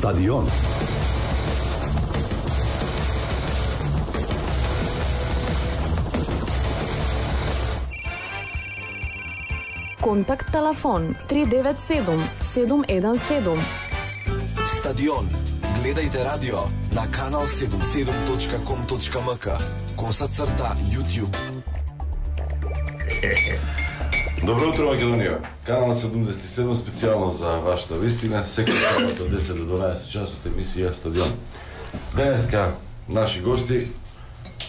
Стадион. Контакт телефон 397 717. Стадион. Гледајте радио на kanal77.com.mk _YouTube. Добро утро, Македонија. Канал 77 специјално за вашата вистина. Секој сабота од 10 до 12 часот емисија Стадион. Денеска наши гости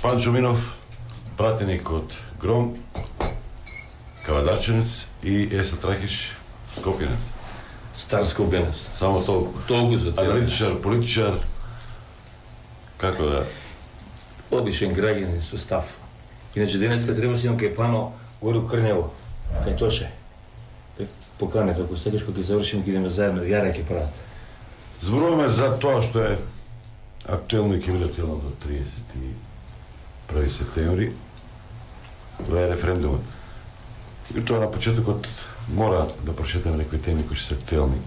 Панчо Минов, пратеник од Гром, Кавадарченец и Еса Трахиш, Скопјанец. Стар Скопјанец. Само толку. Толку за тебе. Аналитичар, политичар, како да? Обичен граѓанин со став. Иначе денеска требаше имам кај Пано горе у Крнево. Кај Тоше. Поканете, ако сакаш, кога ќе завршиме, ќе идеме заедно, јаре ќе прават. Зборуваме за тоа што е актуелно и ќе биде актуелно до 31 септември. Тоа е референдумот. И тоа на почетокот мора да прочетеме некои теми кои се актуелни.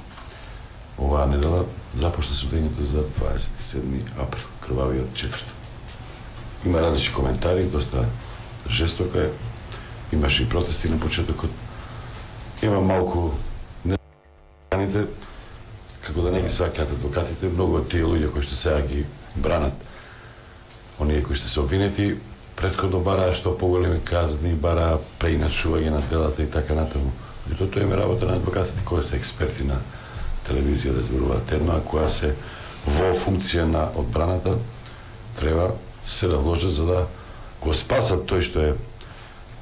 Оваа недела започна судењето за 27 април, крвавиот четврток. Има различни коментари, доста жестока е. Имаше и протести на почетокот. Има малку нераните, како да не ги сваќаат адвокатите, многу од тие луѓе кои што сега ги бранат, оние кои што се обвинети, претходно бараа што поголеми казни, бараа преиначување на делата и така натаму. И тоа им е работа на адвокатите кои се експерти на телевизија да зборуваат едно, а која се во функција на одбраната треба се да вложат за да го спасат тој што е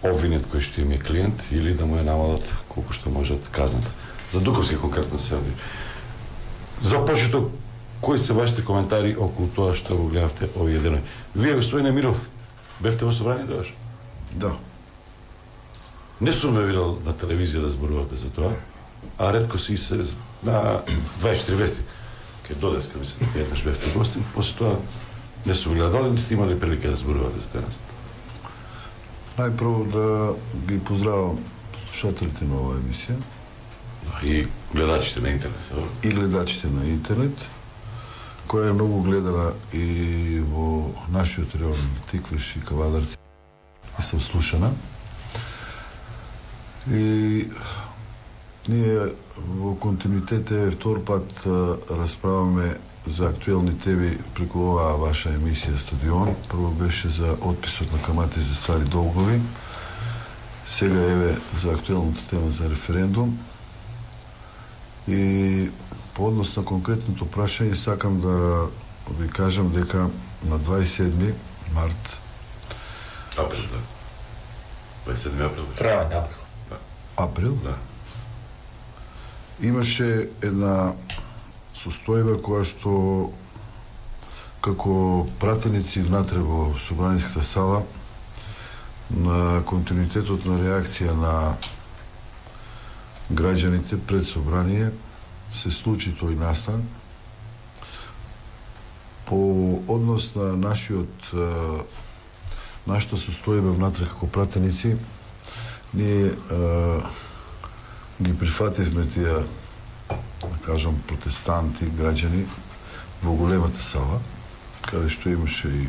обвинет кој што им е клиент или да му ја намалат колку што можат казната. За Дуковски конкретно се оди. За почеток, кои се вашите коментари околу тоа што го гледавте овие денови? Вие, господине Миров, бевте во собрание тогаш? Да. Не сум ве видел на телевизија да зборувате за тоа, а ретко си се на 24 вести. Ке додеска, мислам, еднаш бевте гостин, после тоа не сум гледал, дали не сте имали прилика да зборувате за денес? Најпрво да ги поздравам слушателите на оваа емисија. И гледачите на интернет. И гледачите на интернет, која е многу гледана и во нашиот район Тиквеш и Кавадарци и се слушана. И ние во континуитет втор пат расправаме за актуелни теми преку оваа ваша емисија Стадион. Прво беше за отписот на камати за стари долгови. Сега еве за актуелната тема за референдум. И по однос на конкретното прашање сакам да ви кажам дека на 27 март Април, да. 27 април. Травен април. Април? Да. Имаше една состојба која што како пратеници внатре во собраниската сала на континуитетот на реакција на граѓаните пред собрание се случи тој настан по однос на нашата состојба внатре како пратеници. Ние ги прифативме тие, да кажам, протестанти, граѓани во големата сала, каде што имаше и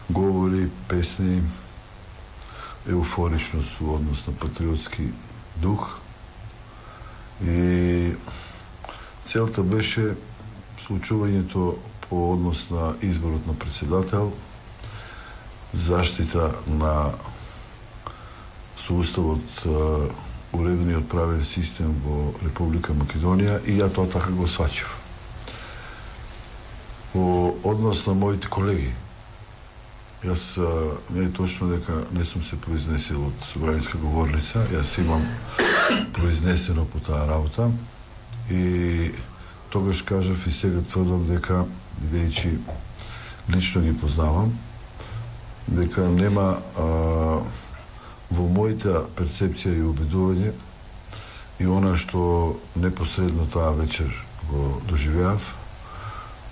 говори, песни, еуфоричност во однос на патриотски дух. И целта беше случувањето по однос на изборот на председател, заштита на со уставот уредениот правен систем во Република Македонија и ја тоа така го сваќав. Во однос на моите колеги, јас не е точно дека не сум се произнесил од собраниска говорница, јас имам произнесено по таа работа и тогаш кажав и сега тврдам дека, бидејќи лично ги познавам, дека нема во мојата перцепција и убедување и она што непосредно таа вечер го доживеав,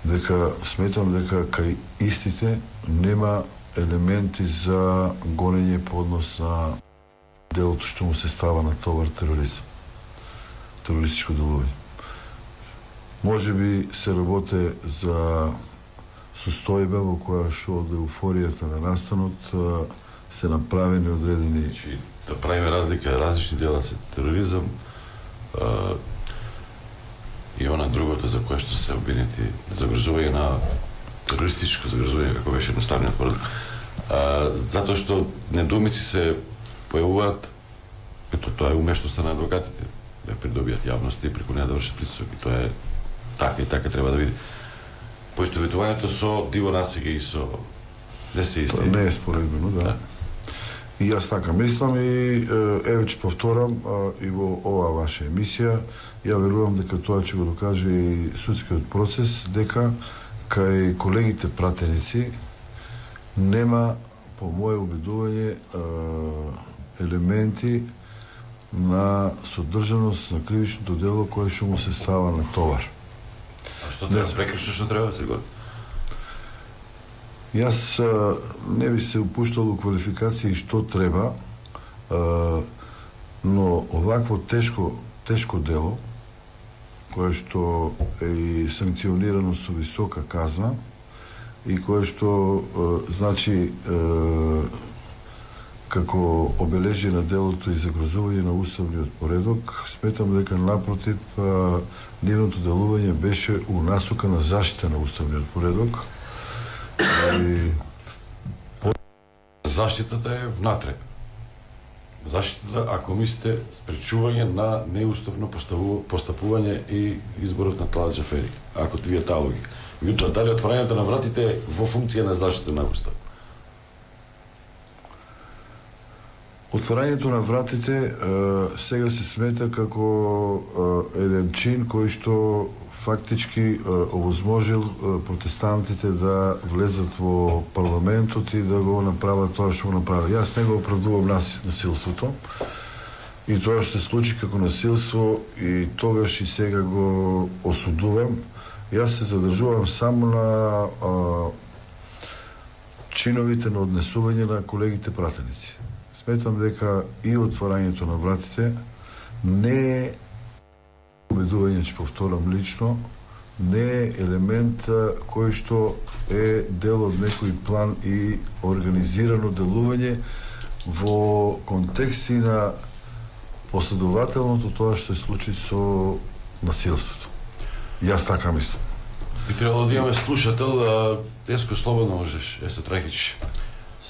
дека сметам дека кај истите нема елементи за гонење по однос на делото што му се става на товар тероризам, терористичко делување. Може би се работе за состојба во која што од еуфоријата на настанот се направени одредени... Значи, да правиме разлика, различни дела се тероризам и она другото за кое што се обвинети загрозување на терористичко загрозување, како беше едноставниот поредок. Затоа што недоумици се појавуваат, ето тоа е умештоста на адвокатите, да придобијат јавност и преку неа да вршат притисок, и тоа е така и така треба да види. Поистоветувањето со диво насега и со не се исти. Не е споредбено, да. И јас така мислам и еве ќе повторам и во оваа ваша емисија, ја верувам дека тоа ќе го докаже и судскиот процес, дека кај колегите пратеници нема, по моје убедување, елементи на содржаност на кривичното дело кое што му се става на товар. А што треба прекршно, што треба да се годи? Јас не би се упуштал у квалификации што треба, но овакво тешко дело, кое што е и санкционирано со висока казна и кое што значи како обележие на делото и загрозување на уставниот поредок, сметам дека напротив нивното делување беше у насока на заштита на уставниот поредок. И заштитата е внатре. Заштитата, ако мислите, спречување на неуставно постапување и изборот на Тлала Џафери. Ако вие таа логика. Меѓутоа, дали отворањето на вратите е во функција на заштита на устав? Отворањето на вратите сега се смета како еден чин кој што фактички овозможил протестантите да влезат во парламентот и да го направат тоа што го направи. Јас не го оправдувам насилството и тоа што се случи како насилство и тогаш и сега го осудувам. Јас се задржувам само на чиновите на однесување на колегите пратеници. Сметам дека и отворањето на вратите не е убедување, ќе повторам лично, не е елемент кој што е дел од некој план и организирано делување во контексти на последователното тоа што се случи со насилството. Јас така мислам. Би требало да имаме слушател, Деско, слободно можеш, се Тракич.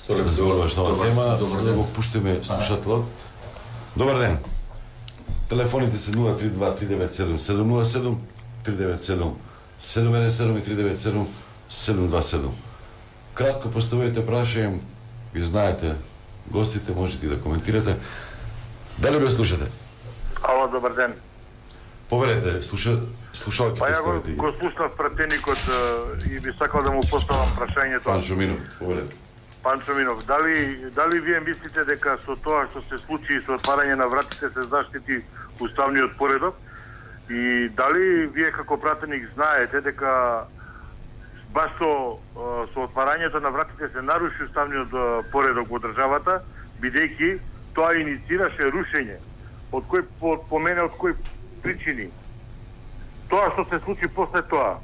Да зборуваш на оваа тема, да го пуштиме слушателот. Добар ден. Телефоните се 032-397-707, 397-717 и 397-727. Кратко поставете прашање, ви знаете гостите, можете и да коментирате. Дали ме слушате? Ало, добар ден. Повелете, слушалки представете. Ја го слушнав пратеникот и би сакал да му поставам прашањето. Панчо Минов, повелете. Панчо Минов, дали вие мислите дека со тоа што се случи со отварање на вратите се заштити уставниот поредок и дали вие како пратеник знаете дека баш со отварањето на вратите се наруши уставниот поредок во државата, бидејќи тоа инициираше рушење. Од кој по мене од кои причини? Тоа што се случи после тоа.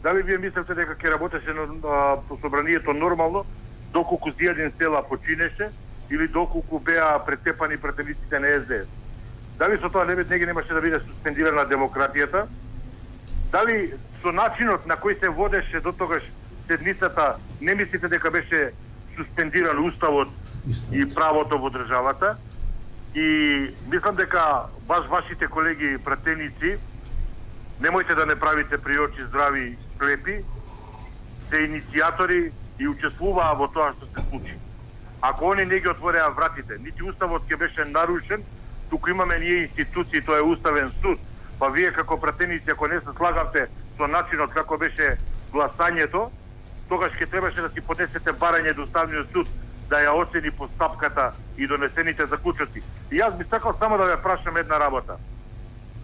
Дали вие мислите дека ќе работеше собранието нормално, доколку Зијадин Села починеше или доколку беа претепани пратениците на СДС? Дали со тоа не ги немаше да биде суспендирана демократијата? Дали со начинот на кој се водеше до тогаш седницата не мислите дека беше суспендиран уставот и правото во државата? И мислам дека баш вашите колеги пратеници, немојте да не правите при очи здрави слепи, се иницијатори и учествуваа во тоа што се случи. Ако они не ги отвореа вратите, нити уставот ќе беше нарушен, туку имаме ние институции, тоа е уставен суд, па вие како пратеници, ако не се слагавте со начинот како беше гласањето, тогаш ќе требаше да си поднесете барање до уставниот суд да ја оцени постапката и донесените заклучоци. И јас би сакал само да ве прашам една работа.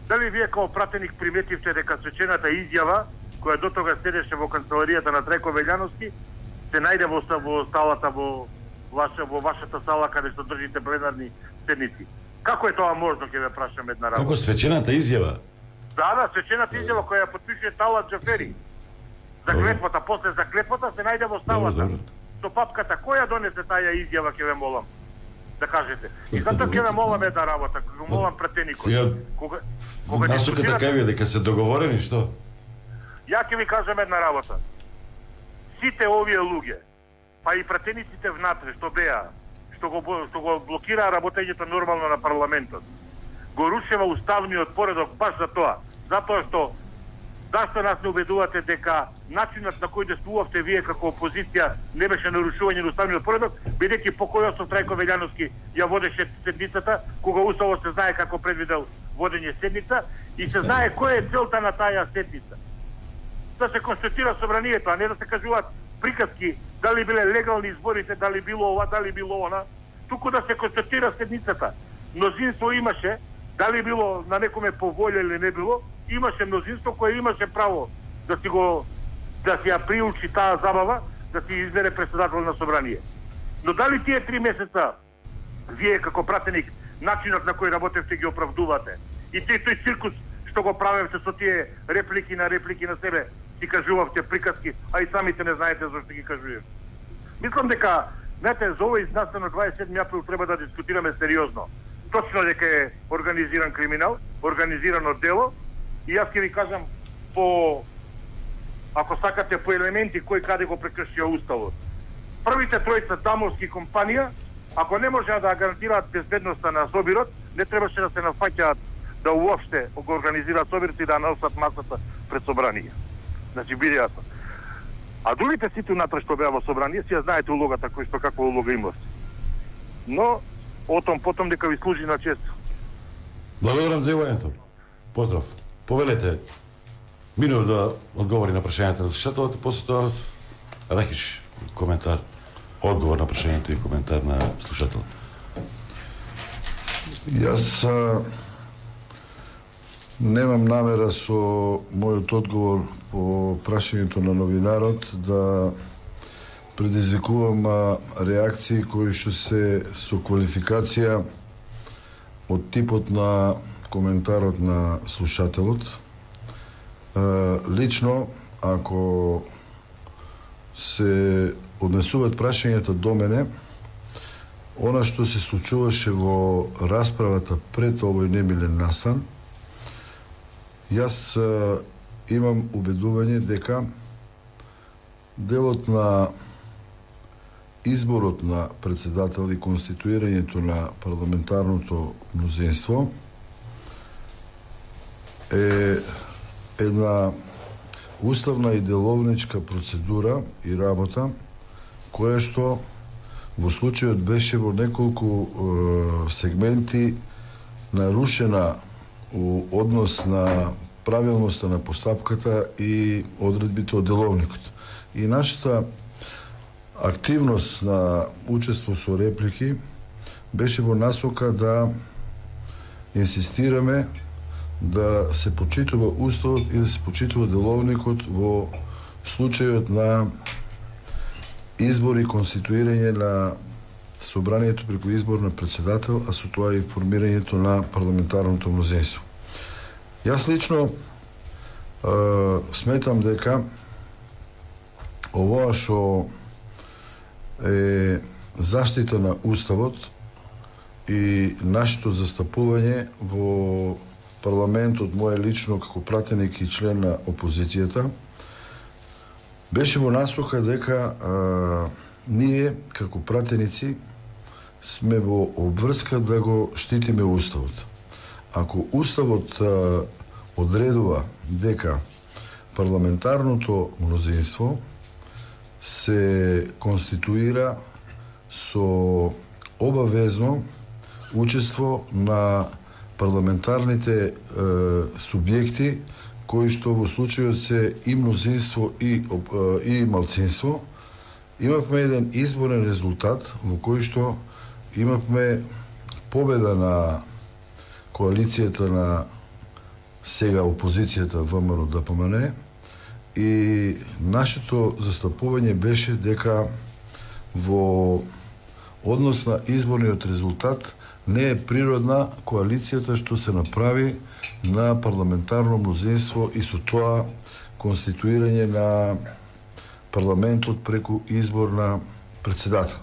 Дали вие како пратеник приметивте дека свечената изјава, која до тога седеше во канцеларијата на Трајко Велјановски, се најде во салата во вашата сала каде што држите пленарни седници? Како е тоа можно, ќе ве прашам една работа? Како свечената изјава? Да, свечената изјава која ја потпишува Талат Џафери. За клетвата, после за клетвата се најде во ставата. Со папката, која донесе таа изјава, ќе ве молам да кажете. И затоа ќе ве молам една работа, ќе молам пратеникот. Кога насоката кај дека се договорени, што? Ја ќе ви кажам една работа. Сите овие луѓе, па и пратениците внатре што беа, што го блокираа работењето нормално на парламентот, го рушева уставниот поредок баш за тоа. Затоа што зашто нас не убедувате дека начинот на кој действувавте вие како опозиција не беше нарушување на уставниот поредок, бидејќи покој Јосиф Трајко Велјановски ја водеше седницата, кога уставот се знае како предвидел водење седница и се знае која е целта на таа седница. Да се констатира собранието, а не да се кажуваат приказки дали биле легални изборите, дали било ова, дали било она, туку да се констатира седницата. Мнозинство имаше, дали било на некоме по волја или не било, имаше мнозинство кое имаше право да си ја приучи таа забава, да си избере председател на собрание. Но дали тие 3 месеца вие како пратеник начинот на кој работевте ги оправдувате и тој циркус што го правевте со тие реплики на себе, си кажувавте приказки, а и самите не знаете зашто ги кажувате. Мислам дека, знаете, за овој изнасен 27 април треба да дискутираме сериозно. Точно дека е организиран криминал, организирано дело, и јас ќе ви кажам ако сакате по елементи кој каде го прекршија уставот. Првите тројца дамовски компанија, ако не можеа да гарантираат безбедноста на собирот, не требаше да се нафаќаат да уопште го организираат собирот и да носат масата пред собрание. Значи биде јасно. А другите сите унатре што беа во собрание, си ја знаете улогата кој што каква улога имате. Но отом потом дека ви служи на чест. Благодарам за јавањето. Поздрав. Повелете Минов да одговори на прашањата на слушателите, после тоа Рахиш коментар, одговор на прашањето и коментар на слушател. Јас немам намера со мојот одговор по прашањето на новинарот да предизвикувам реакции кои што се со квалификација од типот на коментарот на слушателот. Лично, ако се однесуваат прашањата до мене, она што се случуваше во расправата пред овој немилен настан, јас имам убедување дека делот на изборот на председател и конституирањето на парламентарното мнозинство е една уставна и деловничка процедура и работа која што во случајот беше во неколку сегменти нарушена у однос на правилноста на постапката и одредбите од деловникот. И нашата активност на учество со реплики беше во насока да инсистираме да се почитува уставот и да се почитува деловникот во случајот на избор и конституирање на собранието преку избор на председател, а со тоа и формирањето на парламентарното мнозинство. Јас лично сметам дека овоа што е заштита на уставот и нашето застапување во парламентот, моје лично како пратеник и член на опозицијата, беше во насока дека ние како пратеници сме во обврска да го штитиме уставот. Ако уставот одредува дека парламентарното мнозинство се конституира со обавезно учество на парламентарните субјекти кои што во случајот се и мнозинство и малцинство, имавме еден изборен резултат во кој што имавме победа на коалицијата на сега опозицијата ВМРО ДПМН и нашето застапување беше дека во однос на изборниот резултат не е природна коалицијата што се направи на парламентарно мнозинство и со тоа конституирање на парламентот преку избор на председател.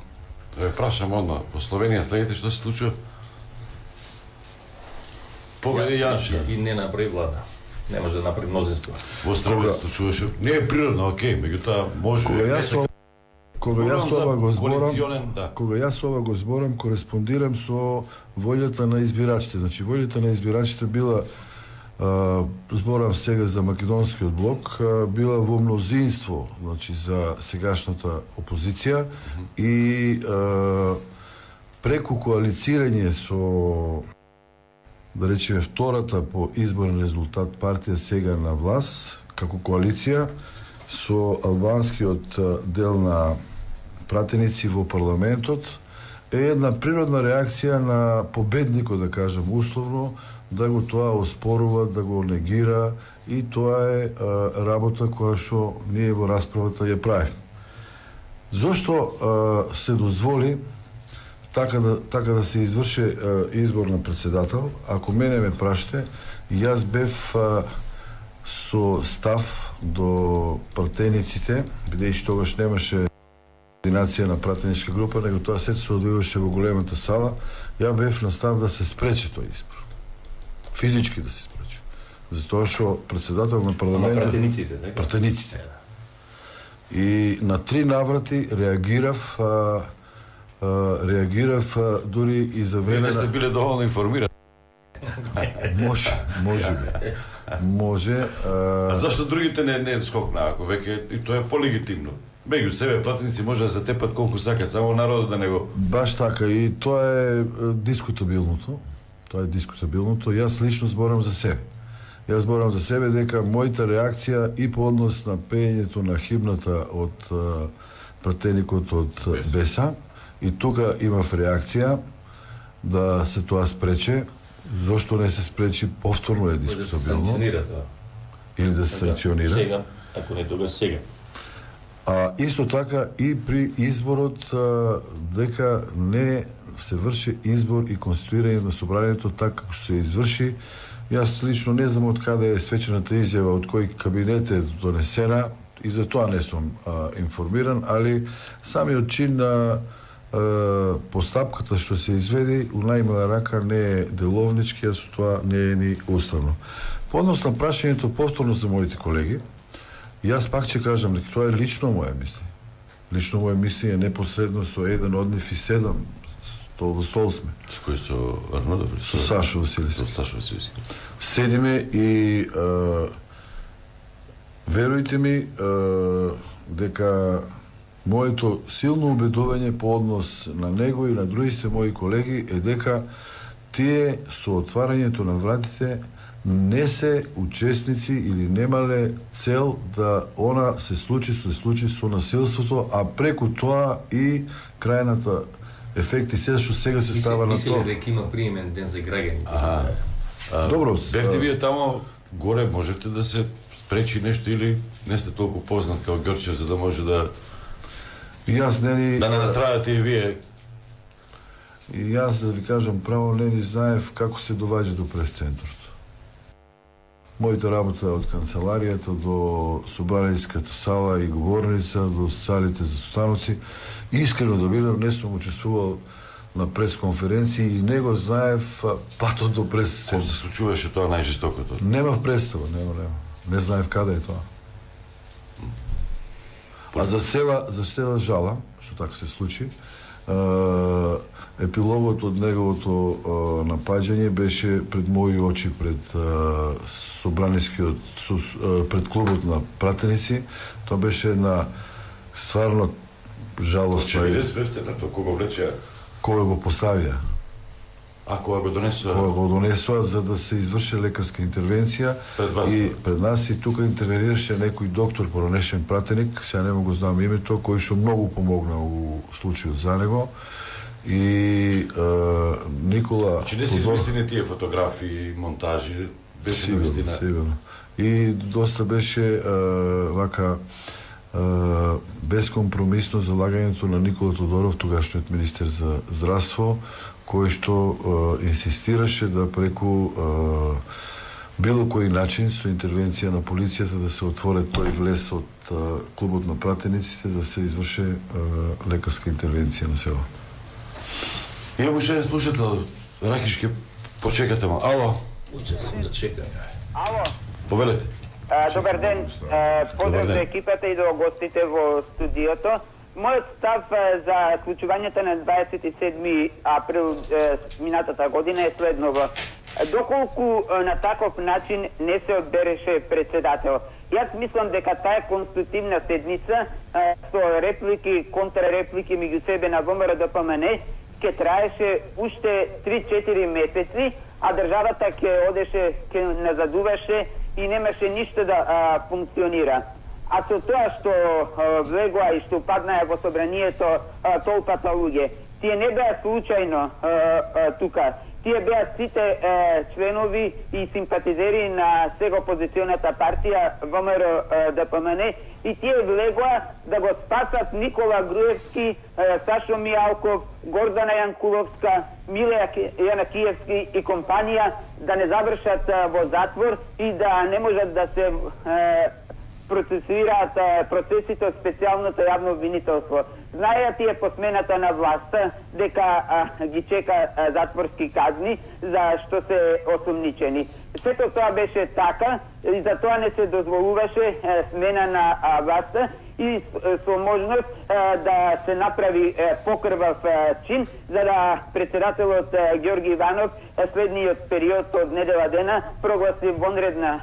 Ве прашам одма, во Словенија следите што се случува? Победи Јаншев. И не направи влада. Не може да направи мнозинство. Во Србија се случуваше. Не е природно, окей, меѓутоа може. Кога јас ова го зборам, кореспондирам со волјата на избирачите. Значи, волјата на избирачите била, зборам сега за македонскиот блок, била во мнозинство, значи, за сегашната опозиција и преку коалицирање со, да речеме, втората по изборен резултат партија сега на власт, како коалиција, со албанскиот дел на пратеници во парламентот, е една природна реакција на победникот, да кажем условно, да го тоа оспорува, да го негира, и тоа е работа која што ние во расправата ја правиме. Зошто се дозволи така да се изврши избор на председател? Ако мене ме прашате, јас бев со став до пратениците, бидејќи тогаш немаше координација на пратеничка група, него тоа сето се одвиваше во големата сала, ја бев на став да се спречи тој избор. Физички да се спречи. Затоа што председател на парламентот... Пратениците, така? Пратениците. И на 3 наврати реагирав дури и за време... Не сте биле доволно информирани. Може. А зашто другите не скокнаа, ако веќе и тоа е полегитимно? Меѓу себе пратеници може да се тепат колку сакат, само народот да не го... Баш така, и тоа е дискутабилното. Јас лично зборам за себе. Јас зборам за себе дека мојата реакција и по однос на пеењето на химната од пратеникот од Беса, и тука имав реакција да се тоа спрече. Зошто не се спречи, повторно е дискутабилно. Да се санкционира тоа. Или да се санкционира. Сега, ако не тога сега. А исто така и при изборот дека не се врши избор и конституирање на собранието така како се изврши. Јас лично не знам од каде е свечената изјава, од кој кабинет е донесена, и за тоа не сум информиран, али самиот чин на постапката што се изведи у најмала рака не е деловнички, а со тоа не е ни уставно. По однос на прашањето повторно за моите колеги, јас пак ќе кажам дека тоа е лично моја мислење. Лично моја мислење е непосредно со еден од нив и 7 стол во стол сме. С кој со Арнодов? Со Сашо Василевски. Со Сашо Василевски. Седиме и верујте ми дека моето силно убедување по однос на него и на другите мои колеги е дека тие со отварањето на вратите не се учесници или немале цел да она се случи со насилството, а преку тоа и крајната ефекти се што сега се става на тоа. Мислите дека има приемен ден за граѓаните? Добро. Бевте вие тамо горе, можете да се спречи нешто или не сте толку познат као Грчев за да може да јас не настрадате и вие. И јас да ви кажам право не ни знаев како се доваѓа до прес-центарот. Мојата работа од канцеларијата до собранијската сала и говорница, до салите за состаноци. Искрено да бидам, не сум учествувал на пресконференции и не го знаев патот до прес-центарот. Кој се случуваше тоа најжестокото? Немав представа, нема. Не знаев каде е тоа. А за села жала, што така се случи, епилогот од неговото напаѓање беше пред мои очи, пред пред клубот на пратеници. Тоа беше една стварно жалост. Че вие бевте на тоа кога влече? Кој го поставија? А која го донесува? Која го донесува за да се изврши лекарска интервенција. Пред нас и тука интервенираше некој доктор, поранешен пратеник, сега не го знам името, кој што многу помогна у случајот за него. И Никола... Значи не се измислени тие фотографии, монтажи, беше навистина. Сигурно. И доста беше вака бескомпромисно залагањето на Никола Тодоров, тогашниот министер за здравство, кој што инсистираше да преку било кој начин со интервенција на полицијата да се отвори тој влез од клубот на пратениците да се изврши лекарска интервенција на село. Имам уште еден слушател, Рахичке, почекате ма. Ало? Учествам да чекам. Ало, Повелете. добар ден. Поздрав за екипата и до гостите во студиото. Мојот став за вклучувањето на 27 април минатата година е следново. Доколку на таков начин не се одбереше председател. Јас мислам дека таа конститутивна седница со реплики, контрареплики меѓу себе на ВМРО ДПМН ќе траеше уште 3-4 месеци, а државата ќе одеше, ќе назадуваше и немаше ништо да функционира. А со тоа што влегоа и што паднаа во собранието толпата луѓе, тие не беа случајно тука. Тие беа сите членови и симпатизери на сега опозиционата партија ВМРО ДПМН и тие влегоа да го спасат Никола Груевски, Сашо Мијалков, Гордана Јанкуловска, Миле Јанакиевски и компанија да не завршат во затвор и да не можат да се процесираат процесите од специјалното јавно обвинителство. Знаеа тие по смената на власта дека ги чека затворски казни за што се осумничени. Сето тоа беше така и за тоа не се дозволуваше смена на власта и со можност да се направи покрвав чин за да председателот Ѓорги Иванов следниот период од недела дена прогласи вонредна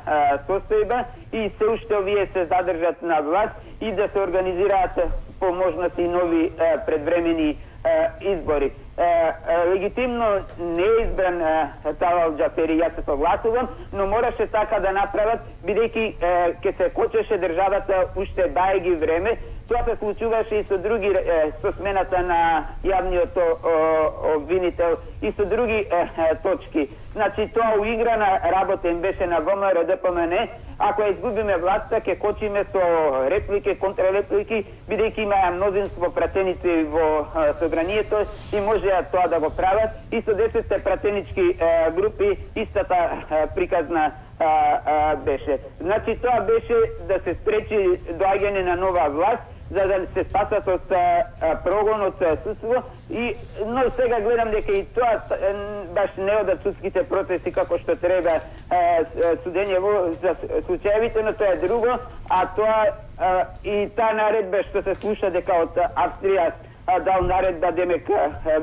состојба и се уште овие се задржат на власт и да се организираат по можности нови предвремени избори. Легитимно не е избран Талал Џафери, јас се согласувам, но мораше така да направат, бидејќи ќе се кочеше државата уште баеги време. Тоа се случуваше и со други, со смената на јавниот обвинител и со други точки. Значи, тоа уиграна работа им беше на ВМРО ДПМН. Ако ја изгубиме власта, ќе кочиме со реплики, контрреплики, бидејќи имаа мнозинство пратеници во собранието и можеа тоа да го прават. И со 10 пратенички групи истата приказна беше. Значи, тоа беше да се спречи доаѓање на нова власт, за да се спасат од прогон, од судство. Но сега гледам дека и тоа баш не одат судските процеси како што треба судење за случаевите, но тоа е друго. А тоа и таа наредба што се слуша дека од Австрија дал наредба демек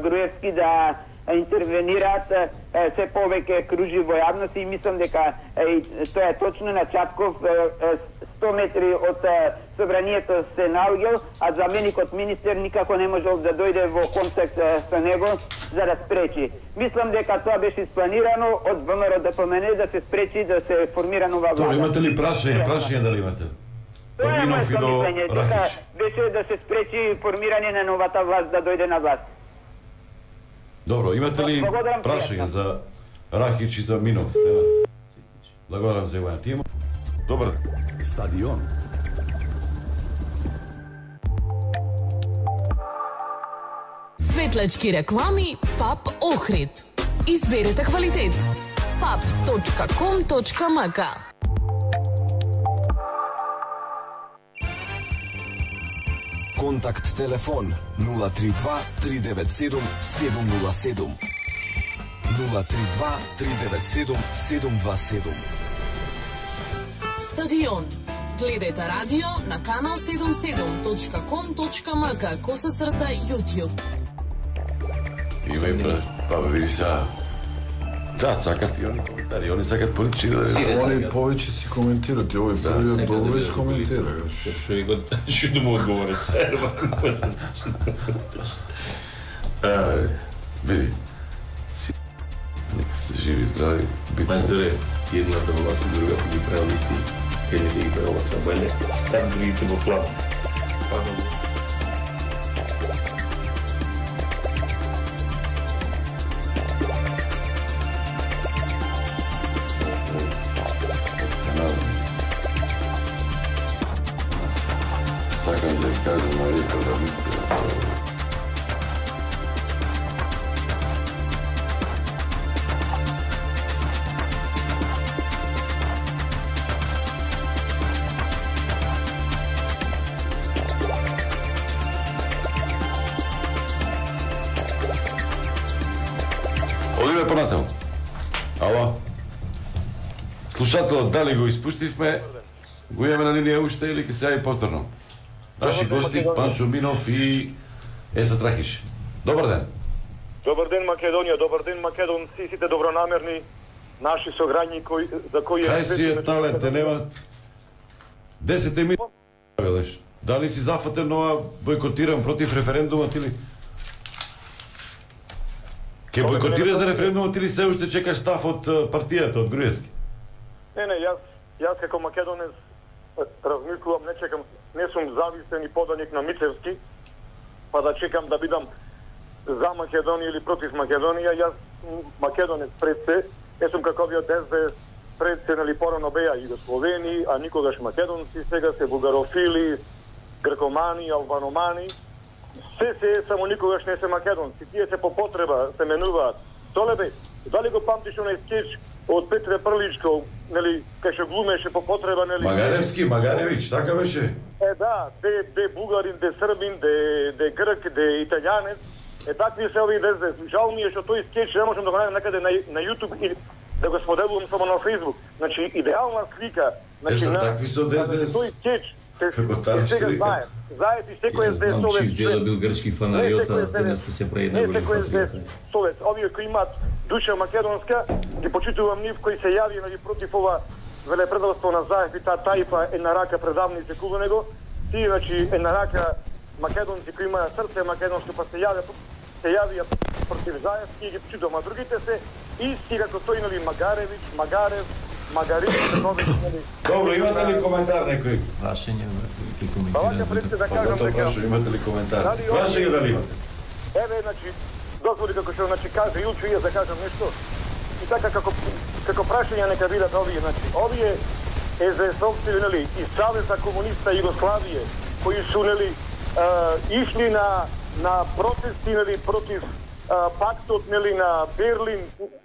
Груевски да интервенираат, се повеќе кружи во јавност и мислам дека тоа е точно на Чапков 100 метри од собранието се наоѓал, а заменикот министер никако не можел да дојде во контакт со него за да спречи. Мислам дека тоа беше испланирано од ВМРО ДПМН да се спречи да се формира нова влада. Тоа имате ли прашање дали имате? Тоа е моето мислење, дека беше да се спречи формирање на новата власт да дојде на власт. Добро, имате ли прашање за Рахич и за Минов? Благодарам за јавањето. Има? Добар ден. Стадион. Светлачки реклами ПАП Охрид. Изберете квалитет. pap.com.mk. Контакт телефон 032 397 707 032 397 727. Стадион. Гледајте радио на канал 77.com.mk /YouTube. Има и па види сега. Да, сакат и они коментари, они сакат политички да Они повеќе си коментират, и овој првиот добро искоментира. Што му одговорат сега? Види. Нека се живи, здрави. Мајсторе, едната власт, друга ги правил исти. Едните ги правил са бале, стан другите во план. Сакам да кажам на Рика да мисля. Одиме понатаму. Ало? Слушателот, дали го испуштивме? Го имаме на линија уште или ќе се јави повторно? Наши гости, Панчо Минов и Еса Трахич. Добар ден. Добар ден Македонија, добар ден македонци, сите добронамерни наши сограѓани за кои Кај си е талете, нема 10 минути. Дали си зафатен ова бойкотиран против референдумот или? Ке бойкотира за референдумот или се уште чекаш став од партијата, од Груевски? Не, јас како македонец размислувам, не чекам, не сум зависен и поданик на Мицевски, па да чекам да бидам за Македонија или против Македонија. Јас македонец пред се, не сум како овие ДСБ пред се, нали, порано беа југословени, а никогаш македонци, сега се бугарофили, гркомани, албаномани. Се, само никогаш не се македонци. Тие се по потреба се менуваат. Толебе, дали го памтиш онај скеч од Петре Прличко, нели, кај што глумеше по потреба, нели? Магаревич, така беше? Да, де бугарин, де србин, де грк, де италијанец. Такви се овие дезде. Жал ми е што тој скеч не можам да го најдам некаде на YouTube или да го споделувам само на Facebook. Значи, идеална слика. Значи, такви се дезде. Тој скеч како тариш слика. Знаете, секој е знам, Чив Дело бил грчки фанариота, денеска се прееднавали. Не секој е совет. Овие кои имаат душа македонска, ги почитувам нив кои се јави, нали, против ова велепредавство на Заев и таа тајфа една рака предавници околу него. Тие, значи, една рака македонци кои имаат срце македонско, па се јавија против Заев, и ги почитувам. А другите се исти како тој, нали, Магаревич, Магарин, нали. Добро, имате ли коментар некој? Прашање, ке Па вака пред се да кажам дека... Имате ли коментар? Прашање дали имате? Еве, значи, дозволи како што, значи, каже Илчо, и да кажам нешто. И така како прашање нека бидат овие, значи, овие СДС-овци, нели, и Савеза комуниста Југославија, кои су, нели, ишли на протести, нели, против пактот, нели, на Берлин,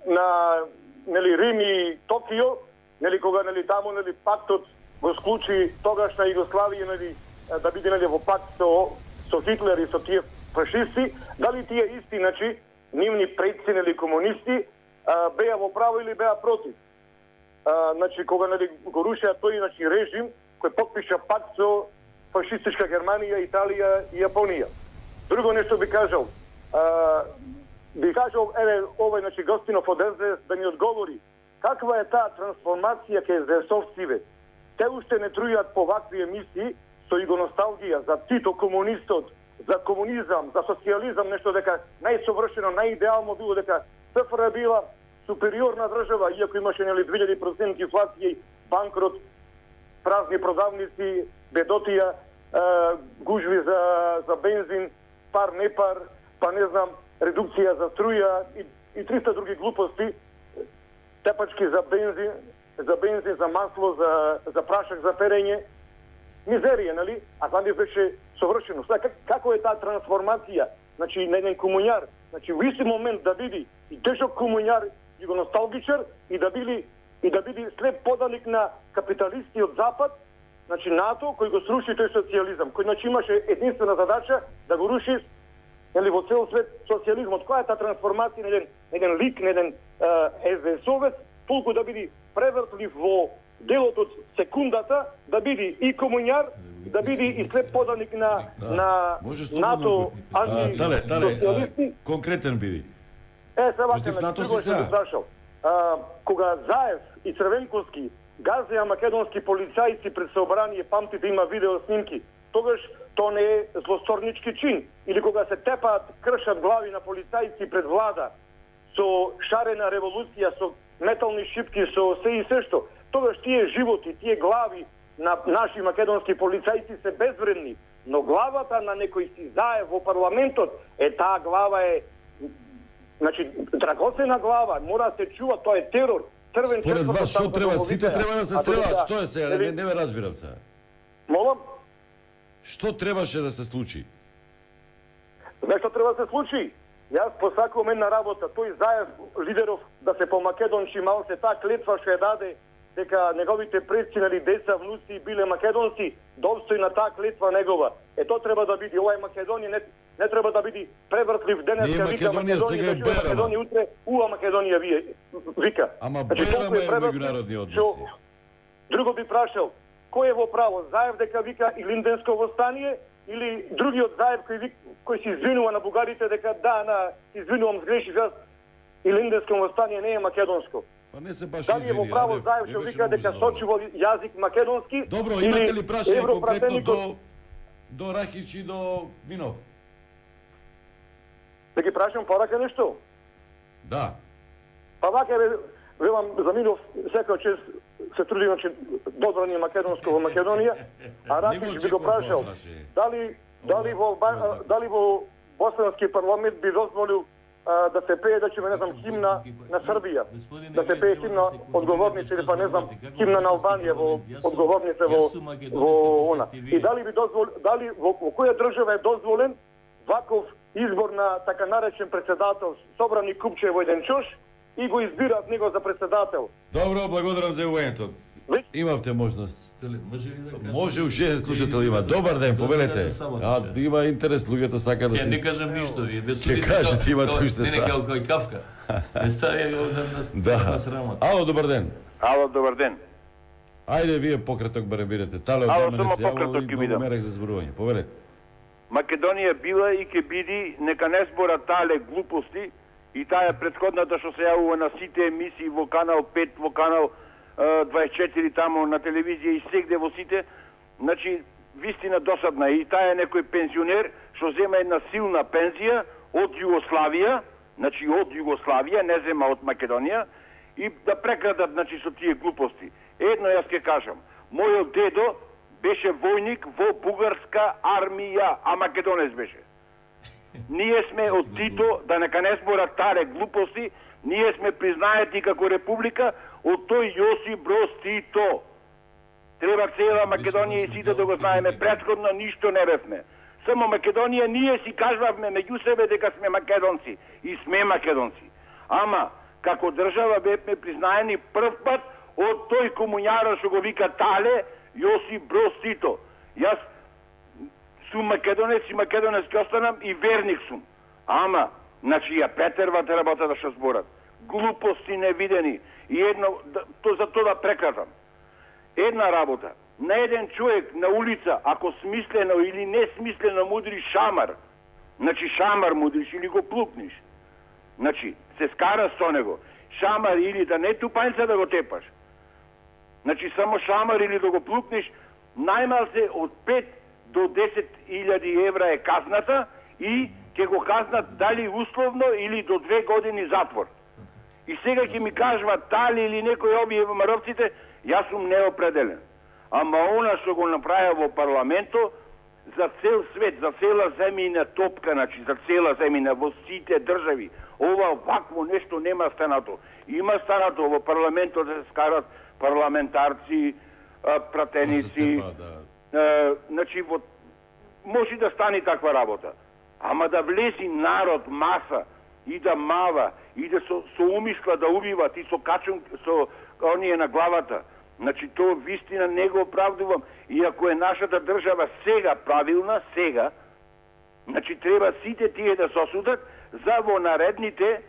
на, нели, Рим и Токио, нели, кога, нели, таму, нели, пактот го склучи тогашна Југославија, нели, да биде, нели, во пакт со Хитлер и со тие фашисти, дали тие исти, значи, нивни предци, нели, комунисти, беа во право или беа против. Значи, кога, нели, го рушеа тој, значи, режим кој подпиша пакт со фашистичка Германија, Италија и Јапонија. Друго нешто би кажал, еве, овој, значи, гостинов од СДС да ми одговори, каква е таа трансформација кај СДС-овциве? Те уште не трујат по вакви емисии со игоносталгија за Тито, комунистот, за комунизам, за социјализам, нешто дека најсовршено, најидеално било дека СФР била супериорна држава, иако имаше, нели, 2000% инфлација, банкрот, празни продавници, бедотија, гужви за бензин, пар не пар, па не знам, редукција за струја и 300 други глупости, тепачки за бензин, за масло, за прашак за перење, мизерија, нели? А за нив беше совршено. Сега, како е таа трансформација? Значи, на еден комуњар, значи, во исти момент да биде и тежок комуњар, и го носталгичар, и да биде слеп поданик на капиталисти од Запад, значи НАТО, кој го сруши тој социјализам, кој, значи, имаше единствена задача да го руши, нели, во цел свет социјализмот. Која е таа трансформација на еден лик, на еден СДС-овец, толку да биде превртлив во делот од секундата, да биде и комуњар, да биде и слеп поданик на НАТО, антисоцијалисти. Конкретен биде. Се вака, што се прашал. Кога Заев и Црвенковски газеа македонски полицајци пред собрание, памтите, има видео снимки, тогаш то не е злосторнички чин. Или кога се тепаат, кршат глави на полицајци пред влада со шарена револуција, со метални шипки, со се и се што, тогаш тие животи, тие глави на наши македонски полицајци се безвредни. Но главата на некој си Заев во парламентот, таа глава е, значи, драгоцена глава, мора да се чува, тоа е терор. Според вас, што треба? Сите треба да се стрелаат. Што е сега? Не ме разбирам сега. Молам? Што требаше да се случи? Знаеш што треба да се случи? Јас посакувам една работа, тој Заев лидеров да се помакедончи малце, таа клетва што ја даде дека неговите предци, нали, деца, внуци биле македонци, достојна таа клетва негова. Тоа треба да биде, ова е Македонија, не треба да биде превртлив денеска, вика Македонија, да чуе Македонија утре, Македонија вика. Ама Бајрам е меѓународни односи. Друго би прашал, кој е во право, Заев дека вика и Илинденско востание, или другиот Заев кој се извинува на бугарите дека извинувам, сгрешив јас, Илинденско востание не е македонско. Па не се баш дали е во право Заев што вика дека сочи во јазик македонски? Добро, имате ли прашање конкретно до Рахич и до Винов? Да ги прашам порака нешто? Да. Па вака велам за Минов секој чест се труди, значи добро ни македонско во Македонија, а Рахич би го прашал дали во Босански парламент би дозволил да се пее, да не знам, химна на Србија, да се пее химна одговорница или па не знам, химна на Албанија во одговорница во она. И дали во која држава е дозволен ваков избор на така наречен председател, собрани купче во еден чош и го избираат него за председател. Добро, благодарам за јавувањето. Имавте можност. Може уште еден слушател има. Добар ден, повелете. Има интерес, луѓето сака да се... Не кажам ништо, вие без Ке кажете, имате уште са. Не кај Кавка. Не стави на срамот. Ало, добар ден. Ало, добар ден. Ајде, вие пократок барем бидете. Тале од мене се јавал и многу мерек за зборување. Повелете. Македонија била и ке биди, нека не збора тале глупости и таа претходната што се јавува на сите емисии во канал 5, во канал 24 тамо на телевизија и сегде во сите, значи вистина досадна и таа е некој пензионер што зема една силна пензија од Југославија, значи од Југославија, не зема од Македонија и да прекрадат значи со тие глупости. Едно јас ќе кажам, мојот дедо беше војник во бугарска армија, а македонец беше. Ние сме од Тито, да нека не збора таре глупости, ние сме признаети како република од тој Јосип Броз Тито. Треба цела Македонија и сите да го знаеме, претходно ништо не бевме. Само Македонија ние си кажавме меѓу себе дека сме македонци и сме македонци. Ама како држава бевме признаени прв пат од тој комуњар што го вика Тале Јосип Броз Тито. Јас сум македонец и македонец ќе останам и верник сум. Ама, значи ја претервате работата што зборат. Глупости невидени. И едно, за тоа да прекратам. Една работа. На еден човек на улица, ако смислено или несмислено мудриш шамар, значи шамар мудриш или го плукниш, значи се скара со него. Шамар или да не тупањца да го тепаш. Значи само шамар или да го плукниш, најмалце од 5 до 10.000 евра е казната и ќе го казнат дали условно или до 2 години затвор. И сега ќе ми кажува дали или некој овие маровците, јас сум неопределен. Ама она што го направи во парламенто, за цел свет, за цела земјина топка, значи за цела земјина во сите држави, ова вакво нешто нема станато. Има станато во парламентот да се скарат парламентарци, пратеници, значи може да стане таква работа. Ама да влези народ, маса, и да мава, и да со умисла да убиват, и со качун, со оние на главата. Значи, тоа вистина не го оправдувам. И ако е нашата држава сега правилна, сега, значи треба сите тие да се осудат за во наредните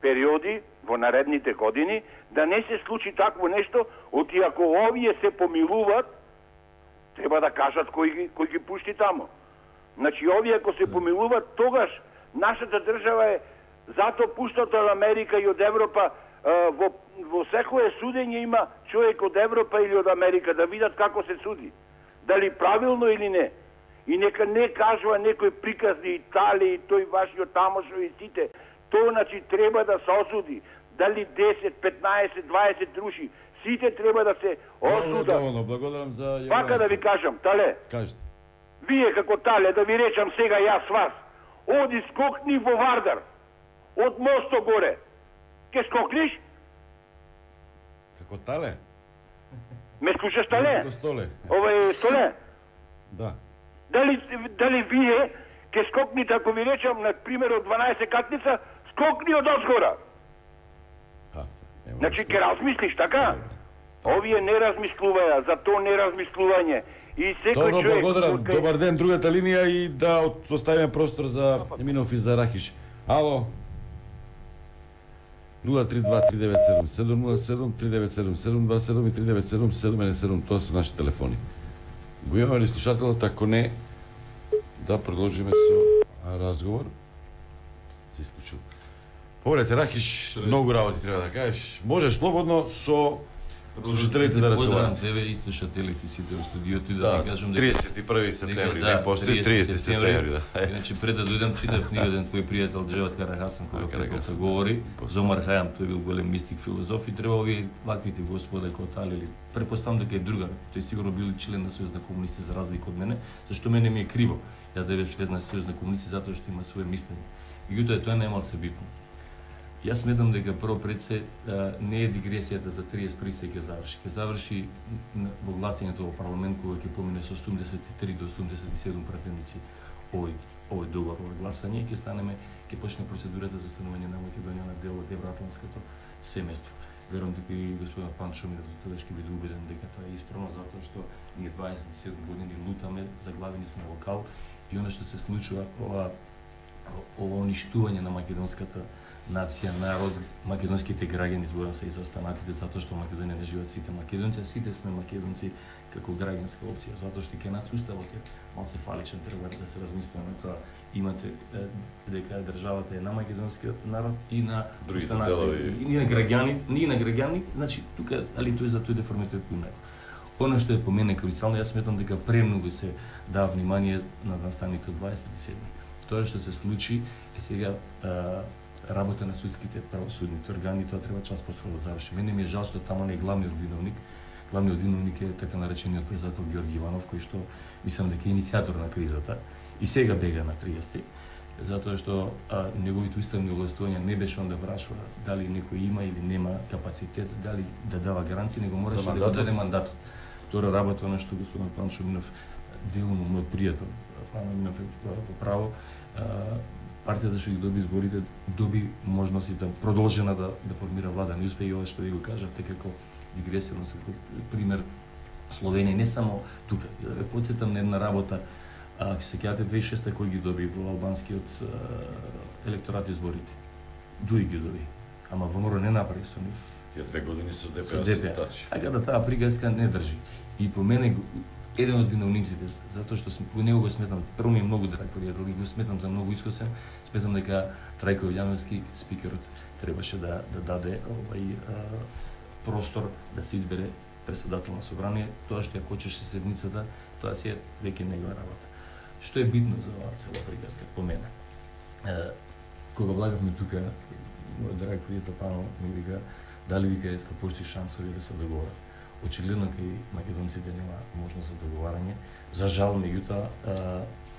периоди, во наредните години, да не се случи такво нешто, оти ако овие се помилуват, треба да кажат кој ги пушти тамо. Значи, овие ако се помилуват, тогаш нашата држава е зато пуштата од Америка и од Европа, во секое судење има човек од Европа или од Америка да видат како се суди. Дали правилно или не. И нека не кажува некој приказни Италија и тој вашиот тамошо и сите. Тоа значи треба да се осуди. Дали 10, 15, 20 души. Сите треба да се осудат. Благодарам за јавувањето. Пака да ви кажам, Тале. Кажете. Вие како Тале, да ви речам сега јас вас. Оди скокни во Вардар. Од мосто горе. Ке скокниш? Како Тале? Ме слушаш, Тале? Како Столе. Ова е Столе? Да. Дали вие ќе скокните, ако ви речам, на пример од 12 катница, скокни од озгора. Значи, ќе размислиш, така? Овие не размислуваја, за то не размислување. И секој Добро, човек... благодарам. Добар ден, другата линија и да оставиме простор за Еминов и за Рахиш. Ало? 032-397-707, 397-727 и 397-717, тоа се наши телефони. Го имаме ли слушателот? Ако не, да продолжиме со разговор. Се исклучил. Побрете, Рахиш, многу работи треба да кажеш. Можеш слободно со слушателите да разговарат. Поздравам тебе и слушателите сите во студиото и да ти кажам дека 31 септември, не постои 30 септември, да. Иначе пред да дојдам читав книга еден твој пријател Джеват Карахасан кога преку говори за Омар Хајам, тој бил голем мистик филозоф и треба овие ваквите господа кои талели. Препоставам дека е другар. Тој сигурно бил член на Сојуз на комунисти за разлика од мене, зашто мене ми е криво. Ја да речам член на Сојуз на комунисти затоа што има свое мислење. Меѓутоа тоа немал се битно. Јас сметам дека прво пред се не е дигресијата за 31 се ќе заврши. Ќе заврши во гласањето во парламент кога ќе помине со 83 до 87 пратеници овој договор, ова гласање, ќе станеме, ќе почне процедурата за станување на Македонија на дел од евроатлантското семејство. Верувам дека и господин Панчо ми тогаш ќе биде убеден дека тоа е исправно, затоа што ние 27 години лутаме, заглавени сме во кал и она што се случува, ова уништување на македонската нација, народ, македонските граѓани зборам се изостанатите затоа што Македонија не живеат сите македонци, а сите сме македонци како граѓанска опција, затоа што ке нас уставот е малце фаличен, треба да се размислиме тоа. Имате дека државата е на македонскиот народ и на останатите, и на граѓани, значи тука али тој за тој деформитет кој него. Оно што е по мене круцијално, јас сметам дека премногу се дава внимание на настаните 27. Тоа што се случи е сега работа на судските правосудните органи, тоа треба час поскоро да заврши. Мене ми е жал што таму не е главниот виновник. Главниот виновник е така наречениот председател Георги Иванов, кој што мислам дека е иницијатор на кризата и сега бега на 30, затоа што неговите уставни овластувања не беше он да прашува дали некој има или нема капацитет, дали да дава гаранции, него мораше да го даде мандатот. Втора работа на што господин Панчо Минов, делно мој пријател, Панчо Минов во право, партијата што ги доби изборите, доби можност да продолжена да формира влада. Не успеа и ова што ви го кажавте како дигресивно пример Словенија, не само тука. Да ве потсетам на една работа, ако се сеќавате 2006 кој ги доби во албанскиот електорат изборите. Дуи ги доби, ама ВМРО не направи со нив. Ја 2 години со ДПА. Така да таа приказка не држи. И по мене еден од виновниците, затоа што по него го сметам, прво ми е многу драг пријател и го сметам за многу искусен, сметам дека Трајко Вилјановски, спикерот, требаше да даде простор да се избере председател на собрание, тоа што ја кочеше седницата, тоа си е веќе негова работа. Што е битно за оваа цела приказка по мене? Кога влагавме тука, мој драг пријател Пано ми вика, дали вика иска пошти шансови да се договорат. Очигледно кај македонците нема можност за договарање. За жал, меѓутоа,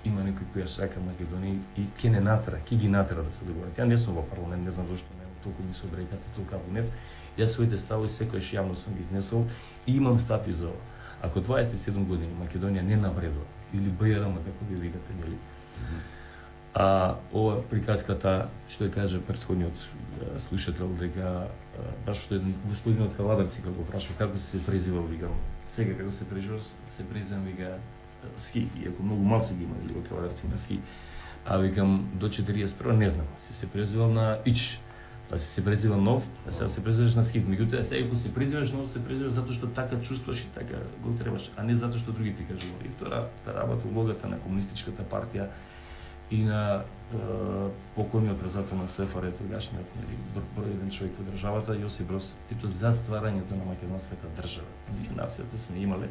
има некој кој ја сака Македонија и ќе не натера, ќе ги натера да се договорат. Ја не сум во парламент, не знам зошто не толку ми се обрекате толку во нев. Јас своите ставови секојаш јавно сум ги изнесол и имам став и за ова. Ако 27 години Македонија не напредува или БРМ како ви викате, нели? Ова приказката што ја каже претходниот слушател дека баш што господинот Кавадарци како го прашува како се презивал, викам, сега како се презивам, вика ски, иако многу малце ги имали во Кавадарци на ски. Викам до 41 не знам, се презивал на Ич, па се презивал нов, а сега се презиваш на ски. Меѓутоа сега кога се презиваш нов, се презиваш затоа што така чувствуваш и така го требаш, а не затоа што други ти кажуваа. И втората работа, улогата на комунистичката партија и на покойниот председател на СФР, тогашниот број еден човек во државата, Јосип Брос Тито, за стварањето на македонската држава. Нацијата сме имале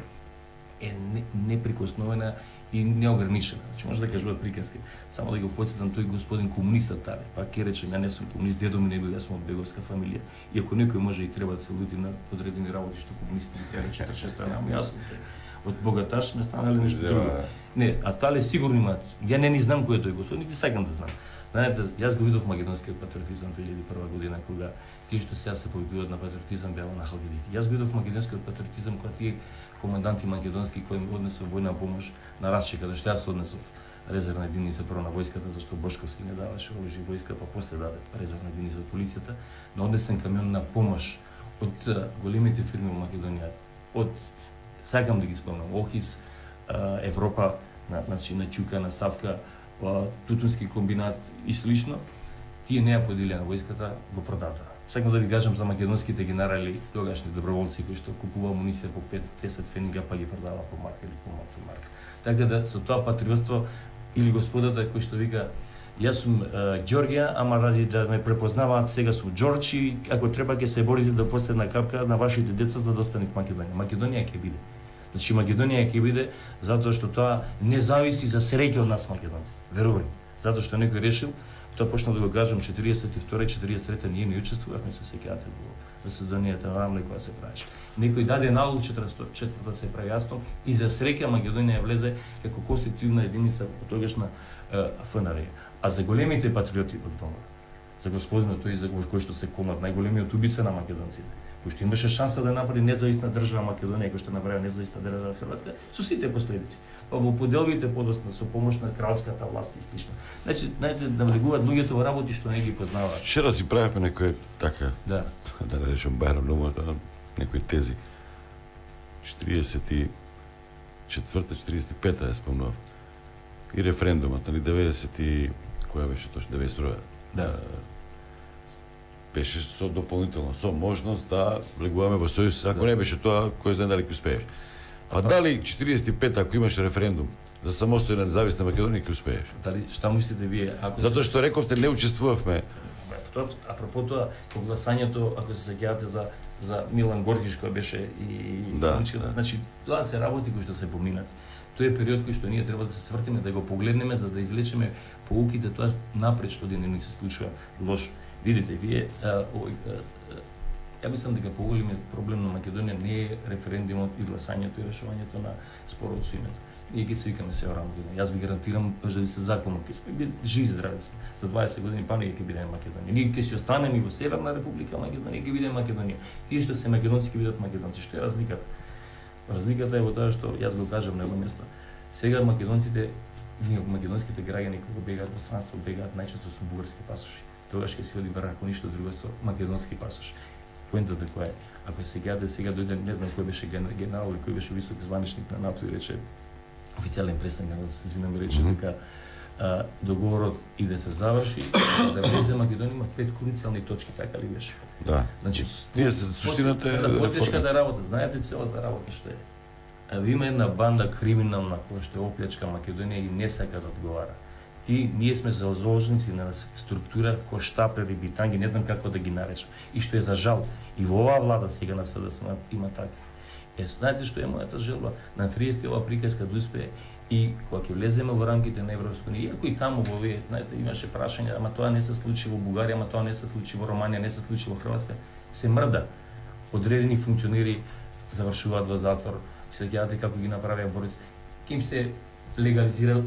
е неприкосновена и неограничена. Значи може да кажуваат приказки. Само да го потсетам тој господин комунистот Тале. Пак ќе речем, ја не сум комунист, дедо ми не бил, јас сум од беговска фамилија. Иако некој може и треба да се лути на одредени работи што комунисти ги кажа 46 страна, јас сум од богаташ не станале нешто друго. Не, а Тале сигурно има. Ја не ни знам кој е тој господин, нити сакам да знам. Знаете, јас го видов македонскиот патриотизам 2001 година кога тие што сега се повикуваат на патриотизам беа на халгидите. Јас го видов македонскиот патриотизам кога тие команданти македонски кои им однесоа војна помош на парче каде што јас однесов резервна единица прво на војската, зашто Бошковски не даваше оружје војска, па после даде резервна единица од полицијата, но однесен камион на помош од големите фирми во Македонија, од сакам да ги спомнам, Охис, Европа, значи на Чука, на Савка, Тутунски комбинат и слично, тие не ја поделија на војската, го продадоа. Сакам да ви кажам за македонските генерали, тогашни доброволци кои што купува амуниција по 5-10 фенинга, па ги продава по марка или по малку марка. Така да со тоа патриотство или господата кој што вика јас сум Ѓорѓија, ама ради да ме препознаваат сега сум Џорџ и ако треба ќе се борите до последна капка на вашите деца за да остане Македонија. Македонија ќе биде. Значи Македонија ќе биде затоа што тоа не зависи за среќа од нас македонците. Верувај. Затоа што некој решил, тоа почна да го кажам 42-43 ние не учествувавме се сеќавате во заседанието на АМЛЕ која се правеше. Некој даде налог 44-та се прави јасно и за среќа Македонија влезе како конститутивна единица во тогашна ФНР. А за големите патриоти од дома, за господинот тој за кој што се комат, најголемиот убица на македонците, кој што имаше шанса да направи независна држава Македонија, кој што направи независна држава Хрватска, со сите последици. Па во поделбите подосна со помош на кралската власт и слично. Значи, знаете, навлегуваат луѓето во работи што не ги познаваат. Вчера си правевме некој така, да речем Бајрам Нумата, некои тези. 44-45 ја спомнував. И референдумот, нали, 90 и која беше точно 92. Да. Беше со дополнително, со можност да влегуваме во сојуз, ако не беше тоа, кој знае дали ќе успееш. А дали 45 ако имаш референдум за самостојна независна Македонија ќе успееш? Дали што мислите вие? Затоа што рековте не учествувавме. Апропо тоа, по гласањето, ако се сеќавате за Милан Горгиш кој беше и значи тоа се работи кои што се поминати. Тој е период кој што ние треба да се свртиме, да го погледнеме за да извлечеме поуките тоа напред што не се случува лошо. Видите, вие ја мислам дека поголемиот проблем на Македонија не е референдумот и гласањето и решувањето на спорот со името. Ние ќе се викаме се Македонија. Јас ви гарантирам да ви се законно ќе сме живи здрави сме. За 20 години па ние ќе бидеме Македонија. Ние ќе си останеме во Северна Република Македонија, ќе бидеме Македонија. Тие што се македонци ќе бидат македонци. Што е разликата? Разликата е во тоа што јас го кажам на едно место. Сега македонците, ние македонските граѓани кога бегаат во странство, бегаат најчесто со бугарски пасоши. Тогаш ќе се оди ако ништо друго со македонски пасош. Поентата која е, ако се сеќавате сега дојде не знам кој беше генерал или кој беше висок званичник на НАТО и рече официјален представник на се извинам рече дека договорот и да се заврши, да влезе Македонија има 5 круцијални точки, така ли беше? Да. Значи, тие се суштината е да потешка да работа. Знаете целата работа што е. Има една банда криминална која што е оплячка Македонија и не сака да одговара. Ние сме заложници на структура хоштапери, битанги, не знам како да ги наречам. И што е за жал, и во оваа влада сега на СДСМ има така. Знаете што е мојата желба? На 30 ова приказка да успее и кога ќе влеземе во рамките на Европска унија, иако и таму во овие, знаете, имаше прашања, ама тоа не се случи во Бугарија, ама тоа не се случи во Романија, не се случи во Хрватска, се мрда. Одредени функционери завршуваат во затвор. Се сеќавате како ги направија борици. Ким се легализира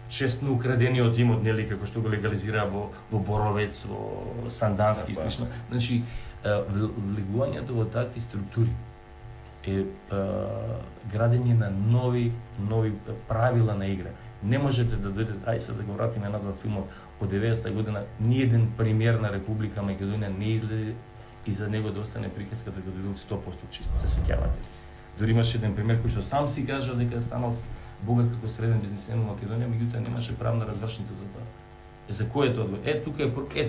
честно украдениот имот, нели, како што го легализира во Боровец, во Сандански и слично. Значи, влегувањето во такви структури е градење на нови правила на игра. Не можете да дојдете, ај се да го вратиме назад филмот од 90-та година, ни еден премиер на Република Македонија не излезе и за него да остане приказката дека бил 100% чист, се сеќавате. Дори имаше еден премиер кој што сам си кажа дека станал богат како среден бизнисмен во Македонија, меѓутоа немаше правна развршница за тоа. За кој е тоа?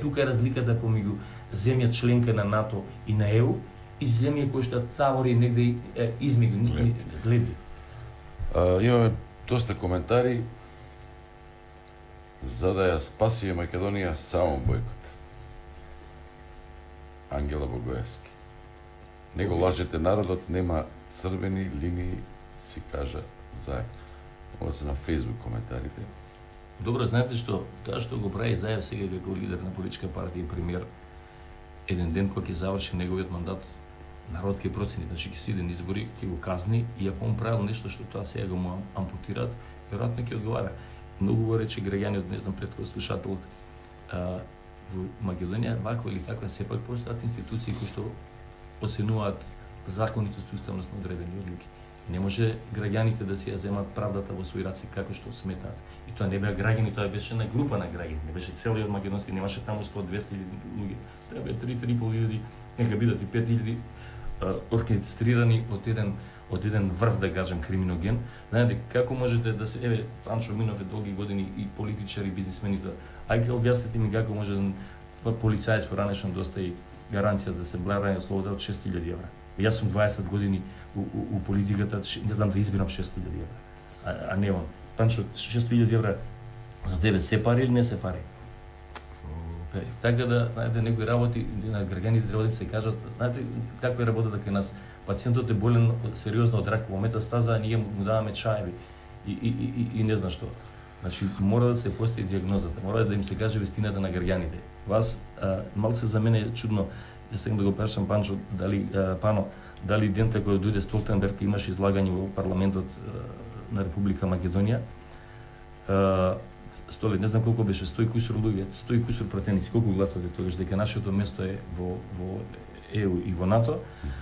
Тука е разликата помеѓу земја членка на НАТО и на ЕУ и земја која што тавори негде измеѓу гледи. Имаме доста коментари за да ја спаси Македонија само бојкот. Ангела Богоевски. Него лажете народот, нема црвени линии, си кажа заедно. Ова се на Facebook коментарите. Добро, знаете што, тоа што го прави Заев сега како лидер на политичка партија и премиер, еден ден кога ќе заврши неговиот мандат, народ ќе процени, значи ќе се иде на избори, ќе го казни и ако он правил нешто што тоа сега го му ампутираат, веројатно ќе одговара. Многу го рече граѓаниот, не знам пред кој слушателот, во Македонија ваква или таква сепак постојат институции кои што оценуваат законитост и уставност на одредени одлуки. Не може граѓаните да си ја земат правдата во своји раце како што сметаат. И тоа не беа граѓани, тоа беше на група на граѓани, не беше целиот македонски, немаше таму 100-200 луѓе. Треба 3-3,5 илјади, нека бидат и 5.000 оркестрирани од еден врв, да кажем, криминоген. Знаете, како можете да се... Еве, Панчо Минов е долги години и политичар и бизнисмен и тоа. Ајде, објаснете ми како може полицаец поранешен достави гаранција да се барање слобода од 6.000 евра. Јас сум 20 години у политиката, не знам да избирам 6.000 евра. А не он. Панчо, 6.000 евра за тебе се пари или не се пари? Така да, знаете, некои работи на граѓаните треба да им се кажат, знаете како е работата кај нас. Пациентот е болен сериозно од рак во метастаза, а ние му даваме чаеви и не знам што. Значи, мора да се постави диагнозата, мора да им се каже вистината на граѓаните. Вас, малце за мене е чудно, јас сакам да го прашам Панчо, дали дента кој дојде Столтенберг имаш излагање во парламентот на Република Македонија. Столе, не знам колку беше, 100 кусур луѓе, 100 кусур пратеници, колку гласате тогаш дека нашето место е во ЕУ и во НАТО,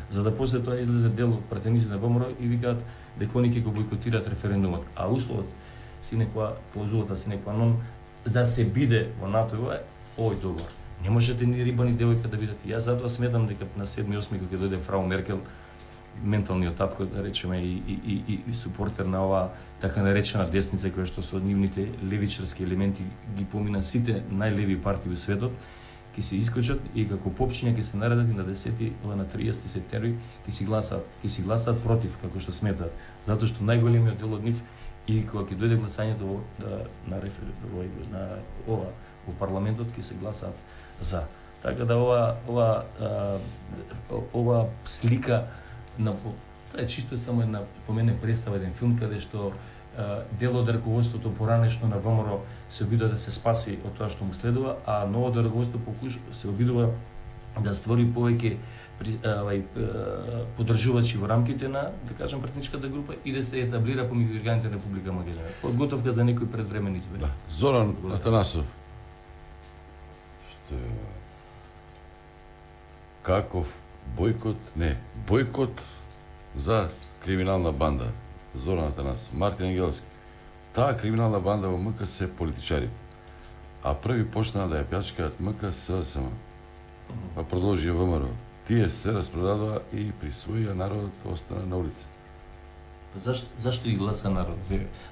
за да после тоа излезе дел од пратеници на ВМРО и викаат дека они ќе го бойкотираат референдумот. А условот клаузулата sine qua non да се биде во НАТО е овој договор. Не можете ни риба ни девојка да бидете. Јас затоа сметам дека на 7-8 кога ќе дојде фрау Меркел, менталниот татко, да речеме, и супортер на оваа така наречена десница, која што со нивните левичарски елементи ги помина сите најлеви партии во светот, ќе се искочат и како попчиња ќе се наредат и на 10 на 30 септември ќе си гласаат против, како што сметаат, затоа што најголемиот дел од нив и кога ќе дојде гласањето во парламентот ќе се гласаат за. Така да ова слика на тоа е чисто само една по мене представа, еден филм каде што дел од раководството поранешно на ВМРО се обидува да се спаси од тоа што му следува, а новото раководство се обидува да створи повеќе поддржувачи во рамките на, да кажем, пратничката група и да се етаблира помеѓу органите на Република Македонија. Подготовка за некои предвремени избори. Да. Зоран Атанасов. Што каков бојкот за криминална банда. Зоран Атанасов, Мартин Ангелски. Таа криминална банда во МК се политичари, а први почнаа да ја плячкаат МК СДСМ. Па продолжи ВМРО. Тие се распродадоа и присвоија народот остана на улица. Зашто ги гласа народ?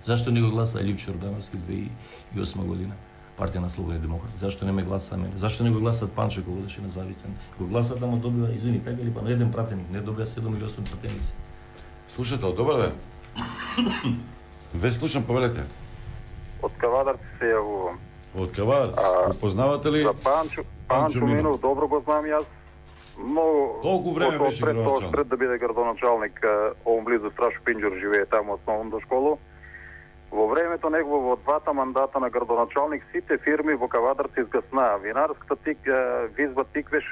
Зашто не го гласа Лјупчо Јордановски 2008 година? Партија на Слободни демократи. Зашто не ме гласа мене? Зашто не го гласат Панчо кога беше независен? Го гласат, ама добива, извини, така или па на еден пратеник, не добија 7 или 8 пратеници. Слушател, добар ден. Ве слушам, повелете. Од Кавадарци се јавувам. Од Кавадарци. Го познавате ли? За Панчо Минов, добро го знам јас. Многу колку време беше градоначалник? Пред да биде градоначалник, овом близу Страшо Пинџур живее таму основната школа. Во времето негово во двата мандата на градоначалник сите фирми во Кавадарци изгаснаа. Винарската визба Тиквеш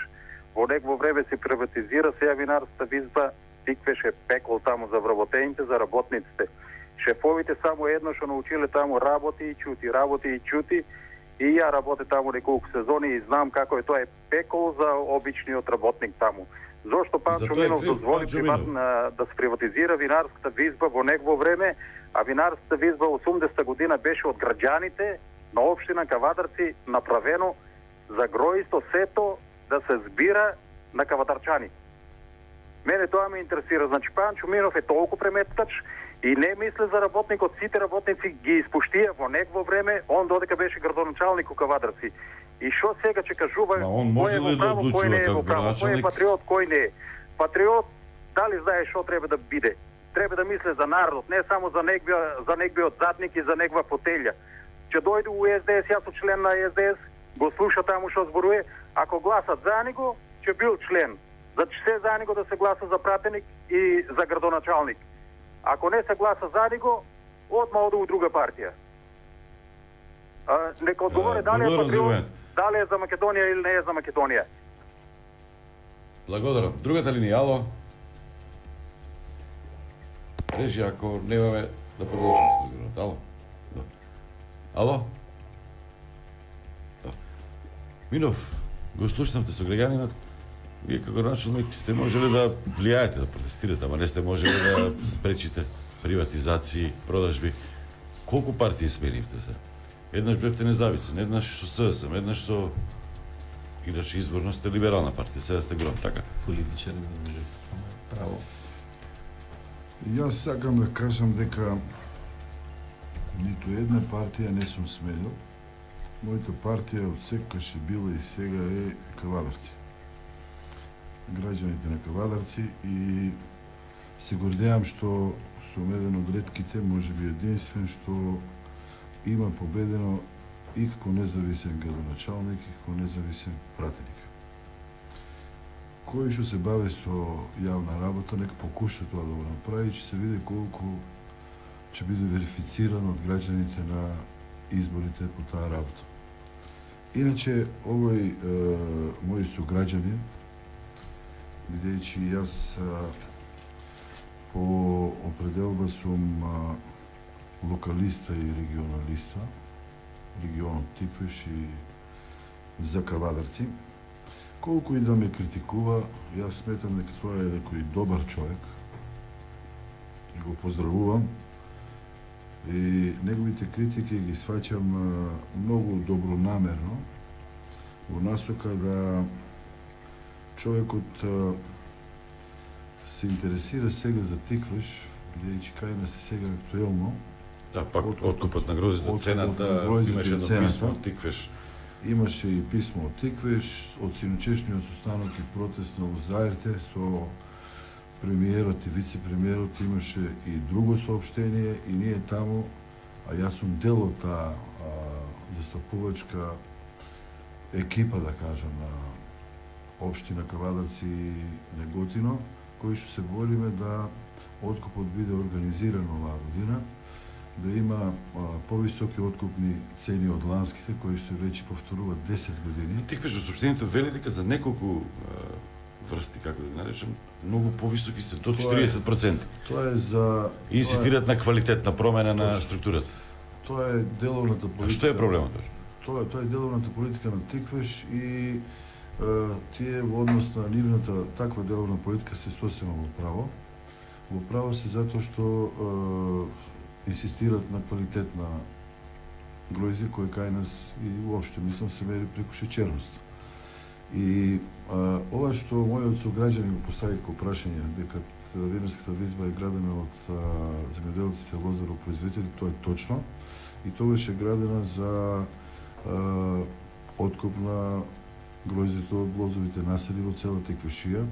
во негово време се приватизира, сега винарската визба Тиквеш е пекол таму за вработените, за работниците. Шефовите само едно што научиле таму работи и чути. И ја работе таму неколку сезони и знам како е, тоа е пекол за обичниот работник таму. Зошто Панчо Минов дозволи да се приватизира винарската визба во негово време, а винарската визба 80-та година беше од граѓаните на општина Кавадарци направено за гроисто сето да се збира на кавадарчани. Мене тоа ме интересира. Значи Панчо Минов е толку преметкач и не мисли за работникот, сите работници ги испуштија во негово време, он додека беше градоначалник у Кавадарци. И што сега ќе кажува кој е во право, кој не е во право, кој е патриот, кој не е. Патриот, дали знае што треба да биде? Треба да мисли за народот, не само за неговиот задник и за негова фотелја. Ќе дојде у СДС, јас сум член на СДС, го слуша таму што зборува, ако гласат за него, ќе бил член. Значи се за него да се гласа за пратеник и за градоначалник. Ако не се гласа за него, одма оде у друга партија. Нека одговори дали е патриот, дали е за Македонија или не е за Македонија. Благодарам. Другата линија, ало? Режи, ако немаме да продолжим с разговорот. Ало? Ало? Минов, го слушнавте со граѓанинот. Вие како началник сте можеле да влијаете, да протестирате, ама не сте можеле да спречите приватизации, продажби. Колку партии сменивте се? Еднаш бевте независен, еднаш со СДСМ, еднаш со иначе изборно сте либерална партија, сега сте гром, така? Политичари не може право. Јас сакам да кажам дека ниту една партија не сум сменил. Мојата партија од секогаш е била и сега е Кавадарци. Граѓаните на Кавадарци, и се гордеам што сум еден од ретките, можеби единствен, што има победено и како независен градоначалник, и како независен пратеник. Кој што се бави со јавна работа, нека покуша тоа да го направи, ќе се види колку ќе биде верифициран од граѓаните на изборите по таа работа. Иначе, овој мој сограѓанин, бидејќи јас по определба сум локалиста и регионалиста, регионот Тиквиш и за Кавадарци, колку и да ме критикува, јас сметам дека тоа е некој добар човек и го поздравувам, и неговите критики ги сваќам многу добронамерно во насока да човекот се интересира сега за Тиквиш, бидејќи кај нас е сега актуелно. Да, пак откупот на грозите, цената, имаше едно писмо од Тиквиш. Имаше и писмо од Тиквиш, од синочешниот состанок и протест на Лозаерте со премиерот и вице-премиерот, имаше и друго соопштение, и ние таму, а јас сум дел од таа застапувачка екипа, да кажам, на општина Кавадарци и Неготино, кои што се бориме да откупот биде организиран оваа година, да има повисоки откупни цени од ланските, кои што веќе повторуваат 10 години. Тиквиш во соопштението вели дека за неколку врсти, како да наречем, многу повисоки се, до 40%. Тоа е за... И инсистираат на квалитетна промена на структурата. Тоа е деловната политика. А што е проблемот? Тоа е деловната политика на Тиквиш, и тие во однос на нивната таква деловна политика се сосема во право. Во право се затоа што инсистираат на квалитетна гројзе, кој кај нас и уопште мислам се мери преку шеќерност. И ова што мојот сограѓанин го постави како прашање, дека винарската визба е градена од земјоделците лозаропроизводители, тоа е точно. И тогаш е градена за откуп на гројзето од лозовите насади во цела Тиквишија.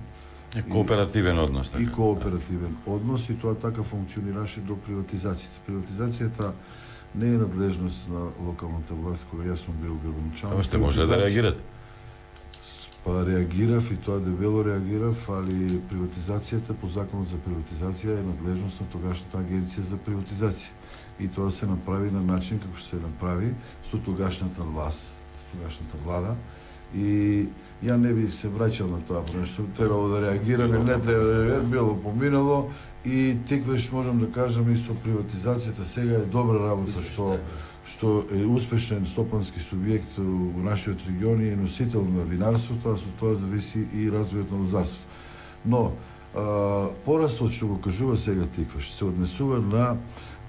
Кооперативен однос. И кооперативен однос, и тоа така функционираше до приватизацијата. Приватизацијата не е надлежност на локалната власт, која јас сум бил градоначалник. Ама сте можеле да реагирате? Па реагирав, и тоа дебело реагирав, али приватизацијата по законот за приватизација е надлежност на тогашната агенција за приватизација. И тоа се направи на начин како што се направи со тогашната власт, тогашната влада. И ја не би се враќал на тоа, пошто требало да реагирам, или не треба да реагирам, било поминало, и Тиквиш можам да кажам и со приватизацијата сега е добра работа, што е успешен стопански субјект во нашиот регион и е носител на винарството, а со тоа зависи и развојот на лозарството. Но порастот што го кажува сега Тиквиш се однесува на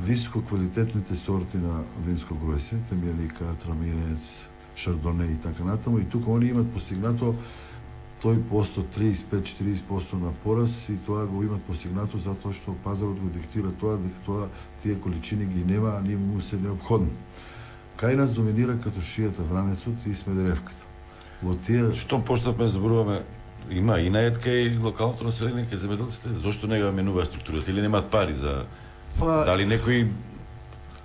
висококвалитетните сорти на винско гројсе, темјаника, траминец, шардоне и така натаму, и тука они имат постигнато тој посто 35-40% на пораз, и тоа го имат постигнато затоа што пазарот го диктира тоа, дека тие количини ги нема, а ние му се необходни. Кај нас доминира като шијата Вранецот и Смедеревката. Во тие... Што поштапме зборуваме, има и наетка и локалното население кај земјоделците, зошто не го менува структурата или немаат пари за... Дали некој...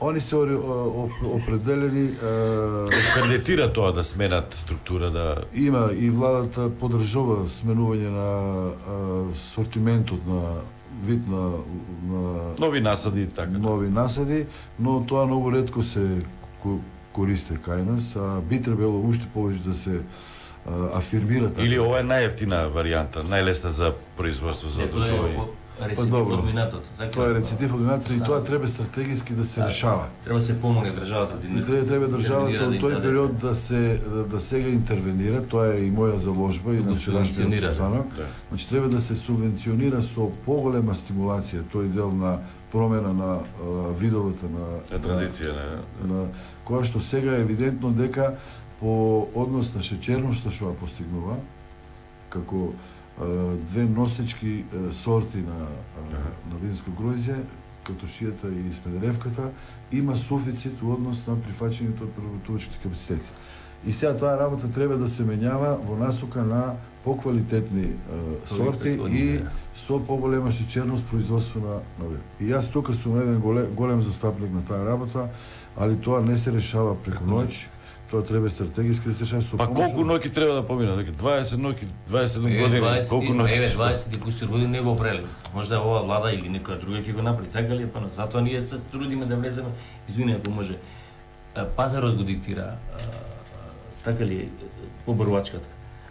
Они се определени... Кандидатира тоа да сменат структура, да... Има, и владата подржува сменување на сортиментот, на вид на... Нови насади, така. Нови насади, но тоа многу ретко се користи кај нас, а би требало уште повеќе да се афирмира. Или ова е најевтина варијанта, најлесна за производство, за одржување. рецидив од минатото. Тоа е рецидив од минатото и тоа треба стратегиски да се решава. Треба се помогне државата. Треба државата од тој период да сега интервенира, тоа е и моја заложба и на вчерашниот станок. Значи треба да се субвенционира со поголема стимулација тој дел на промена на видовете на транзиција на која што сега е евидентно дека по однос на шеќерноста што ја постигнува како две носечки сорти на винско гроздје, като шијата и смедеревката, има суфицит у однос на прифаќањето од преработувачките капацитети. И сега таа работа треба да се менјава во насока на поквалитетни сорти и со поголема шеќерност производство на вин. И јас тука сум еден голем застапник на таа работа, али тоа не се решава преку ноќ. Тоа треба стратегиски да се решава со помош. Па колку ноќи треба да помина? Дека 20 ноќи, 27 години, колку ноќи? 20 и кусур години не го прели. Можда ова влада или некоја друга ќе го направи. Така ли е? Па затоа ние се трудиме да влеземе. Извини ако може. Пазарот го диктира. Така ли е побарувачката?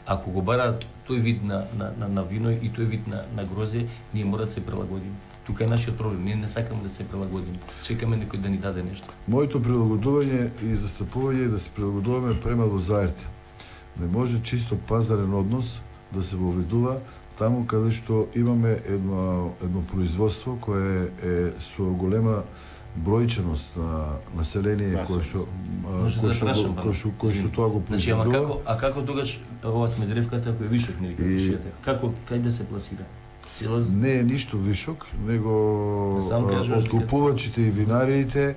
Ако го бара тој вид на вино и тој вид на грозје, ние мора да се прилагодиме. Тука е нашиот проблем. Ние не сакаме да се прилагодиме. Чекаме некој да ни даде нешто. Моето прилагодување и застапување е да се прилагодуваме премало заерти. Не може чисто пазарен однос да се воведува таму каде што имаме едно производство кое е со голема бројченост на население кое што тоа го произведува. А како тогаш ова смедеревката која вишок не вика? Како кај да се пласира? Не е ништо вишок, него откупувачите и винариите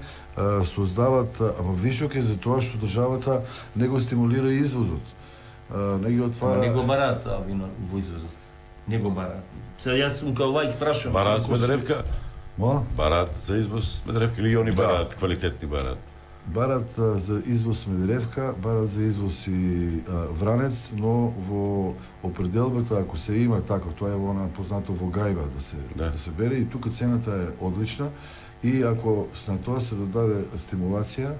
создават, ама вишок е за тоа што државата не го стимулира извозот. Не ги отвара. Не го бараат вино во извозот. Не го бараат. Сега јас сум као лаик прашувам. Бараат смедеревка? Бараат за извоз смедеревка или они бараат квалитетни бараат? Барат за извоз смедеревка, барат за извоз и вранец, но во определбата, ако се има така, тоа е она познато во гајба да се бере и тука цената е одлична и ако на тоа се додаде стимулација,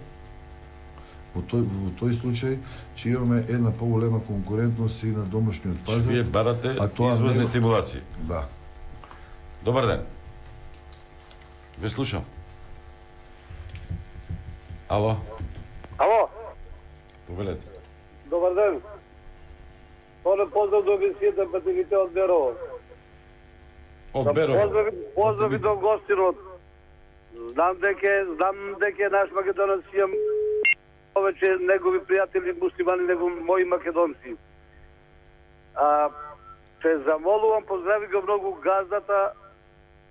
во тој случај че имаме една поголема конкурентност и на домашниот пазар. Вие барате извозни стимулации. Да. Добар ден. Ве слушам. Ало. Ало. Повелете. Добар ден. Поздрав до емисијата Патегите од Берово. Од Берово. Поздрави до гостинот. Знам дека наш македонец имам повеќе негови пријатели муслимани него мои македонци. Те замолувам, поздрави го многу газдата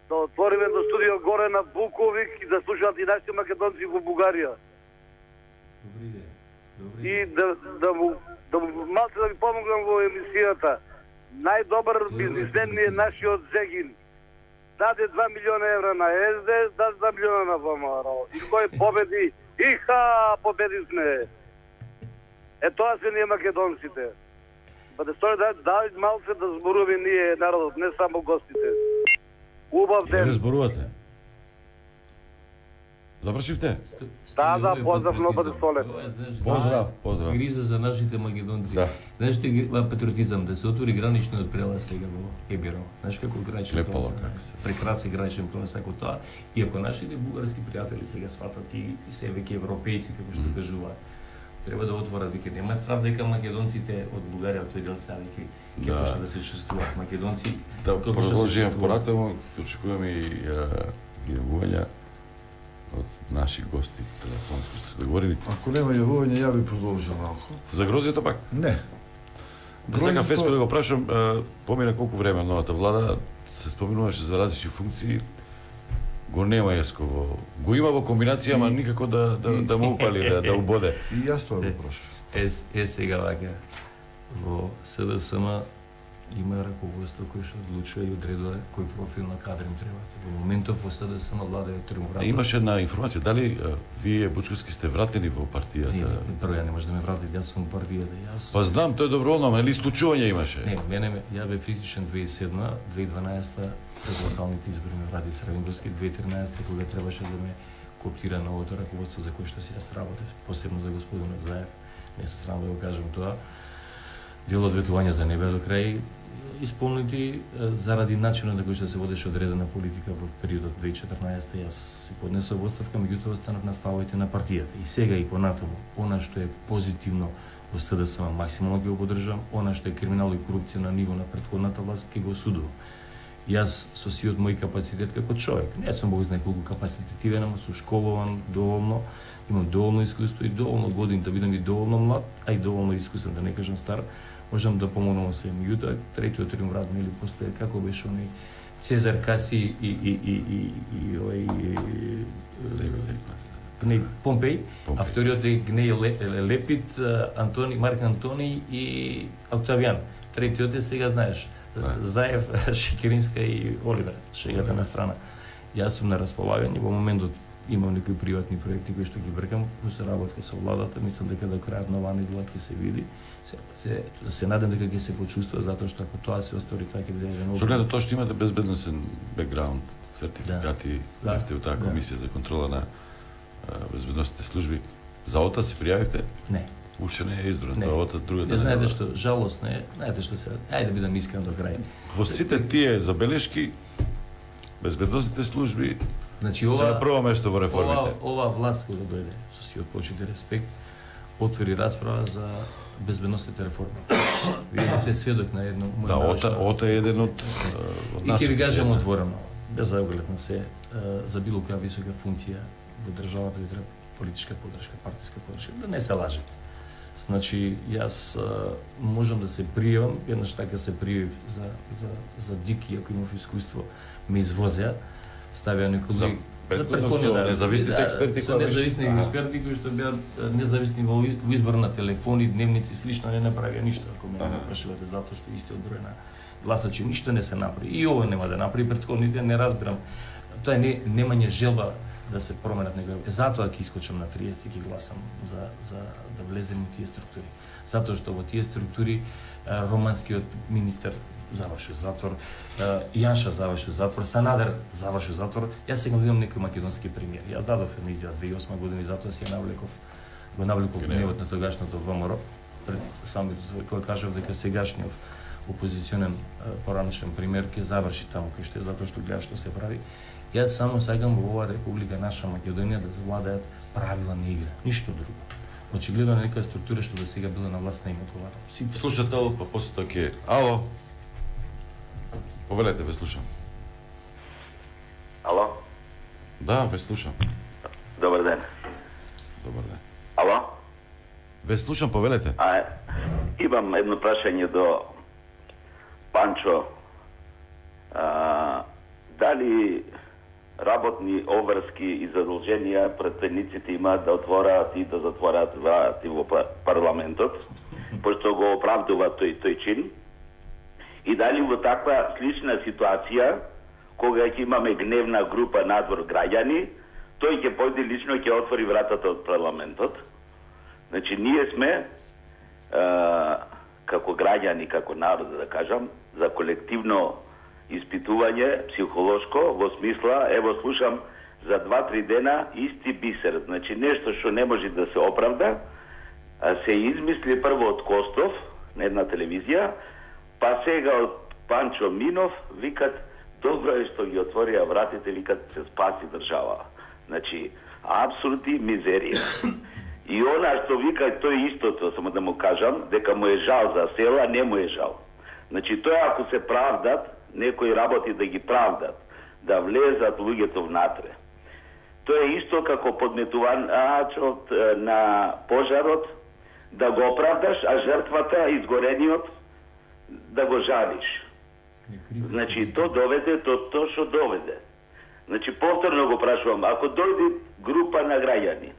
да отвориме до студио горе на Буковик и да слушаат и нашите македонци во Бугарија. И да му малце да ви помогнам во емисијата. Најдобар бизнисмен ми е нашиот Зегин. Даде 2 милиона евра на СДС, даде 2 милиона на ВМРО. И кој победи? Иха, победи сме. Тоа се ние македонците. Па да стои да малце да зборуваме ние народот, не само гостите. Убав ден. Не зборувате. Завршивте? Да, поздрав, но бъде солен. Поздрав. Гриза за нашите македонци. Знаеш ти патриотизам, да се отвори граничниот прелаз сега во Ебиро. Знаеш како граничен прелаз? Прекрасен граничен прелаз како тоа. И ако нашите бугарски пријатели сега сватат и се веќе европејци, како што кажуваат, треба да отворат веќе нема страв дека македонците од Бугарија од тој дел се веќе ќе почнат да се чувствуваат македонци. Да продолжиме понатаму, очекуваме и јавувања од наши гости телефонски што се договорили. Ако нема јавување, ја би продолжил малку. За грозјето пак? Не. Сега Феско да го прашам, помина колку време новата влада се споминуваше за различни функции. Го нема Јеско го има во комбинација, ама никако да му упали, да убоде. И јас тоа го прашам. Сега вака во СДСМ има раководство кој што одлучува и одредува кој профил на кадри им треба. Во моментов во СДСМ влада е тримоврата. Имаше една информација, дали вие Бучковски сте вратени во партијата? Не, прво ја не може да ме врати, јас сум во партијата. Па знам, тоа е доброволно, ама или случување имаше? Не, ја бев физичен 2007, 2012 пред локалните избори ме врати Црвенбрски, 2013 кога требаше да ме кооптира новото раководство за кое што си јас работев, посебно за господин Заев. Не се срамам да го кажам тоа. Дел од ветувањата не бе до крај, исполнети заради начинот на кој што се водеше одредена политика во периодот 2014. Јас си поднесов оставка, меѓутоа останав на ставовите на партијата. И сега и понатаму, она што е позитивно во СДСМ максимално ќе го поддржам, она што е криминал и корупција на ниво на претходната власт ќе го осудувам. Јас со сиот мој капацитет како човек, не сум Бог знае колку капацитетивен, ама сум школован доволно, имам доволно искуство и доволно години да бидам и доволно млад, а и доволно искусен, да не кажам стар, можам да помогнам се. Меѓутоа, третиот триумврат нели постои како беше оној Цезар Каси и Помпеј, а вториот е Гнеј Лепит, Марк Антони и Октавијан. Третиот е сега знаеш, Заев, Шекеринска и Оливер, шегата на страна. Јас сум на располагање, во моментот имам некои приватни проекти кои што ги бркам, во соработка со владата, мислам дека до крајот на оваа недела ќе се види. Се надам дека ќе се почувствува, затоа што ако тоа се остори, тоа ќе биде еден. Со гледа тоа што имате безбедносен бекграунд, сертификати, бевте у таа комисија за контрола на безбедносните служби, за ОТА се пријавивте? Не. Уште не е избрано, тоа ОТА другата. Знаете што, жалосно е, знаете што се, ајде да бидам искрен до крај. Во сите тие забелешки, безбедносните служби значи, се на прво место во реформите. Ова власт кога дојде, со сиот почит и респект, отвори расправа за безбедносните реформи. Вие сте сведок на едно Да, ОТА е еден од нас. И ќе ви кажам отворено, без заоглед на се, за било која висока функција во државата ви треба политичка поддршка, партиска поддршка, да не се лаже. Значи, јас можам да се пријавам, еднаш така се пријавив за ДИК, иако имав искуство, ме извозеа, ставија некои независните експерти, со независни експерти кои што беа независни во избор на телефони, дневници, слично, не направија ништо, ако ме прашувате, затоа што истиот број на гласачи ништо не се направи. И ова нема да направи, претходните не разбирам. Тоа е немање желба да се променат некои. Затоа ќе искочам на 30 и ќе гласам за да влезем во тие структури. Затоа што во тие структури романскиот министер заврши затвор, Јанша заврши затвор, Санадер заврши затвор. Јас сега видам некој македонски премиер. Јас дадов една изјава 2008 година и затоа си ја навлеков гневот на тогашното ВМРО пред самите кој кажав дека сегашниот опозиционен поранешен премиер ќе заврши таму кај што е, затоа што гледа што се прави. Јас само сакам во оваа република наша Македонија да завладеат правила на игра, ништо друго. Очигледно некоја структура што до сега била на власт не им одговара. Слушател, па после тоа ќе... Ало? Повелете, ве слушам. Ало? Да, ве слушам. Добар ден. Добар ден. Ало? Ве слушам, повелете. Имам едно прашање до Панчо. Дали работни обврски и задолженија претседниците имаат да отвораат и да затвораат врати во парламентот, пошто го оправдува тој чин? И дали во таква слична ситуација, кога ќе имаме гневна група надвор граѓани, тој ќе појде лично ќе отвори вратата од парламентот? Значи, ние сме како граѓани, како народ, да кажам, за колективно испитување психолошко во смисла, ево слушам за 2-3 дена исти бисер, значи нешто што не може да се оправда, се измисли прво од Костов на една телевизија, па сега од Панчо Минов викат добро е што ги отворија вратите, викат се спаси држава. Значи апсурд и мизерија. И она што вика тој истото, само да му кажам, дека му е жал за села, не му е жал. Значи тој ако се правдат, некои работи да ги правдат, да влезат луѓето внатре. Тоа е исто како подметуваачот на пожарот, да го оправдаш, а жртвата, изгорениот, да го жалиш. Значи, то доведе тоа што доведе. Значи, повторно го прашувам, ако дојде група на граѓани,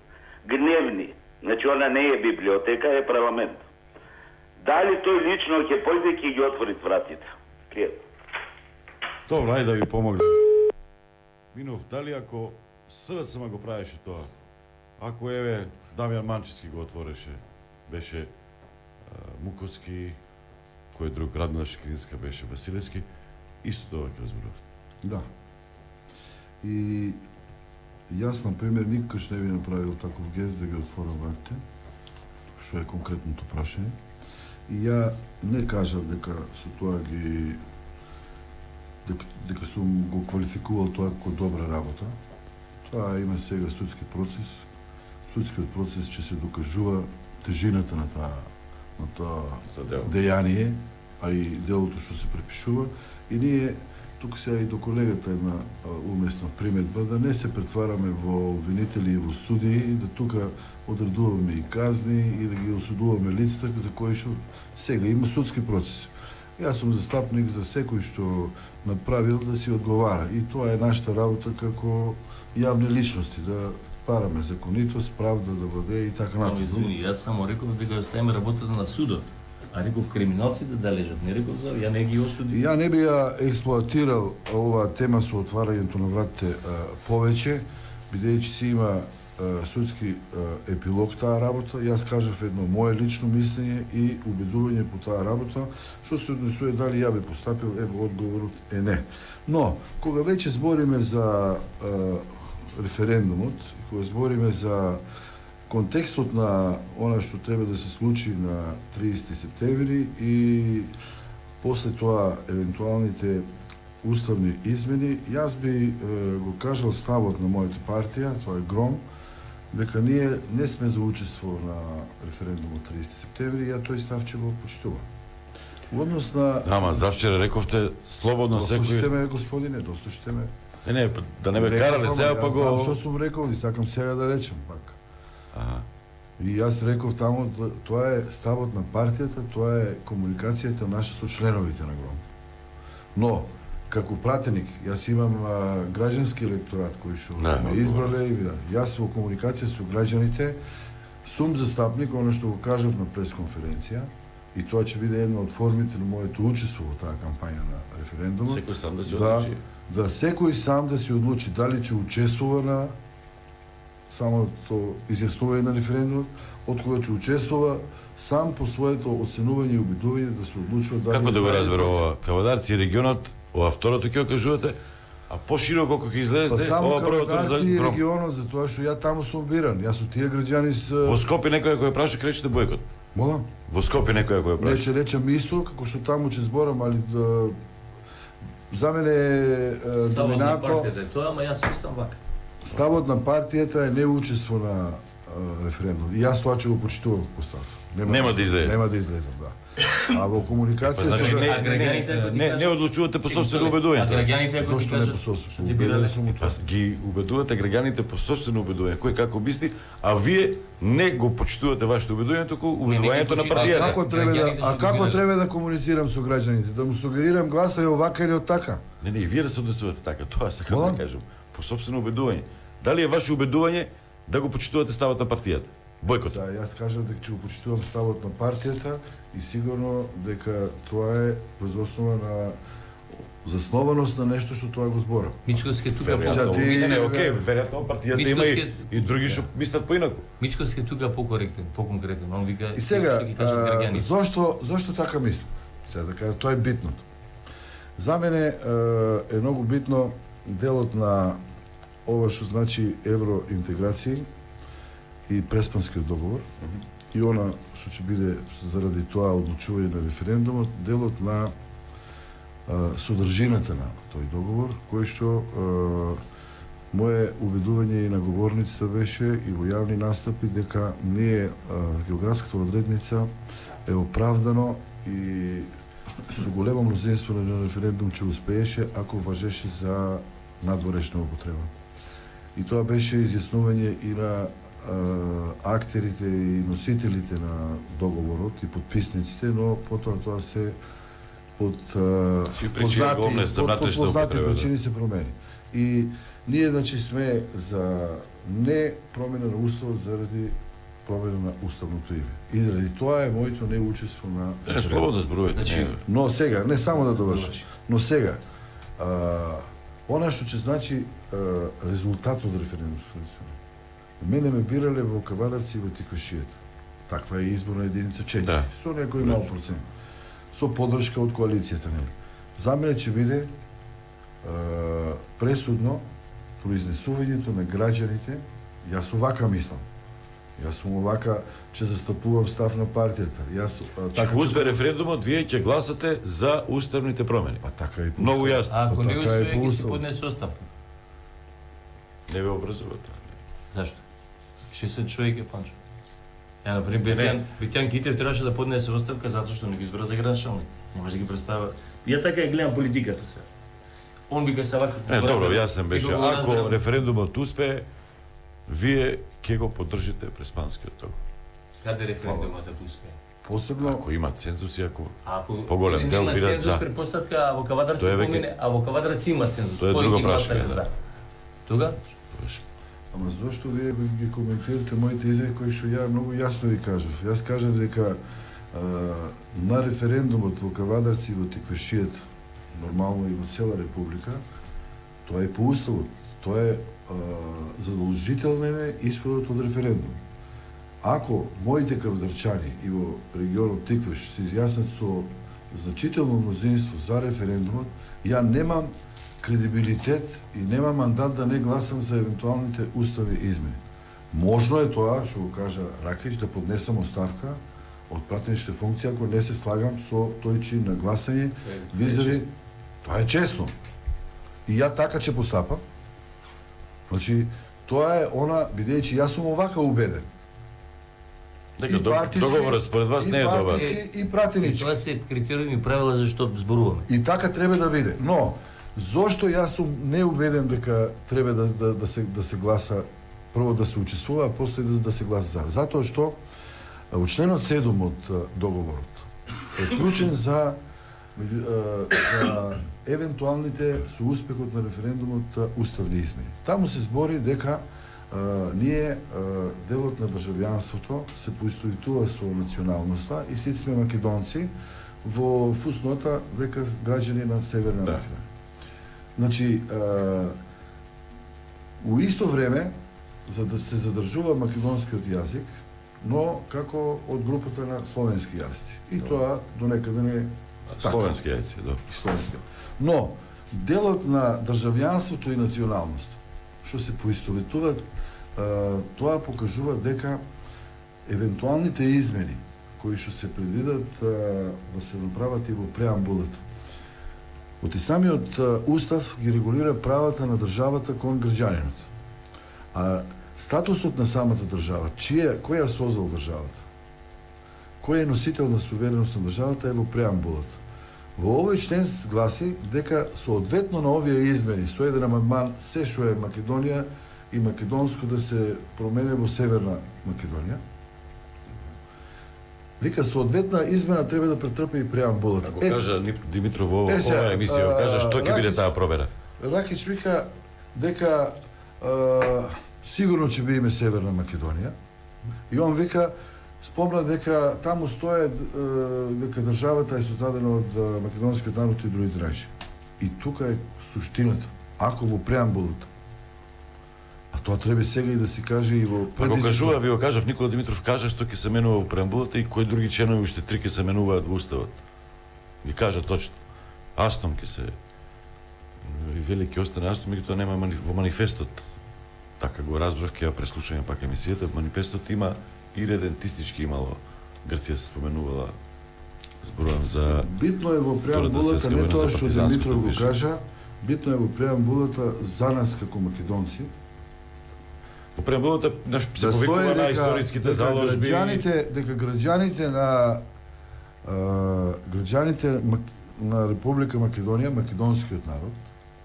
гневни, значи она не е библиотека, е парламент, дали тој лично ќе појде ќе ги отвори вратите? Добро, ајде да ви помогнем. Минов, дали ако СДСМ го правеше тоа, ако еве Дамјан Манчевски го отвореше, беше Муковски, кој друг, Радмила Шекеринска беше Василевски, исто тоа ќе разборував. Да. И јас, например, никош не би направил таков гест да ги отворам вратите, што е конкретното прашање. И ја не кажав дека со тоа ги дека сум го квалификувал тоа како добра работа. Тоа има сега судски процес. Судскиот процес ќе се докажува тежината на тоа дејание, а и делото што се препишува. И ние тук сега и до колегата една уместна приметба да не се претвараме во обвинители и во судии, да тука одредуваме и казни и да ги осудуваме лицата за кои што сега има судски процес. Јас сум застапник за секој што направил да си одговара и тоа е нашата работа како јавни личности, да параме законитост, правда да бъде и така натаму. Извини, јас само реков дека оставиме работата на судот. А реков криминалците да лежат, не реков за ја не ги осуди. Ја не би ја експлоатирал оваа тема со отварањето на вратите повеќе, бидејќи си има судски епилог таа работа. Јас кажав едно мое лично мислење и убедување по таа работа, што се однесува дали ја би постапил, ево одговорот е не. Но кога веќе збориме за референдумот, кога збориме за контекстот на она што треба да се случи на 30 септември и после тоа евентуалните уставни измени, јас би го кажал ставот на мојата партија, тоа е ГРОМ, дека ние не сме за учество на референдумот 30 септември, ја тој став ќе го почитувам. Во однос на... Ама завчера рековте слободно секој... Дослушате ме, господине, дослушате ме. Не, да не ме карале сега па го... Знам што сум рекол и сакам сега да речем пак. И јас реков таму, тоа е ставот на партијата, тоа е комуникацијата наша со членовите на ГРОМ. Но, како пратеник, јас имам граѓански електорат кој што ме избрале и јас во комуникација со граѓаните сум застапник, оно што го кажав на пресконференција, и тоа ќе биде една од формите на моето учество во таа кампања на референдумот. Секој сам да се одлучи. Да секој сам да се одлучи дали ќе учествува на самото изјаснување на референдумот, од кога ќе учествува сам по своето оценување и убедување да се одлучува дали... Како да го разбере ова? Кавадарци регионот, ова второто ќе кажувате, а пошироко кога излезете, ова првото за Кавадарци ГРОМ. регионот, затоа што ја таму сум биран. Јас од тие граѓани Во Скопје некој кој праша кречете бојкот. Молам? Во Скопје некој кој праша. Не ќе речам исто, како што таму ќе зборам, али за мене е доминантно. Тоа, ама јас истам вака. Ставот на партијата е неучество на референдум. И јас тоа ќе го почитувам како став. Нема да излезе. Нема да излезам, да. А во комуникација Значи не одлучувате по собствено убедување. А граѓаните ако Зошто не по собствено? Убеден сум у тоа. Ги убедувате граѓаните по собствено убедување, кој како мисли, а вие не го почитувате вашето убедување, туку убедувањето на партијата. Како треба да комуницирам со граѓаните? Да му сугерирам гласа и овака или од така? Не, и вие да се однесувате така, тоа сакам да кажам. По собствено убедување. Дали е ваше убедување да го почитувате ставот на партијата? Бојкот. Да, јас кажам дека ќе го почитувам ставот на партијата и сигурно дека тоа е врз основа на заснованост на нешто што тоа го зборам. Мичковски тука веројатно партијата има и други што мислат поинаку. Мичковски тука покоректен, поконкретен. Он вика и сега ќе кажат граѓани. Зошто така мислам? Сега да кажам, тоа е битното. За мене е многу битно делот на ова што значи евроинтеграција и Преспанскиот договор и она што ќе биде заради тоа одлучување на референдумот, делот на содржината на тој договор, кој што мое убедување и на говорницата беше и во јавни настапи дека ние географската одредница е оправдано и со големо мнозинство на референдум ќе успееше ако важеше за надворешна употреба. И тоа беше изјаснување и на актерите и носителите на договорот и подписниците, но потоа тоа се под познати причини се промени. И ние, значи, сме за не промена на уставот заради промена на уставното име. И заради тоа е моето неучество на... Слободно зборувате. Но сега, не само да довршам, но сега, она што ќе значи резултат од референдумското гласување. Мене ме бирале во Кавадарци и во Тиквешијата. Таква е изборна единица 4. Да. Со некој мал процент. Со поддршка од коалицијата, нели. За мене ќе биде пресудно произнесувањето на граѓаните, јас овака мислам. Јас сум овака че застапувам став на партијата. Јас така успе референдумот, вие ќе гласате за уставните промени. Па така и многу јасно. Ако не успее, ќе се поднесе оставка. Не ве образува. Зашто? 60 човек е Панчо. Ја, например, Битјан Китев требаше да поднесе оставка затоа што не ги избра за градначалник. Не може да ги представа. Ја така ја гледам политиката сега. Он вика се вака. Добро, јасен беше. Ако референдумот успее, вие ќе го поддржите преспанскиот договор. Каде референдумот успее? Посебно ако има цензус и ако поголем дел бидат за. Цензус предпоставка, во Кавадарци помине, а во Кавадарци има цензус. Тоа е друго прашање, да. Тога? Ама зошто вие ги коментирате моите изјави кои што ја многу јасно ви кажав. Јас кажав дека на референдумот во Кавадарци и во Тиквешијата, нормално и во цела република, тоа е по уставот. Тоа е задолжителен е исходот од референдум. Ако моите кавадарчани и во регионот Тиквеш се изјаснат со значително мнозинство за референдумот, ја немам кредибилитет и нема мандат да не гласам за евентуалните уставни измени. Можно е тоа, што го кажа Ракич, да поднесам оставка од пратеничните функции ако не се слагам со тој чин на гласање, визави, тоа е честно. И ја така ќе постапам. Значи, тоа е она, бидејќи јас сум овака убеден. Дека договорот според вас не е добар. И пратенички. Тоа се критериуми и правила за што зборуваме. И така треба да биде. Но зошто јас сум неубеден дека треба да се гласа, прво да се учествува, а после да се гласа за? Затоа што во членот 7 од договорот е клучен за евентуалните со успехот на референдумот уставни измени. Таму се збори дека ние делот на државјанството се поистоветува со националноста и сите сме македонци во фуснота дека граѓани на Северна Македонија. Значи, у исто време, за да се задржува македонскиот јазик, но како од групата на словенски јазици. И тоа до некаде не е словенски јазици, да. Словенски. Но, делот на државјанството и националност, што се поистоветуваат, тоа покажува дека евентуалните измени кои што се предвидат да се направат и во преамбулата. Од и самиот устав ги регулира правата на државата кон граѓанинот. А статусот на самата држава, кој ја создал државата? Кој е носител на сувереност на државата е во преамбулата. Во овој член гласи дека соодветно на овие измени со еден амандман се што е Македонија и македонско да се промене во Северна Македонија. Вика, соодветна измена треба да претрпи и преамбулата. Ако кажа Димитров во оваа емисија, кажа што ќе биде таа промена. Ракич вика дека сигурно ќе биде Северна Македонија. И он вика, спомна дека таму стои дека државата е создадена од македонскиот народ и другите најши. И тука е суштината. Ако во преамбулата. А тоа треба сега и да се каже и во предизбор. Го кажува, ви го кажав, Никола Димитров кажа што ќе се менува во преамбулата и кои други членови уште 3 ќе се менуваат во уставот. Ги кажа точно. Астом ќе се и велики остане Астом, и тоа нема во манифестот. Така го разбрав, ќе ја преслушаме пак емисијата. Манифестот има и редентистички имало. Грција се споменувала, зборувам за битно е во преамбулата не тоа што Димитров го кажа, битно е во преамбулата за нас како македонци. Во преамбулата се повикува на историските заложби. Дека граѓаните на Република Македонија, македонскиот народ,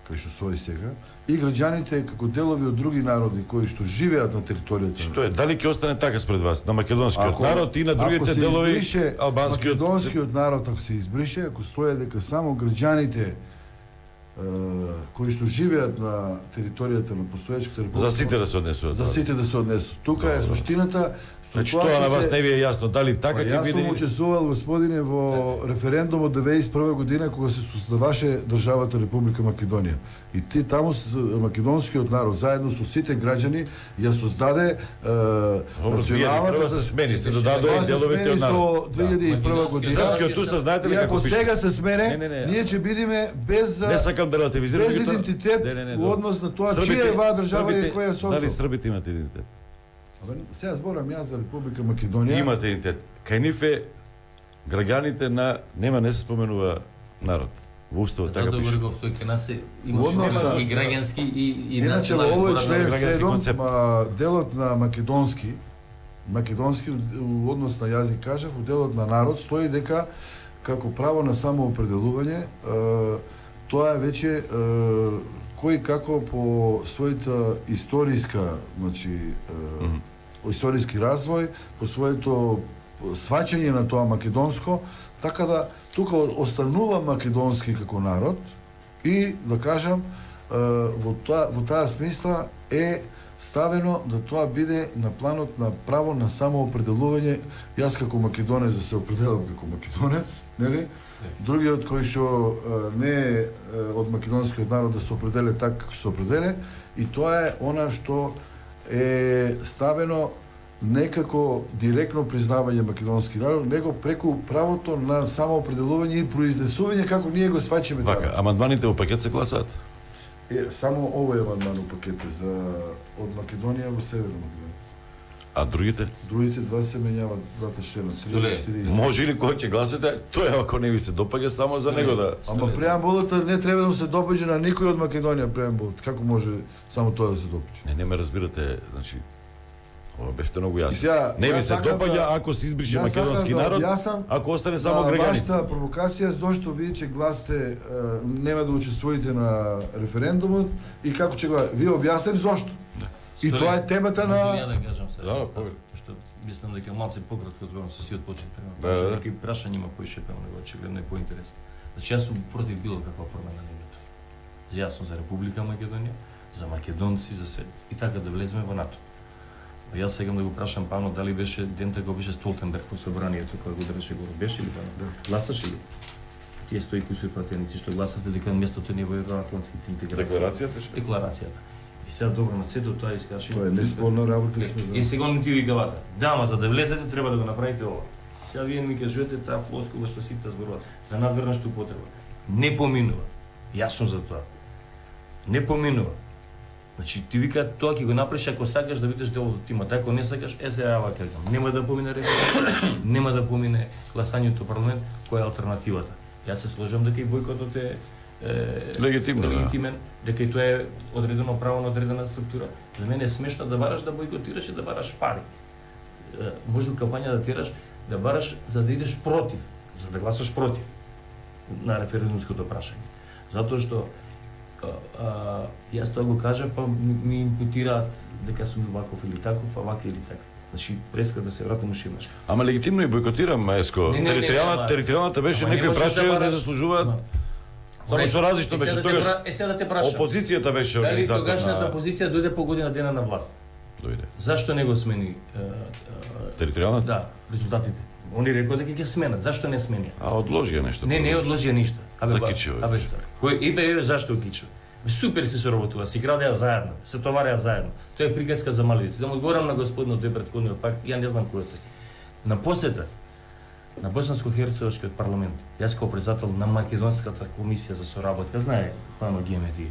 кај што стои сега, и граѓаните како делови од други народи кои што живеат на територијата. Што е, дали ќе остане така спред вас на македонскиот народ и на другите делови албанскиот? Македонскиот народ ако се избрише, ако стои дека само граѓаните кои што живеат на територијата на постоечката република. За сите да се однесуваат. За сите да се однесуваат. Тука е суштината. Значи тоа на вас не ви е јасно дали така ќе биде. Јас сум учествувал, господине, во референдумот 2001 година кога се создаваше државата Република Македонија. И таму македонскиот народ заедно со сите граѓани ја создаде националната се смени, се додадоа деловите од народ. 2001 година. Српскиот устав знаете ли како пише? Ако сега се смене, ние ќе бидеме без не сакам да релативизирам, без идентитет во однос на тоа чија е оваа држава и која е создала. Дали Србите имаат идентитет? Сега зборам јас за Република Македонија. Имате идентитет. Кај нив е граѓаните не се споменува народ. Во уставот така пише. Затоа го тој кај нас имаше немски граѓански и иначе во овој член 7 делот на македонски у однос на јазик кажав, у делот на народ стои дека како право на самоопределување тоа е веќе кој како по својата историска, значи историски развој, по своето сваќање на тоа македонско, така да тука останува македонски како народ и да кажам во таа смисла е ставено да тоа биде на планот на право на самоопределување. Јас како македонец да се определам како македонец, нели? Другиот кој што не е од македонскиот народ да се определе така како се определе, и тоа е она што е ставено некако директно признавање македонски народ, него преку правото на самоопределување и произнесување како ние го сваќаме. Вака, амандманите во пакет се гласаат? Само овој амандман во пакет за од Македонија во Северна Македонија. А другите? Другите два се менјават, двата члена. Може ли кој ќе гласате, тој ако не ви се допаѓа само за него да... Ама преамбулата не треба да се допаѓа на никој од Македонија преамбулата. Како може само тоа да се допаѓа? Не ме разбирате, значи ова бевте многу јасно. Не ви се допаѓа ако се избрише македонски народ, ако остане само граѓани. Вашата провокација зошто вие ќе гласате нема да учествувате на референдумот и како ќе го вие објаснете зошто. И тоа е темата на... Може да кажам сега, што мислам дека малце пократко зборам со сиот почет према. Некои прашања има поишепено, него очигледно е поинтересно. Значи јас сум против било каква промена на името. Јасно за Република Македонија, за македонци, за све. И така да влеземе во НАТО. Јас сегам да го прашам Пано дали беше дента кога беше Столтенберг по собранието кога го држеше го беше ли Пано? Гласаше ли? Тие 100 и кусури пратеници што гласавте дека местото не е во евроатлантските интеграции. Декларацијата. И сега добро на сето тоа искаше. Тоа е неспорна работа сме за. И сега не ти вика вака. Да, ама за да влезете треба да го направите ова. Сега вие ми кажете таа флоскула што сите зборуваат за надврнешна употреба. Не поминува. Јас сум за тоа. Не поминува. Значи ти вика тоа ќе го направиш ако сакаш да бидеш дел од тимот, ако не сакаш сега вака кажам. Нема да помине референдум, нема да помине гласањето парламент, која е алтернативата. Јас се сложам дека и бојкотот е легитимен, дека и тоа е одредено право на одредена структура. За мене е смешно да бараш да бојкотираш и да бараш пари. Може кампања да тераш да бараш за да идеш против, за да гласаш против на референдумското прашање. Затоа што јас тоа го кажав, па ми импутираат дека сум ваков или таков, па вака или така. Значи, преска да се вратам уште еднаш. Ама легитимно и бојкотирам, Маеско. Територијалната беше некои прашања не заслужуваат. Само што различно беше тогаш. Сега да те прашам. Опозицијата беше организатор. Дали тогашната опозиција дојде по година дена на власт? Дојде. Зашто не го смени територијалната? Да, резултатите. Они рекоа дека ќе сменат. Зашто не смени? Одложија нешто. Не одложија ништо. Закичува. Кој зашто кичува? Супер се соработува, си градеа заедно, се товареа заедно. Тоа е приказка за мали деца. Да му одговорам на господинот де претходниот пак, ја не знам кој е тој. На посета на Босанско-Херцеговскиот парламент, јас како председател на македонската комисија за соработка, знае Пано Гемети,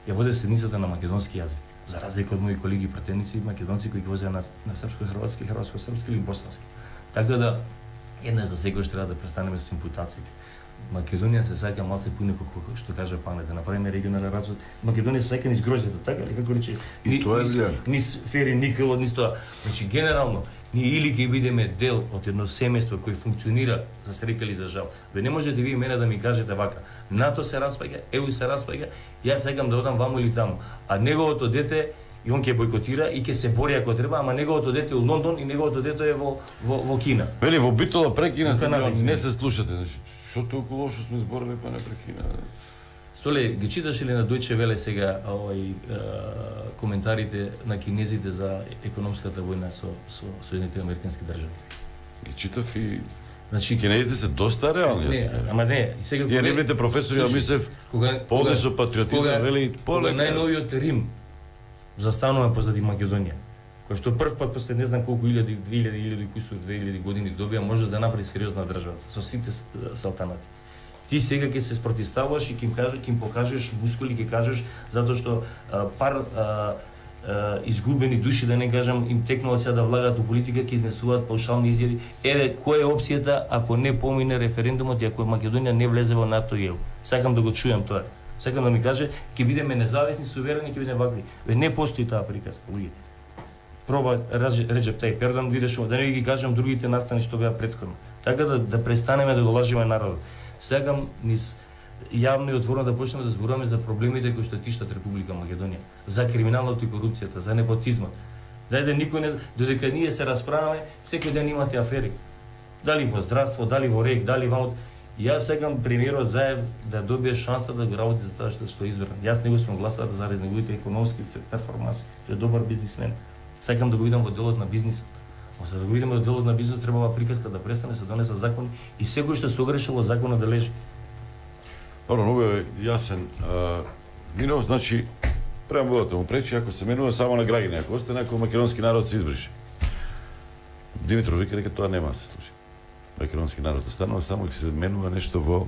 ја воде седницата на македонски јазик. За разлика од мои колеги пратеници македонци кои ги возеа на српско-хрватски, хрватско-српски или босански. Така да еднаш за секој треба да престанеме со импутациите. Македонија се сака малце пуне како што кажа Пане, да направиме регионален развој. Македонија се сака низ гроздето, така ли како рече? Низ фери, никел, низ тоа. Значи генерално ние или ќе бидеме дел од едно семејство кој функционира за среќа или за жал. Ве не можете вие мене да ми кажете вака. НАТО се распаѓа, ЕУ се распаѓа, јас сакам да одам ваму или таму. А неговото дете и он ќе бојкотира и ќе се бори ако треба, ама неговото дете е у Лондон и неговото дете е во Кина. Вели во Битола прекина не се слушате. Што толку лошо сме зборили па не прекина. Столе, ги читаш ли на Дојче Веле сега коментарите на кинезите за економската војна со Соединетите американски држави? Ги читав и значи кинезите се доста реални. Не, ама не, и сега кога нивните професори мислев полни со патриотизам, вели полека. Најновиот Рим застанува позади Македонија, кој што прв пат после не знам колку 2000 години добија може да направи сериозна држава со сите салтанати. Ти сега ќе се спротивставаш и ќе им покажеш мускули, ќе кажеш затоа што изгубени души, да не кажам, им текнало сега да влагат у политика, ќе изнесуваат паушални изјави. Еве, која е опцијата ако не помине референдумот и ако Македонија не влезе во НАТО и ЕУ? Сакам да го чујам тоа. Сакам да ми каже, ќе бидеме независни, суверени, ќе бидеме вакви. Не постои таа приказка, луѓе. Проба Реджеп Тајип Ердоган, видиш, да не ги кажам другите настани што беа претходно. Така да престанеме да го лажиме народот. Сакам низ јавно и отворено да почнеме да зборуваме за проблемите кои што тиштат Република Македонија, за криминалното и корупцијата, за непотизмот. Дајде никој не, додека ние се расправаме, секој ден имате афери. Дали во здравство, дали во РЕК, дали во... Јас сакам премиерот Заев да добие шанса да го работи за тоа што избран. Јас него сум гласал заради неговите економски перформанси. Тој е добар бизнисмен. Сакам да го видам во делот на бизнисот. Но за да го видиме во делот на бизнисот требава приказка да престане, се донесат закони и секој што се огрешил во законот да лежи. Добро, многу е јасен. Минов, значи, преамбулата му пречи, ако се менува само на граѓани, ако остане, ако македонски народ се избрише. Димитров вика дека тоа нема да се случи. Македонски народ останува само ќе се менува нешто во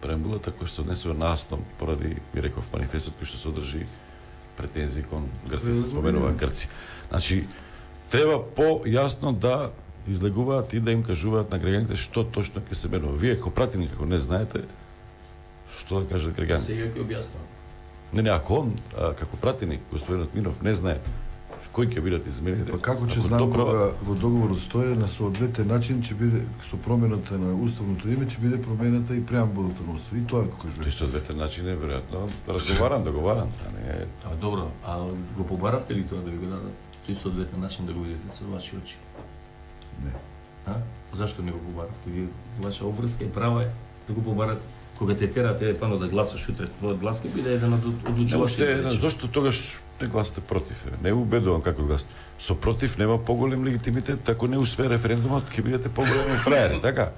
преамбулата кој што се однесува на Астон, поради, ми реков, манифестот кој што се одржи претензии кон Грци, се споменува Грци. Значи, треба по-јасно да излегуваат и да им кажуваат на граѓаните што точно ќе се менува. Вие како пратени, како не знаете, што да кажат граѓаните? Сега ќе објаснам. Не, ако он, како пратени, господинот Минов, не знае кој ќе бидат измените. Па како ќе знам кога во договорот стои на соодветен начин ќе биде со промената на уставното име ќе биде промената и преамбулата на устав. И тоа како кажувате. Тој соодветен начин е веројатно договаран, а не. Добро, а го побаравте ли тоа да ви го дадат? Тој соодветен начин да го видите со ваши очи? Не. Зашто не го побаравте? Вие ваша обврска и права е да го побарате. Кога те терате пано да гласаш утре, твојот глас ќе биде еден од одлучувачите. Зошто тогаш не гласате против? Не убедувам како гласате. Со против нема поголем легитимитет, ако не успее референдумот, ќе бидете поголеми фраери, така?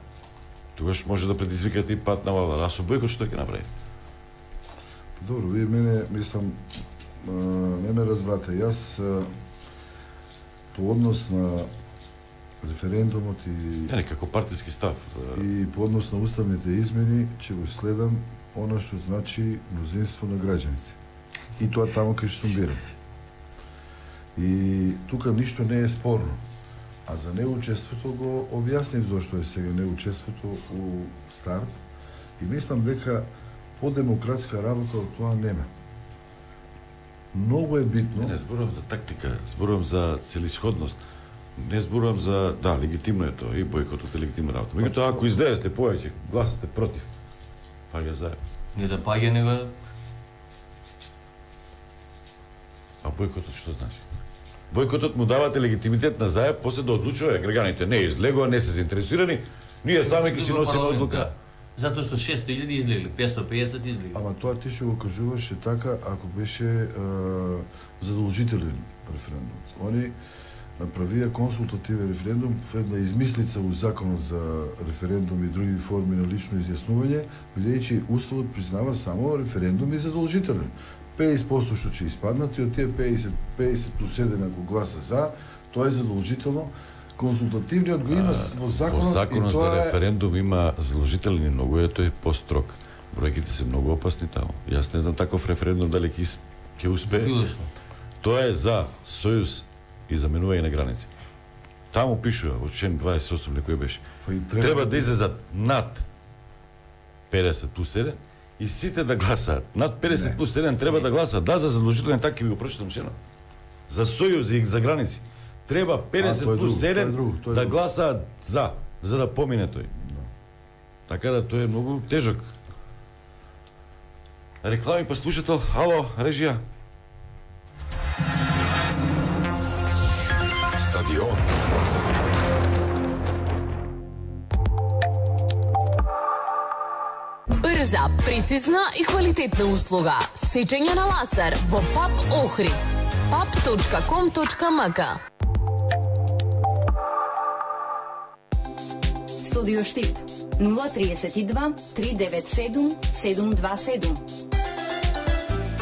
Тогаш може да предизвикате и пат на влада. А со бојкот што ќе направи? Добро, вие мене, мислам, не ме разбрате. Јас по однос на референдумот и како партиски став и по однос на уставните измени ќе го следам она што значи мнозинство на граѓаните. И тоа таму кај што сум биран. И тука ништо не е спорно. А за неучеството го објаснив зошто е сега неучеството у старт и мислам дека по-демократска работа од тоа нема. Многу е битно. Не зборувам за тактика, зборувам за целисходност. Не зборувам за, да, легитимно е тоа, и бојкотот е легитимна работа. Меѓутоа, ако излезете повеќе, гласате против, паѓа Заев. Не да паѓа, него... А бојкотот што значи? Бојкотот му давате легитимитет на Заев, после да одлучува граѓаните. Не излегува, не се заинтересирани, ние сами ќе си носиме одлука. Затоа што 600.000 излегли, 550 излегли. Ама тоа ти што го кажуваше така, ако беше задолжителен референдум. Они направија консултативен референдум во една измислица у законот за референдум и други форми на лично изјаснување, бидејќи уставот признава само референдум и задолжителен. 50% што ќе испаднат и од тие 50 плюс 1 ако гласа за, тоа е задолжително. Консултативниот го има во законот. Во законот за референдум има задолжителен и многу е тој построг. Бројките се многу опасни таму. Јас не знам таков референдум дали ќе успее. Тоа е за сојуз и заменување на граници. Таму пишува во член 28 некој беше. Треба да излезат над 50 плюс 1 и сите да гласаат. Над 50 плюс 1 треба да гласаат. Да, за задолжителен така ќе ви го прочитам шено. За сојузи и за граници. Треба 50 плюс 1 да гласаат за да помине тој. Така да тој е многу тежок. Реклами па слушател. Ало, режија. Стадион. Брза, прецизна и квалитетна услуга. Сечење на лазер во ПАП Охрид. pap.com.mk. Студио Штип 032 397 727.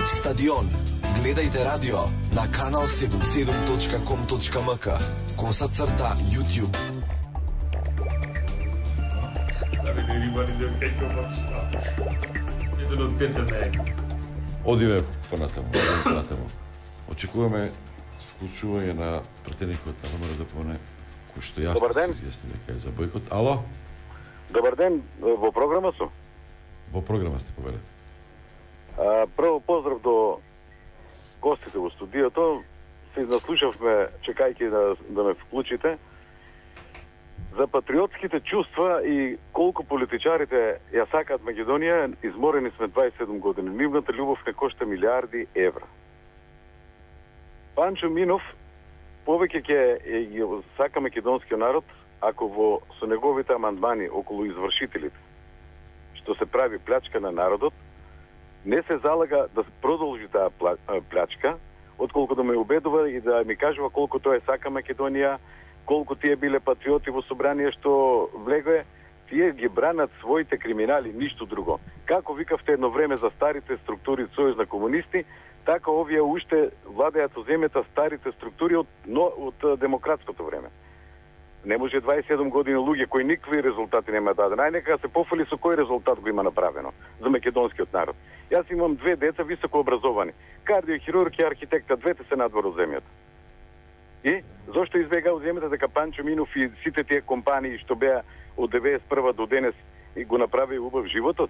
Стадион. Гледајте радио на канал 77.com.mk _YouTube. Одиме понатаму. Очекуваме вклучување на пратеникот на ВМРО-ДПМНЕ, кој што јасно се изјасни дека е за бојкот. Ало? Добар ден, во програма сум. Во програма сте, повелете. Прво поздрав до гостите во студиото. Се наслушавме, чекајќи да ме вклучите, за патриотските чувства и колку политичарите ја сакаат Македонија. Изморени сме 27 години. Нивната љубов не кошта милиарди евра. Панчо Минов повеќе ќе сака македонскиот народ ако со неговите амандмани околу извршителите, што се прави плячка на народот, не се залага да продолжи таа плячка, отколку да ме убедува и да ми кажува колку тоа сака Македонија, колку тие биле патриоти во собрание што влегле, тие ги бранат своите криминали, ништо друго. Како викавте едно време за старите структури Сојуз на комунисти, така овие уште владеат со земјата старите структури од демократското време. Не може 27 години луѓе кои никакви резултати нема даден. Најнека се пофали со кој резултат го има направено за македонскиот народ. Јас имам 2 деца високо образовани. Кардиохирург и архитекта, двете се надвор од земјата. И зошто избега од земјата дека Панчо Минов и сите тие компании што беа од 91 до денес и го направи убав животот?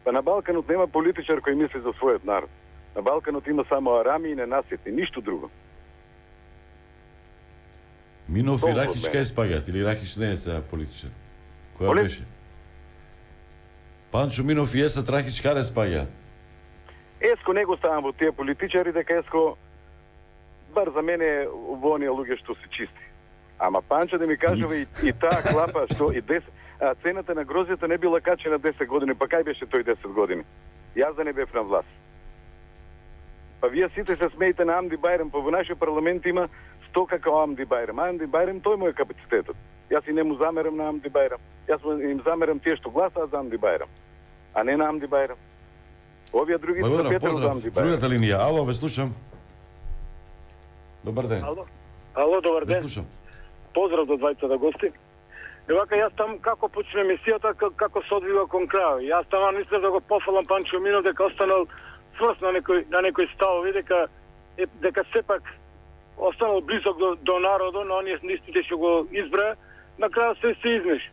Па на Балканот нема политичар кој мисли за својот народ. На Балканот има само арами и ненаситни, ништо друго. Минов и Рахич кај спаѓаат или Рахич не е сега политичар? Која беше? Панчо Минов и Есат Рахич каде спаѓа? Еско не го ставам во тие политичари, дека Еско бар за мене во оние луѓе што се чисти. Ама Панчо да ми кажува и таа клапа што и 10 цената на грозјата не била качена 10 години, па кај беше тој 10 години? Јас да не бев на власт. Па вие сите се смеете на Амди Бајрам, па во нашиот парламент има 100 како Амди Бајрам. Амди Бајрам тој му е капацитетот. Јас и не му замерам на Амди Бајрам. Јас им замерам тие што гласаат за Амди Бајрам, а не на Амди Бајрам. Овие други се Петар за Амди Бајрам. Другата линија. Ало, ве слушам. Добар ден. Ало, добар ден. Ве слушам. Поздрав до двајцата гости. Евака јас там како почне емисијата, како се одвива кон крај. Јас таман мислев да го пофалам Панчо Минов дека останал сврст на некој ставови, дека сепак останал близок до народот, но оние листите што го избра, на крајот се измеш.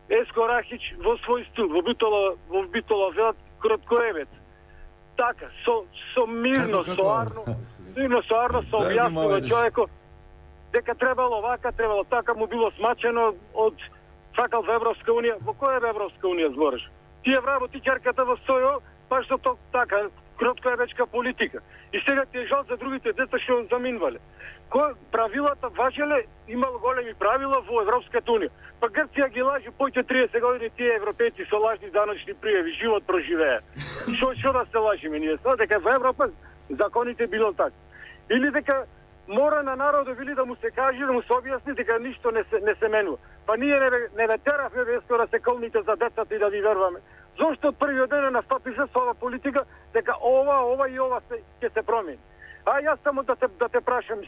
Еско Рахич во свој стил, во Битола велат кроткоевец. Така, со мирно, соарно со објаснува човекот дека требало вака, требало така, му било смачено од сакал во Европска унија. Во која Европска унија збориш? Тие вработичарката во Сојо, баш со така, кроткоевечка политика. И сега ти е жал за другите деца што заминвале. Правилата важеле, имало големи правила во Европската унија. Па Грција ги лажи, појте 30 години тие европејци со лажни даночни пријави, живот проживеа. Што да се лажиме ние? Дека во Европа законите било така. Или дека мора на народот били да му се каже, да му се објасни дека ништо не се менува. Па ние не ве теравме веско да се колните за децата и да ви верваме. Зошто од првиот ден настапи се со ова политика дека ова и ова ќе се промени? А јас само да те прашам,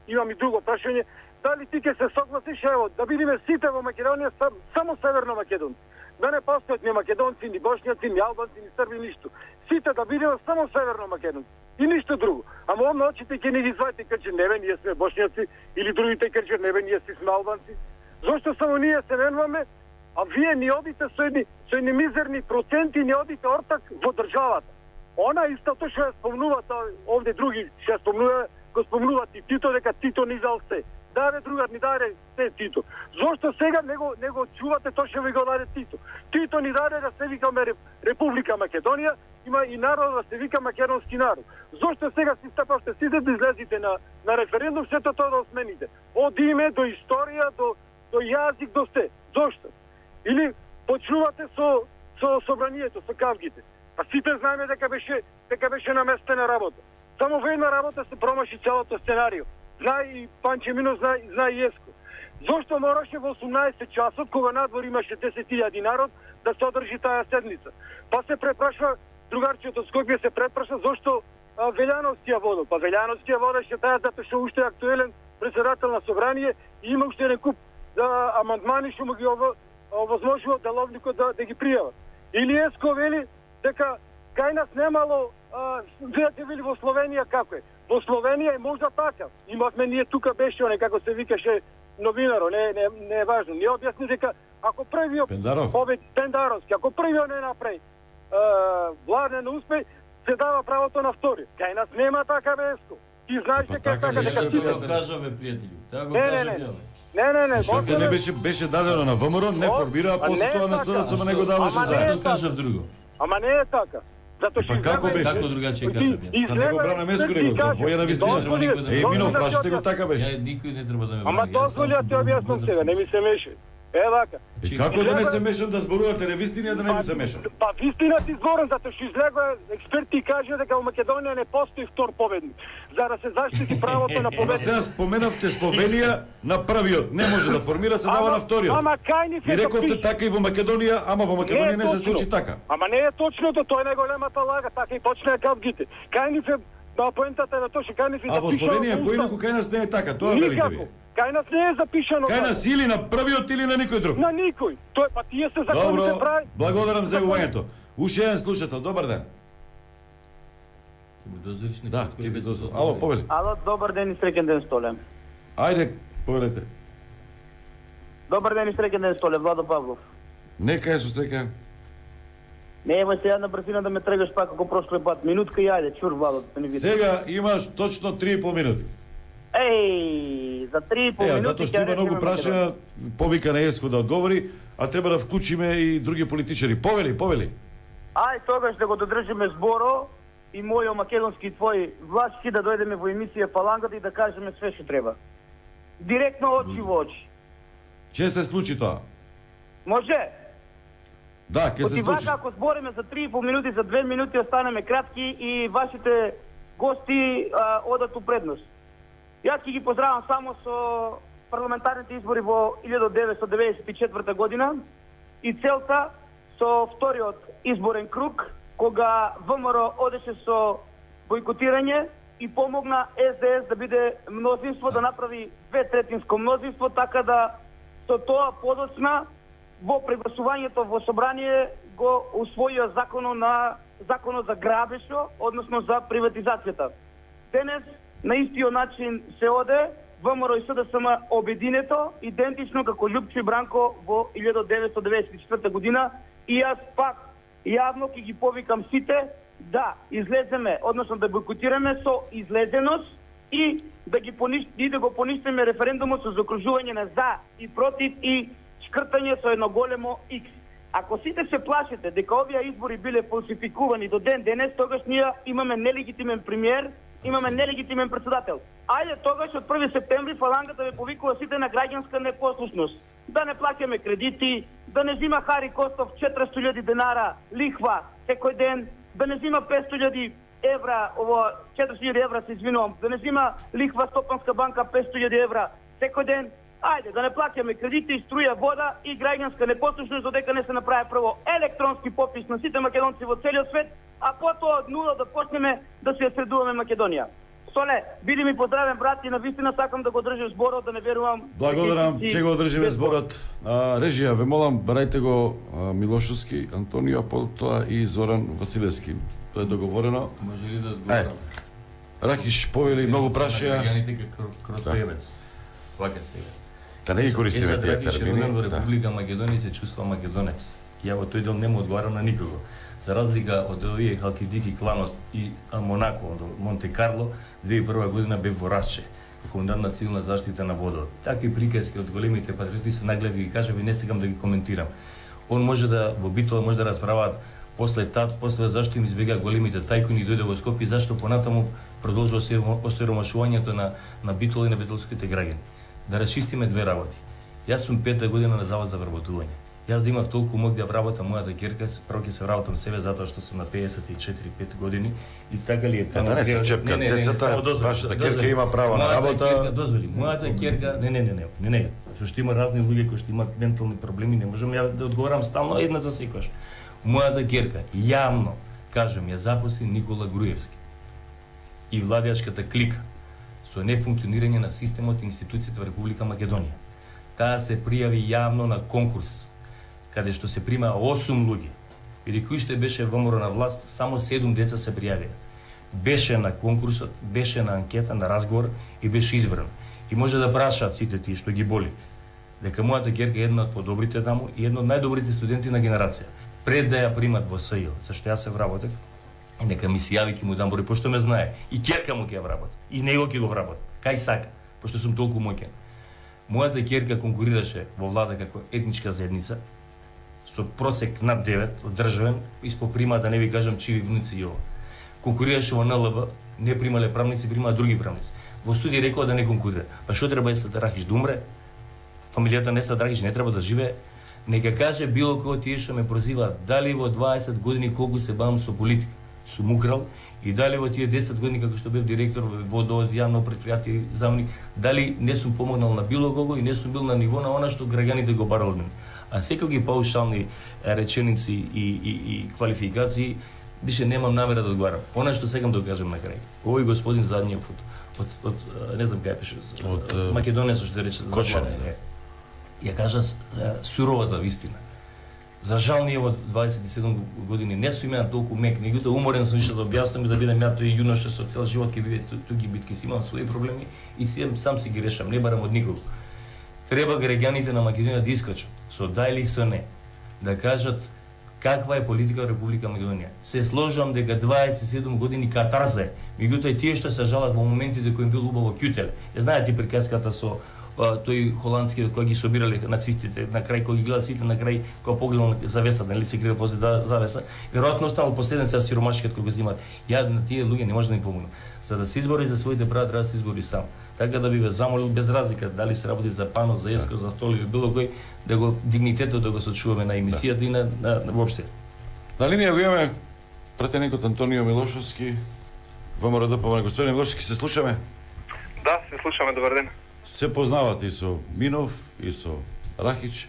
имам и друго прашање, дали ти ќе се согласиш, ево, да бидеме сите во Македонија само северно македонци. Да не постојат ни македонци, ни бошњаци, ни албанци, ни срби, ништо. Сите да бидеме само северно македонци. И ништо друго. Ама овно очите ќе ни ги извадите качи, неве, ние сме бошњаци, или другите качи, неве, ние сме албанци. Зошто само ние се менуваме, а вие ни одите со едни мизерни проценти, ни одите ортак во државата. Она истото што ја спомнува, овде други што ја спомнува, го спомнуваат и Тито, дека Тито ни дал се. Даде другар ни даде се Тито. Зошто сега не го чувате тоа што ви го даде Тито? Тито ни даде да се викаме Република Македонија, има и народ да се вика македонски народ. Зошто сега си стапавте сите да излезите на референдум, сето тоа да осмените? Од име до историја, до јазик, до се. Зошто? Или почнувате со собранието, со кавгите. Па сите знаеме дека беше наместена работа. Само во една работа се промаши целото сценарио. Знае и Панчо Минов, знае и Еско. Зошто мораше во 18 часот, кога надвор имаше 10.000 народ, да се одржи таа седница? Па се препрашва, другарчето од Скопје се препраша зошто Велјановски ја водел. Па Велјановски ја водеше таа затоа што уште е актуелен председател на собрание и има уште еден куп амандмани што му ги овозможува деловникот да ги пријава. Или Еско вели дека кај нас немало видите вели во Словенија како е. Во Словенија е можда така. Имавме ние тука беше оне како се викаше новинаро, не е важно. Ние објасни дека ако првиот Пендаровски, ако првиот не направи владне на успех, се дава правото на втори. Кај нас нема така веско. Ти знаеш дека така дека ти го кажаме пријатели. Така го кажаме. Не. Што не беше дадено на ВМРО, не формира, а после тоа на СДСМ не го даваше за. Зашто кажав друго? Ама не е така. Па како беше? Како другаче кажав? Са него брана меско него, за војна вистина. Мино, прашате го така беше. Никој не треба да ме брани. Ама дозволи да ти објаснам сега, не ми се меше. Вака. Како да не се мешам да зборувате невистини, а да не ми се мешам? Па вистина ти зборам, затоа што излегува експерти и кажа дека во Македонија не постои втор победник. За да се заштити правото на победник. Сега споменавте Словенија на првиот, не може да формира, се дава на вториот. Ама кај ни се и рековте така и во Македонија, ама во Македонија не се случи така. Ама не е точното, тоа е најголемата лага, така и почнаа кавгите. Кај ни се поентата на тоа што кај ни се запишано. А во Словенија поинаку кај нас не е така, тоа велите ви. Кај нас не е запишано. Кај нас или на првиот или на никој друг. На никој. Тоа па тие се законите прави. Благодарам за јавувањето. Уште еден слушател, добар ден. Да, ќе ви дозволам. Ало, повели. Ало, добар ден и среќен ден, Столе. Ајде, повелете. Добар ден и среќен ден, Столе, Владо Павлов. Нека е со среќа. Не има сега на брзина да ме трегаш пак како прошлиот пат. Минутка и ајде, чур Владо, да не видиш. Сега имаш точно 3,5 минути. Еј, за 3,5 минути. Затоа што има многу прашања, повика на Еско да одговори, а треба да вклучиме и други политичари. Повели. Ај, тогаш да го додржиме зборо и мојо македонски и твој влашки да дојдеме во емисија Фалангата и да кажеме све што треба. Директно очи во очи. Ќе се случи тоа? Може? Да, ќе се случи. Ако збориме за 3,5 минути, за 2 минути останеме кратки и вашите гости одат у предност. Јас ќе ги поздравам само со парламентарните избори во 1994 година и целта со вториот изборен круг, кога ВМРО одеше со бойкотирање и помогна СДС да биде мнозинство, да направи 2/3 мнозинство, така да со тоа подоцна во прегласувањето во собрание го усвоија законот за грабешо, односно за приватизацијата. Денес на истиот начин се оде ВМРО и СДСМ обединето, идентично како Љупчо и Бранко во 1994 година, и јас пак јавно ќе ги повикам сите да излеземе, односно да бойкотираме со излезеност и да го поништиме референдумот со заокружување на за и против и шкртање со едно големо X. Ако сите се плашите дека овие избори биле фалсификувани до ден денес, тогаш ние имаме нелегитимен премиер, имаме нелегитимен председател. Ајде тогаш од 1 септември Фалангата ве повикува сите на граѓанска непослушност. Да не плаќаме кредити, да не зима Хари Костов 400.000 денара лихва секој ден, да не зима 500.000 евра, 400.000 евра се извинувам, да не зима лихва Стопанска банка 500.000 евра секој ден. Ајде, да не плаќаме кредити, струја, вода и граѓанска непослушност, додека не се направи прво електронски попис на сите македонци во целиот свет, а потоа од нула да почнеме да се средуваме Македонија. Соле, биди ми поздравен брат и навистина сакам да го држиш зборот, да не верувам. Благодарам, ќе го држиме зборот. Режија, ве молам, барајте го Милошовски, Антонио, потоа и Зоран Василевски. Тоа е договорено. Може ли да одговорам? Рахиш, повели многу прашања. Граѓаните како кротоевец. Вака сега. Да не ги користиме тие термини. Во Република Македонија се чувства македонец. Ја во тој дел не му одговарам на никого. За разлика од овие Халкидики кланот и Монако, од Монте Карло, 2001 година бев во Раче, како комендант на цивилна заштита на водот. Такви приказки од големите патриоти се нагледи ги кажам и не сегам да ги коментирам. Он може да во Битола може да расправаат после зашто им избега големите тајкуни и дојде во Скопје, зашто понатаму продолжува се осиромашувањето на Битола и на битолските граѓани. Да расчистиме две работи. Јас сум 5-та година на завод за вработување. Јас да имав толку мог да вработам мојата ќерка, прво ќе се вработам себе затоа што сум на 54-5 години и така ли е тоа. Да не се чепка децата, вашата ќерка има право на работа. Дозволи, мојата ќерка, не, што има разни луѓе кои што имаат ментални проблеми, не можам ја да одговорам стално една за секојаш. Мојата ќерка јавно кажам ја запосли Никола Груевски и владеачката клика со нефункционирање на системот и институцијата во Република Македонија. Таа се пријави јавно на конкурс, каде што се прима 8 луѓе. Или кој што беше ВМРО на власт, само 7 деца се пријавија. беше на конкурсот, беше на анкета, на разговор и беше избран. И може да прашаат сите тие што ги боли дека мојата ќерка е една од подобрите таму и една од најдобрите студенти на генерација. Пред да ја примат во СЈ, зашто јас се вработев, и нека ми се јави ќе му дам број, пошто ме знае. И ќерка му ќе ја вработи, и него ќе го вработи. Кај сака, пошто сум толку моќен. Мојата ќерка конкурираше во влада како етничка заедница, со просек над 9 од државен, испо прима, да не ви кажам чиви внуци и ова. Конкурираше во НЛБ, не примале правници, примаа други правници. Во суди рекоа да не конкурира. Па што треба Есад Рахич да умре? Фамилијата на Есад Рахич не треба да живее? Нека каже било кој тие што ме прозиваат, дали во 20 години колку се бавам со политика, сум украл, и дали во тие 10 години како што бев директор во јавно предпријатие заменик, дали не сум помогнал на било кого и не сум бил на ниво на она што граѓаните го барал од мене. А секако ги паушални реченици и квалификации, више немам намера да одговарам. Она што сакам да кажам на крај. Овој господин задниот од не знам кај пише, од Македонија што рече за ја кажа суровата вистина. За жал ние во 27 години не сум имал толку мек, меѓутоа уморен сум више да објаснам и да бидам ја тој јуноша со цел живот ќе биде туки битки, си имам своји проблеми и сам си ги решам, не барам од никого. Треба граѓаните на Македонија да искочат со да или со не, да кажат каква е политика во Република Македонија. Се сложам дека 27 години катарзе, меѓутоа тие што се жалат во моментите кои им бил убаво кјутел. Знаете приказката со тој холандски кој ги собирале нацистите, на крај кој ги гледа сите, на крај кој погледал завесата, нели се крие после завеса, веројатно останал последница сиромашкиот кој го земат. Ја на тие луѓе не може да им помогнам. За да се избори за своите права треба да се избори сам. Така да би ве замолил без разлика дали се работи за пано, за еско, за стол или било кој, да го дигнитетот да го сочуваме на емисијата и на воопште. На линија го имаме пратеникот Антонио Милошовски, ВМРО. Господин Милошовски, се слушаме? Да, се слушаме, добар ден. Се познавате и со Минов, и со Рахич.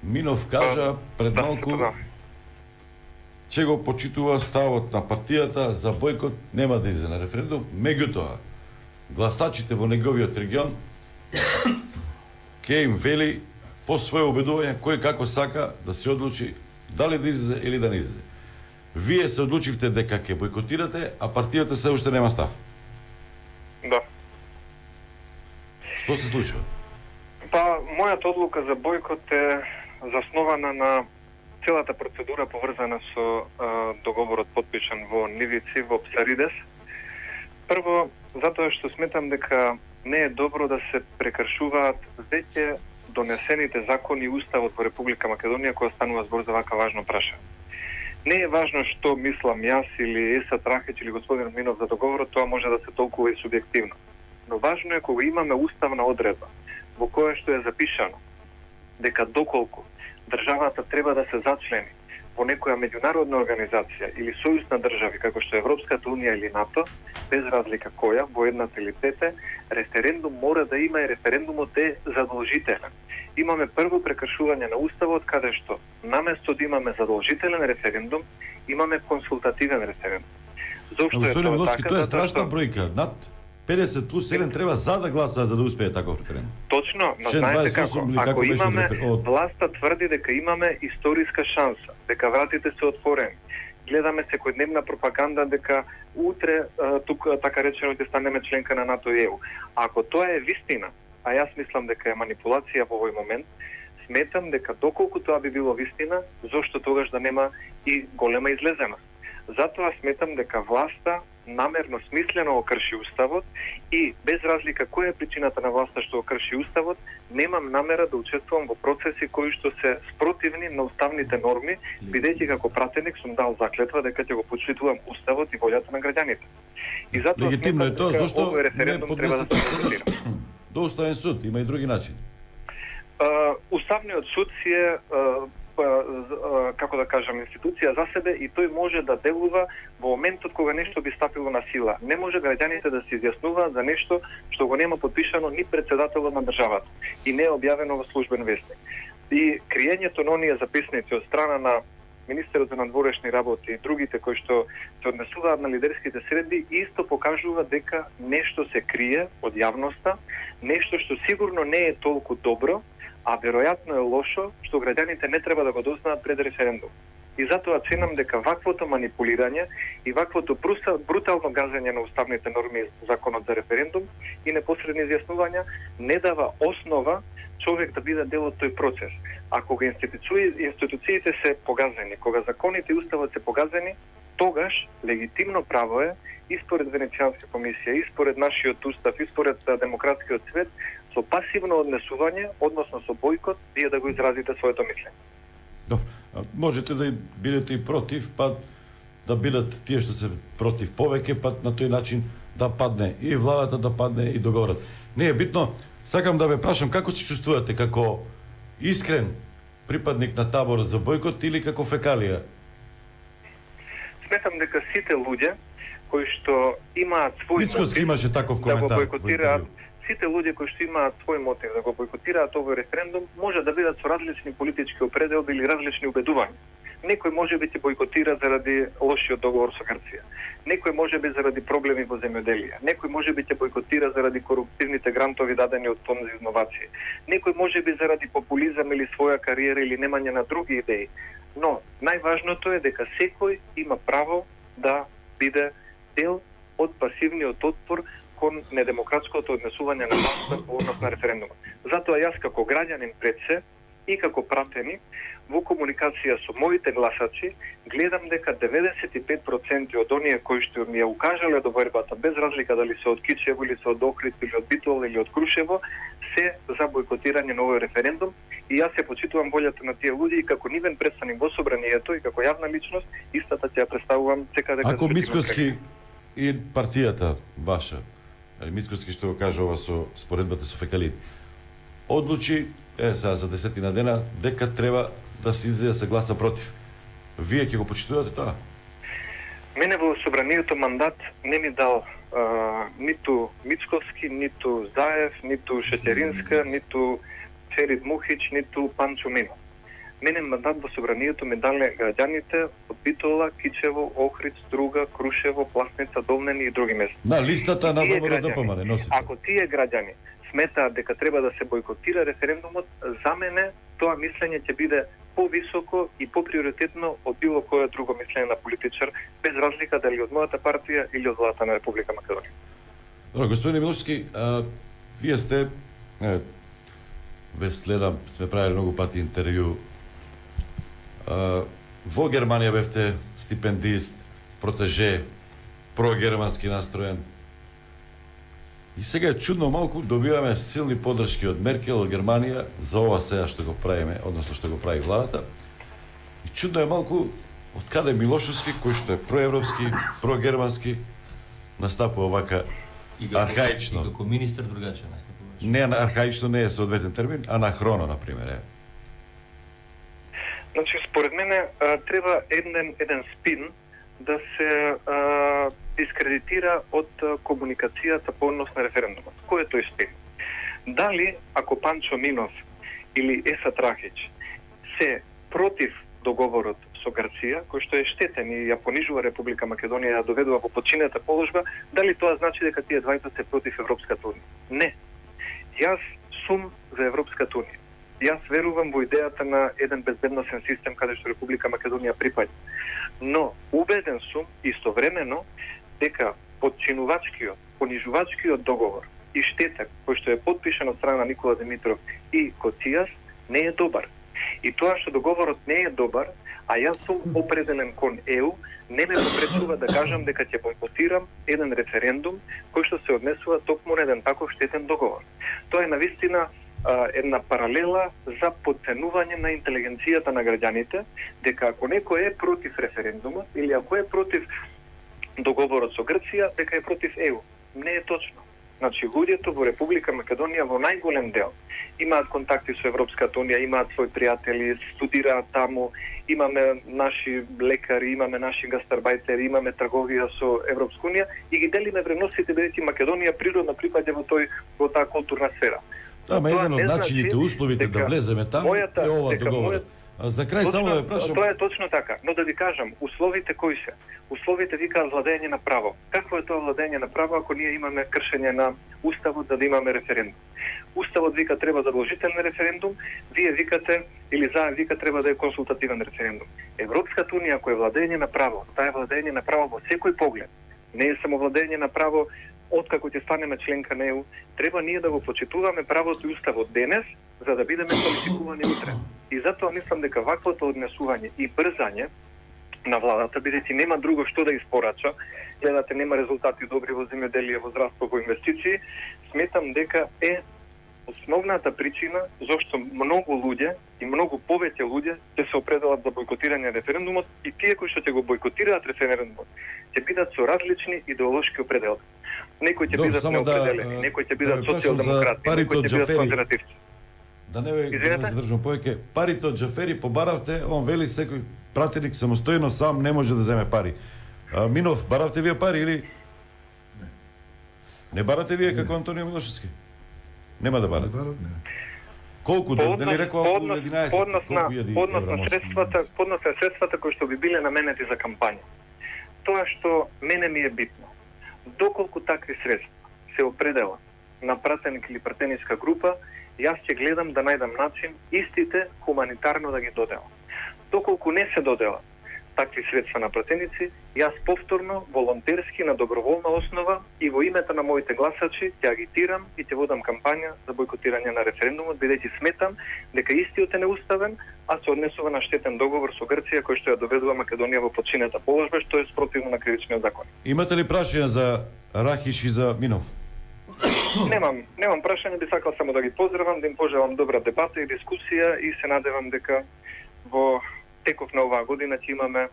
Минов кажа пред малку ќе го почитува ставот на партијата за бојкот, нема да излезе на референдум, меѓутоа гласачите во неговиот регион ќе им вели по своје убедување кој како сака да се одлучи дали да излезе или да не излезе. Вие се одлучивте дека ќе бојкотирате, а партијата се уште нема став. Да. Што се случува? Па, мојата одлука за бојкот е заснована на целата процедура поврзана со договорот подпишан во Нивици, во Псаридес. Прво, затоа што сметам дека не е добро да се прекршуваат веќе донесените закони и уставот во Република Македонија која станува збор за вака важно прашање. Не е важно што мислам јас или Есад Рахич или господин Минов за договорот, тоа може да се толкува и субјективно. Но важно е кога имаме уставна одредба во која што е запишано дека доколку државата треба да се зачлени во некоја меѓународна организација или сојуз на држави како што е Европската унија или НАТО, без разлика која, во едната или двете, референдум мора да има и референдумот е задолжителен. Имаме прво прекршување на уставот каде што наместо да имаме задолжителен референдум, имаме консултативен референдум. Зошто е тоа така? Тоа е страшна бројка. Над 50 плюс 1 треба за да гласаат за да успее таков референдум. Точно, но знаете како, ако имаме, власта тврди дека имаме историска шанса, дека вратите се отворени, гледаме секојдневна пропаганда дека утре тук така речено ќе станеме членка на НАТО и ЕУ. Ако тоа е вистина, а јас мислам дека е манипулација во овој момент, сметам дека доколку тоа би било вистина, зошто тогаш да нема и голема излезеност. Затоа сметам дека власта намерно, смислено го крши уставот и без разлика која е причината на власта што го крши уставот, немам намера да учествувам во процеси кои што се спротивни на уставните норми, бидејќи како пратеник сум дал заклетва дека ќе го почитувам уставот и волјата на граѓаните. И затоа легитимно е тоа, зашто овој референдум треба да се организира. До уставен суд има и други начини. Уставниот суд си е како да кажам, институција за себе и тој може да делува во моментот кога нешто би стапило на сила. Не може граѓаните да се изјаснуваат за нешто што го нема подпишано ни председателот на државата и не е објавено во службен весник. И криењето на оние записници од страна на министерот за надворешни работи и другите кои што се однесуваат на лидерските средби исто покажува дека нешто се крие од јавноста, нешто што сигурно не е толку добро, а веројатно е лошо што граѓаните не треба да го дознаат пред референдум. И затоа ценам дека ваквото манипулирање и ваквото брутално газење на уставните норми, законот за референдум и непосредни изјаснувања не дава основа човек да биде дел од тој процес. Ако кога институциите се погазени, кога законите и уставот се погазени, тогаш легитимно право е и според Венецијанска комисија, и според нашиот устав, и според демократскиот свет, со пасивно однесување, односно со бојкот, вие да го изразите своето мислење. Добро. Можете да бидете и против, па да бидат тие што се против повеќе, па на тој начин да падне и владата, да падне и договорот. Не е битно. Сакам да ве прашам како се чувствувате, како искрен припадник на таборот за бојкот или како фекалија? Сметам дека сите луѓе кои што имаат свој Мицкоски имаше таков коментар да го бојкотираат, сите луѓе кои што имаат свој мотив да го бојкотираат овој референдум, може да бидат со различни политички определби или различни убедувања. Некој може би ќе бојкотира заради лошиот договор со Грција. Некој може би заради проблеми во земјоделие. Некој може би ќе бојкотира заради коруптивните грантови дадени од Фонд за инновации. Некој може би заради популизам или своја кариера или немање на други идеи. Но најважното е дека секој има право да биде дел од пасивниот отпор кон недемократското однесување на власта по однос на референдумот. Затоа јас како граѓанин пред се и како пратеник во комуникација со моите гласачи гледам дека 95% од оние кои што ми ја укажале довербата, без разлика дали се од Кичево или се од Охрид или од Битол или од Крушево, се за бојкотирање на овој референдум и јас се почитувам волјата на тие луѓе и како нивен представник во собранието и како јавна личност, истата ќе ја представувам секаде каде. Ако Мицкоски и партијата ваша, Мицкоски што го кажа ова со споредбата со фекалите, одлучи за 10 дена дека треба да се излезе се гласа против. Вие ќе го почитувате тоа? Мене во собранието мандат не ми дал ниту Мицковски, ниту Заев, ниту Шетеринска, ниту Ферид Мухич, ниту Панчо Минов. Мене мандат во собранието ми дале граѓаните од Битола, Кичево, Охрид, Струга, Крушево, Пласница, Долнени и други места. На листата на ВМРО-ДПМН носите. Ако тие граѓани сметаат дека треба да се бојкотира референдумот, за мене тоа мислење ќе биде повисоко и поприоритетно од било кое друго мислење на политичар, без разлика дали од мојата партија или од владата на Република Македонија. Добро, господин Милошевски, вие сте, ве следам, сме правили многу пати интервју. Во Германија бевте стипендист, протеже, прогермански настроен. И сега е чудно малку, добиваме силни подршки од Меркел, од Германија, за ова сега што го правиме, односно што го прави владата. И чудно е малку, од каде Милошевски, кој што е проевропски, прогермански, настапува вака архаично. И како министер другаче настапуваш. Не, архаично не е соодветен термин, анахроно, например, е. Значи, според мене, треба еден спин да се дискредитира од комуникацијата по однос на референдумот. Кој е тој спин? Дали, ако Панчо Минов или Есат Рахич се против договорот со Грција, кој што е штетен и ја понижува Република Македонија, ја доведува во подчинета положба, дали тоа значи дека тие двајца се против Европската унија? Не. Јас сум за Европската унија. Јас верувам во идејата на еден безбедносен систем каде што Република Македонија припаѓа. Но убеден сум истовремено дека подчинувачкиот, понижувачкиот договор и штетен кој што е потпишан од страна на Никола Димитров и Коцијас не е добар. И тоа што договорот не е добар, а јас сум определен кон ЕУ, не ме попречува да кажам дека ќе бојкотирам еден референдум кој што се однесува токму на еден таков штетен договор. Тоа е навистина една паралела за подценување на интелигенцијата на граѓаните, дека ако некој е против референдумот или ако е против договорот со Грција, дека е против ЕУ. Не е точно. Значи, луѓето во Република Македонија во најголем дел имаат контакти со Европската унија, имаат своји пријатели, студираат таму, имаме наши лекари, имаме наши гастарбајтери, имаме трговија со Европска унија и ги делиме вредностите бидејќи Македонија природно припаѓа во таа културна сфера. Да, ма еден од начините, условите да влеземе таму е ова договор. За крај само да ве прашам. Тоа е точно така, но да ви кажам, условите кои се? Условите викаат владење на право. Какво е тоа владење на право ако ние имаме кршење на уставот за да имаме референдум? Уставот вика треба задолжителен референдум, вие викате или вика треба да е консултативен референдум. Европската унија ако е владење на право, таа е владење на право во секој поглед. Не е само владење на право откако ќе станеме членка на ЕУ, треба ние да го почитуваме правото и уставот денес за да бидеме квалификувани утре. И затоа мислам дека ваквото однесување и брзање на владата, бидејќи нема друго што да испорача, гледате нема резултати добри во земјоделие, во здравство, во инвестиции, сметам дека е основната причина зашто многу луѓе и многу повеќе луѓе ќе се определат за бојкотирање на референдумот и тие кои што ќе го бојкотираат референдумот ќе бидат со различни идеолошки определки. Некои ќе бидат неопределени, некои ќе бидат социјалдемократи, некои ќе бидат конзервативци. Да не ве задржам повеќе. Парите од Џафери побаравте, он вели секој пратеник самостојно сам не може да земе пари. Минов, баравте вие пари или не барате вие како Антонио Милошевски? Нема да барате. Колку дали рекоа околу 11? Поднос на средствата кои што би биле наменети за кампања. Тоа што мене ми е битно. Доколку такви средства се определат на пратеник или пратеничка група, јас ќе гледам да најдам начин истите хуманитарно да ги доделам. Доколку не се доделат такви средства на пратеници, јас повторно, волонтерски, на доброволна основа и во името на моите гласачи ќе агитирам и ќе водам кампања за бојкотирање на референдумот, бидејќи сметам дека истиот е неуставен, а се однесува на штетен договор со Грција кој што ја доведува Македонија во подчинета положба, што е спротивно на кривичниот закон. Имате ли прашања за Рахиш и за Минов? Немам прашање, би сакал само да ги поздравам, да им пожелам добра дебата и дискусија и се надевам дека во теков на оваа година ќе имаме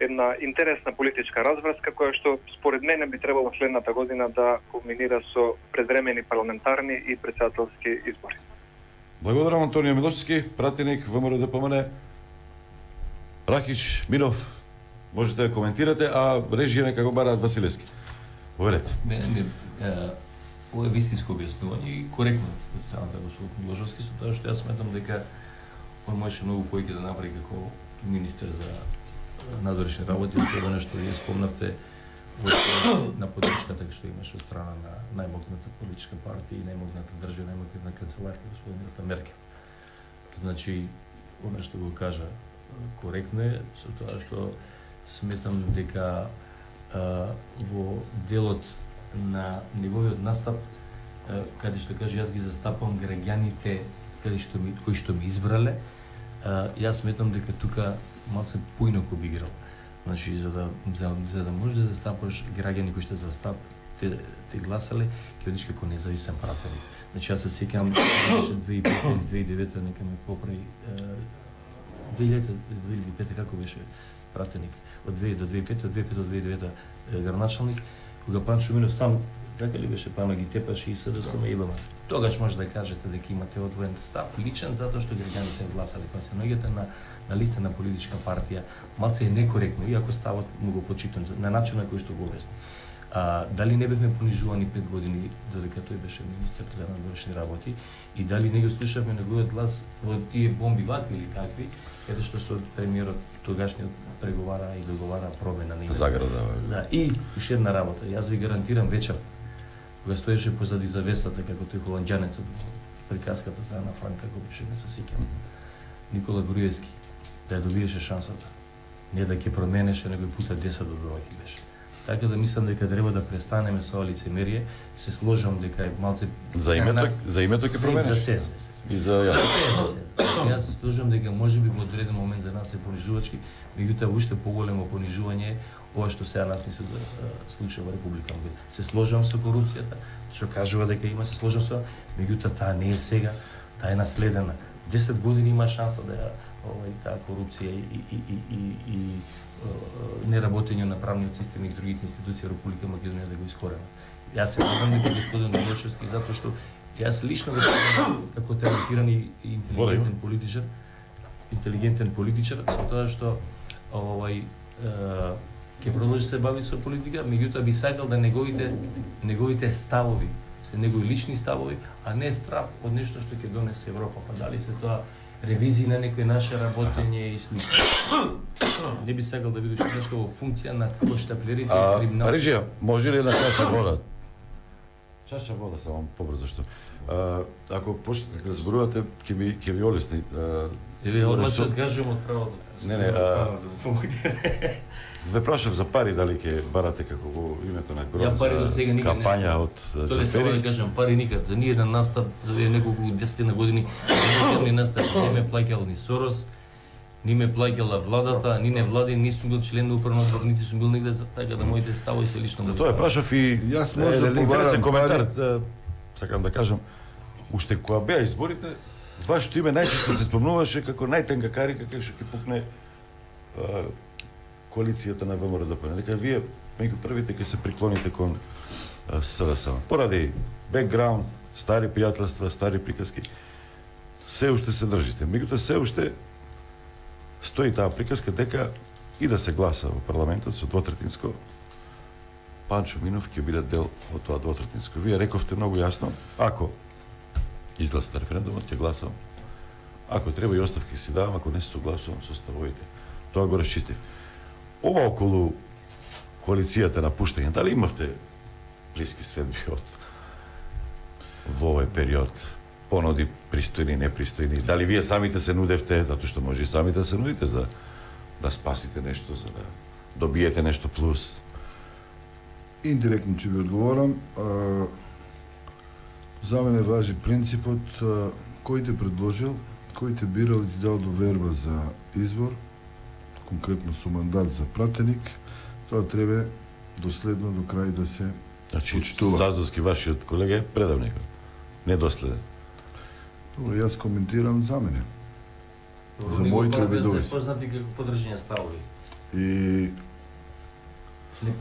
една интересна политичка разврска која што според мене би требало следната година да кулминира со предвремени парламентарни и претседателски избори. Благодарам Антонио Милошевски, пратеник ВМРО ДПМН. Рахиш, Минов, можете да коментирате, а режија нека го бараат Василевски. Повелете. Ова е вистинско објаснување и коректно од самата господин Милошевски, со тоа што јас сметам дека он можеше многу повеќе да направи како министер за надворешни работи, се она што ја спомнавте на поддршката што имаше од страна на најмогната политичка партија и најмогната држава, најмогната канцеларка господин Меркел. Значи, она што го кажа коректно е, со тоа што сметам дека во делот на неговиот настап, каде што каже јас ги застапам граѓаните кои што ми избрале, јас сметам дека тука малце поинаку би играл. Значи за да можеш да застапаш граѓани кои што те гласале, ќе одиш како независен пратеник. Значи јас се сеќавам 2005-2009 нека ме поправи 2005 како беше пратеник од 2000 до 2005, од 2005 до 2009 градоначалник, кога Панчо Минов сам така ли беше пано ги тепаше и СДСМ и БМ. Тогаш може да кажете дека имате одвоен став личен затоа што граѓаните гласале, кога се наоѓате на листа на политичка партија, малце е некоректно, иако ставот му го почитам на начинот на кој што го обясни. Дали не бевме понижувани 5 години додека тој беше министер за надворешни работи и дали не го слушавме неговиот глас во тие бомби вакви или какви, каде што со премиерот тогашниот преговара и договара промена на заграда. Да, и уште една работа, јас ви гарантирам вечер кога стоеше позади завесата како тој холанџанец од приказката за Ана Франк, како беше не се сеќам. Никола Груевски да ја добиеше шансата. Не да ќе променеше, него пута 10 до 2 беше. Така да мислам дека треба да престанеме со ова лицемерие, се сложам дека е малце за името ќе променеш. За се. И за јас се сложам дека можеби во одреден момент за нас се понижувачки, меѓутоа уште поголемо понижување ова што сега нас ни се случува во Република Македонија. Се сложам со корупцијата, што кажува дека има, се сложам со, меѓутоа таа не е сега, таа е наследена. 10 години има шанса да ја таа корупција и неработење на правниот систем и другите институции во Република Македонија да го искоренат. Јас се надевам дека господин Милошевски затоа што јас лично го сметам како талентиран и интелигентен политичар, со тоа што ќе продолжи се бави со политика, меѓутоа би сакал да неговите ставови се негови лични ставови, а не страв од нешто што ќе донесе Европа. Па дали се тоа ревизии на некои наше работење и слично. Не би сакал да бидеш нешто во функција на штаплерите и криминал. Ариджија, може ли една чаша вода? Чаша вода само побрзо што. Ако почнете да зборувате, ќе ви олесни. Еве одма се откажувам од правото. Не, ве прашав за пари, дали ќе барате како во името на Грон за кампања од Тоа само да кажам, пари никад. За ниеден настап, за неколку десетина години, ни настап не ме плаќал ни Сорос, ни ме плаќала владата, ни не влади, ни сум бил член на управен одбор, нити сум бил нигде, така да моите ставови се лично го. Тоа е прашав и јас може да интересен коментар, сакам да кажам, уште кога беа изборите, вашето име најчесто се спомнуваше како најтенка карика кај што ќе пукне коалицијата на ВМРО-ДП. Дека вие меѓу првите ќе се приклоните кон СРС. Поради бекграунд, стари пријателства, стари приказки, се уште се држите. Меѓутоа се уште стои таа приказка дека и да се гласа во парламентот со двотретинско, Панчо Минов ќе биде дел од тоа двотретинско. Вие рековте многу јасно, ако изгласате референдумот, ќе гласам. Ако треба и оставки си давам, ако не се согласувам со ставовите. Тоа го расчистив. Ова околу коалицијата на пуштање, дали имавте блиски следби во овој период? Понуди пристојни, непристојни. Дали вие самите се нудевте, затоа што може и самите да се нудите за да спасите нешто, за да добиете нешто плюс? Индиректно ќе ви одговорам. За мене важи принципот кој те предложил, кој те бирал и ти дал доверба за избор, конкретно со мандат за пратеник, тоа треба доследно до крај да се почитува. Заздовски вашиот колега е предавник, недоследен. Добро, јас коментирам за мене. За моите обидови. За познати како подржање ставови. И не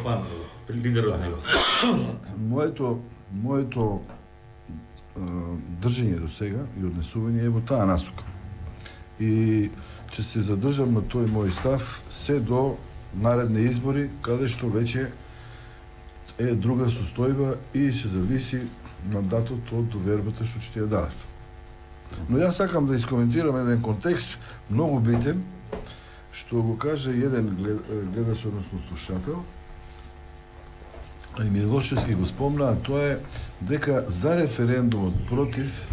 пан, лидерот него. Моето држање до сега и однесување е во таа насока. И ќе се задржам на тој мој став се до наредни избори, каде што веќе е друга состојба и ќе зависи мандатот од довербата што ќе ја дадат. Но јас сакам да искоментирам еден контекст многу битен, што го каже еден гледач, односно слушател, а и Милошевски го спомна, тоа е дека за референдумот против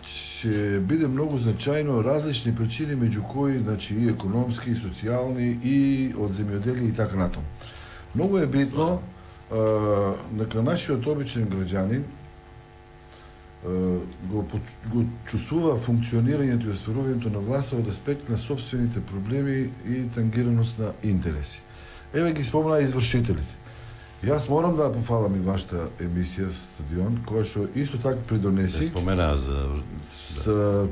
ќе биде многу значајно различни причини, меѓу кои, значи, и економски, и социјални, и од земјоделие и така натаму. Многу е битно дека нашиот обичен граѓанин го чувствува функционирањето и остварувањето на власта од аспект на собствените проблеми и тангираност на интереси. Еве ги спомна извршителите. Јас морам да пофалам и вашата емисија Стадион, која што исто така придонеси. Спомена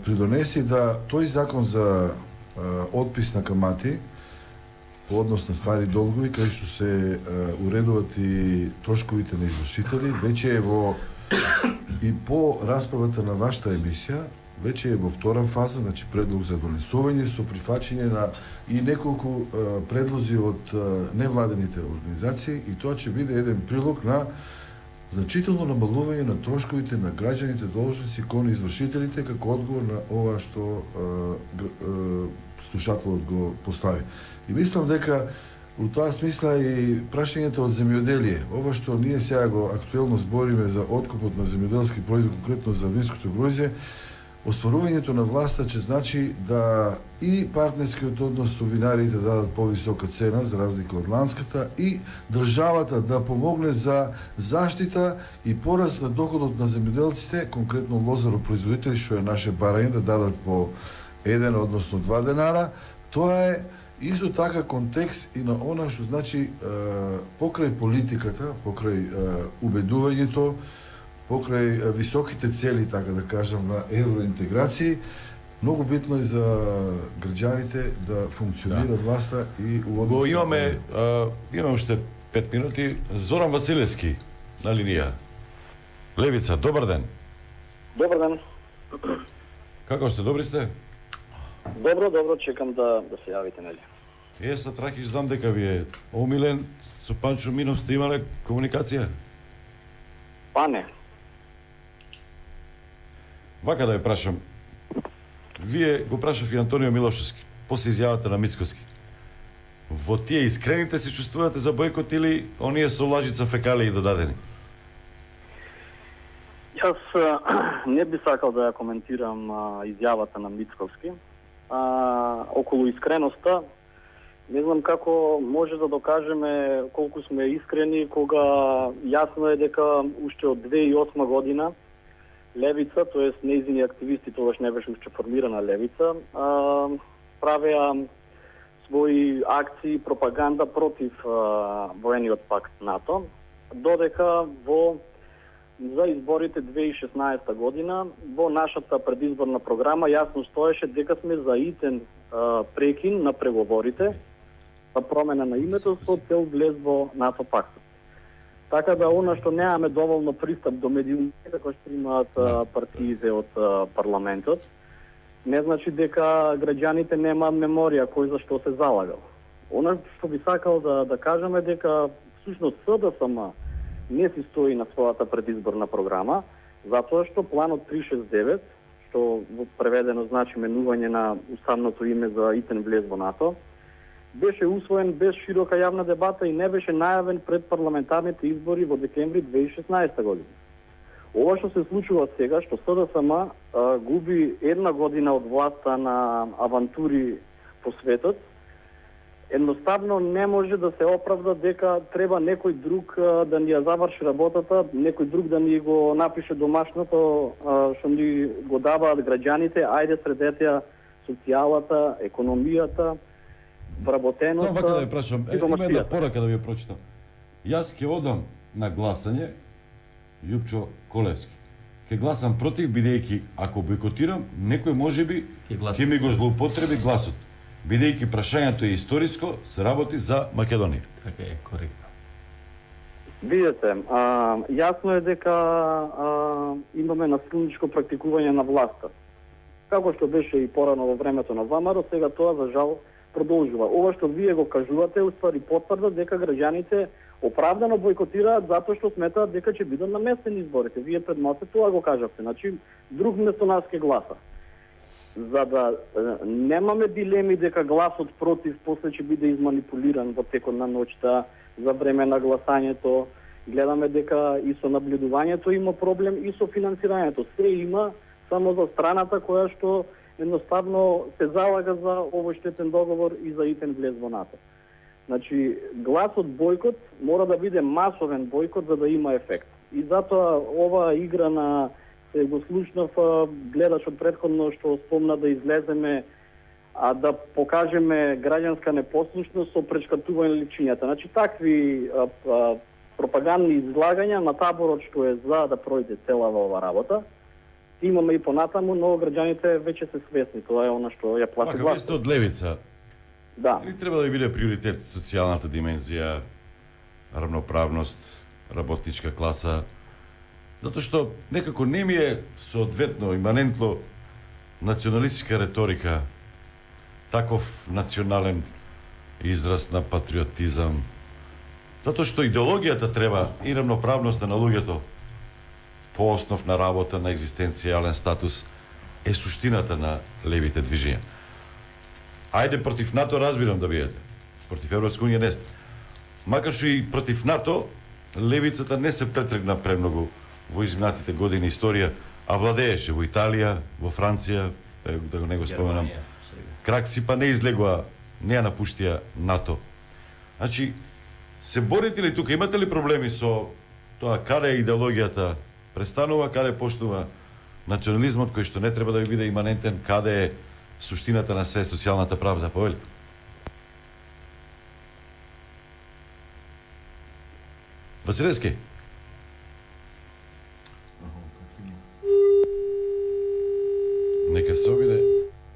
придонеси да тој закон за отпис на камати по однос на стари долгови, кај што се уредуваат и трошковите на извршители, веќе е во и по расправата на вашата емисија, веќе е во втора фаза, значи предлог за донесување со прифаќање на и неколку предлози од невладените организации, и тоа ќе биде еден прилог на значително намалување на трошковите на граѓаните должници кон извршителите, како одговор на ова што слушателот го постави. И мислам дека у тоа смисла и прашањето од земјоделие, ова што ние сега го актуелно збориме за откупот на земјоделски производ, конкретно за винското грозје, остварувањето на власта ќе значи да и партнерскиот однос со винарите дадат повисока цена за разлика од ланската и државата да помогне за заштита и пораст на доходот на земјоделците, конкретно лозаропроизводители, што е наше барање, да дадат по 1, односно 2 денара. Тоа е исто така контекст и на она што значи покрај политиката, покрај убедувањето, покрај високите цели, така да кажам, на евроинтеграција, многу битно е за граѓаните да функционира власта и го имаме уште 5 минути. Зоран Василевски на линија. Левица, добар ден. Добар ден. Како сте, добри сте? Добро, чекам да се јавите, нели? Са Трахич, знам дека ви е омилен. Со Панчо Минов сте имале комуникација? Па не. Вака да ја прашам. Вие го прашав и Антонио Милошевски, после изјавата на Мицкоски. Во тие искрените се чувствувате за бојкот или оние со лажица фекалии додадени? Јас не би сакал да ја коментирам изјавата на Мицковски. Околу искреноста, не знам како може да докажеме колку сме искрени кога јасно е дека уште од 2008 година Левица, тоест нејзини активисти, тогаш не беше уште формирана Левица, правеа своји акции, пропаганда против воениот пакт НАТО, додека за изборите 2016 година во нашата предизборна програма јасно стоеше дека сме за итен прекин на преговорите за промена на името со цел влез во НАТО пактот. Така да она што немаме доволно пристап до медиумите, како што имаат партиите од парламентот, не значи дека граѓаните немаат меморија кој за што се залагал. Она што би сакал да кажам е дека всушност СДСМ не си стои на својата предизборна програма, затоа што планот 369, што преведено значи менување на уставното име за итен влез во НАТО, беше усвоен без широка јавна дебата и не беше најавен пред парламентарните избори во декември 2016 година. Ова што се случува сега, што СДСМ губи една година од власта на авантури по светот, едноставно не може да се оправда дека треба некој друг да ни ја заврши работата, некој друг да ни го напише домашното што ни го даваат граѓаните, ајде средете ја социјалата, економијата, вработеност. Само вака да ја прашам, има една порака да ви ја прочитам. Јас ќе одам на гласање, Јупчо Колевски. Ќе гласам против, бидејќи ако бойкотирам, некој можеби ќе ми го злоупотреби гласот. Бидејќи прашањето е историско, се работи за Македонија. Така е, коректно. Видете, јасно е дека имаме насилничко практикување на власта. Како што беше и порано во времето на ВМРО, сега тоа за жал продолжува. Ова што вие го кажувате, уствари потврда дека граѓаните оправдано бойкотираат затоа што сметаат дека ќе бидат наместени изборите. Вие пред малку тоа го кажавте. Значи, друг место нас ке гласа. За да немаме дилеми дека гласот против после ќе биде изманипулиран во текот на ноќта, за време на гласањето, гледаме дека и со наблюдувањето има проблем и со финансирањето. Се има само за страната која што едноставно се залага за овој штетен договор и за итен влез во НАТО. Значи, гласот бојкот мора да биде масовен бојкот за да има ефект. И затоа ова игра на се го слушнав гледачот претходно што спомна да излеземе да покажеме граѓанска непослушност со пречкатување личињата. Значи, такви пропагандни излагања на таборот што е за да пројде целава ова работа, имаме и понатаму, но граѓаните веќе се свесни. Тоа е она што ја плати власт. Вие сте од левица. Да. Или треба да биде приоритет социјалната димензија, равноправност, работничка класа? Затоа што некако не ми е соодветно, иманентно националистичка реторика, таков национален израз на патриотизам. Затоа што идеологијата треба и равноправност на луѓето по основ на работа, на екзистенцијален статус, е суштината на левите движења. Ајде, против НАТО разбирам да биете. Против Европска унија не сте. Макар што и против НАТО, левицата не се претргна премногу во изминатите години историја, а владееше во Италија, во Франција, да го не го споменам. Кракси па не излегува, не ја напуштија НАТО. Значи, се борите ли тука, имате ли проблеми со тоа каде идеологијата престанува, каде почнува национализмот кој што не треба да ви биде иманентен, каде е суштината на се социјалната правда, повели? Василевски? Нека се обиде,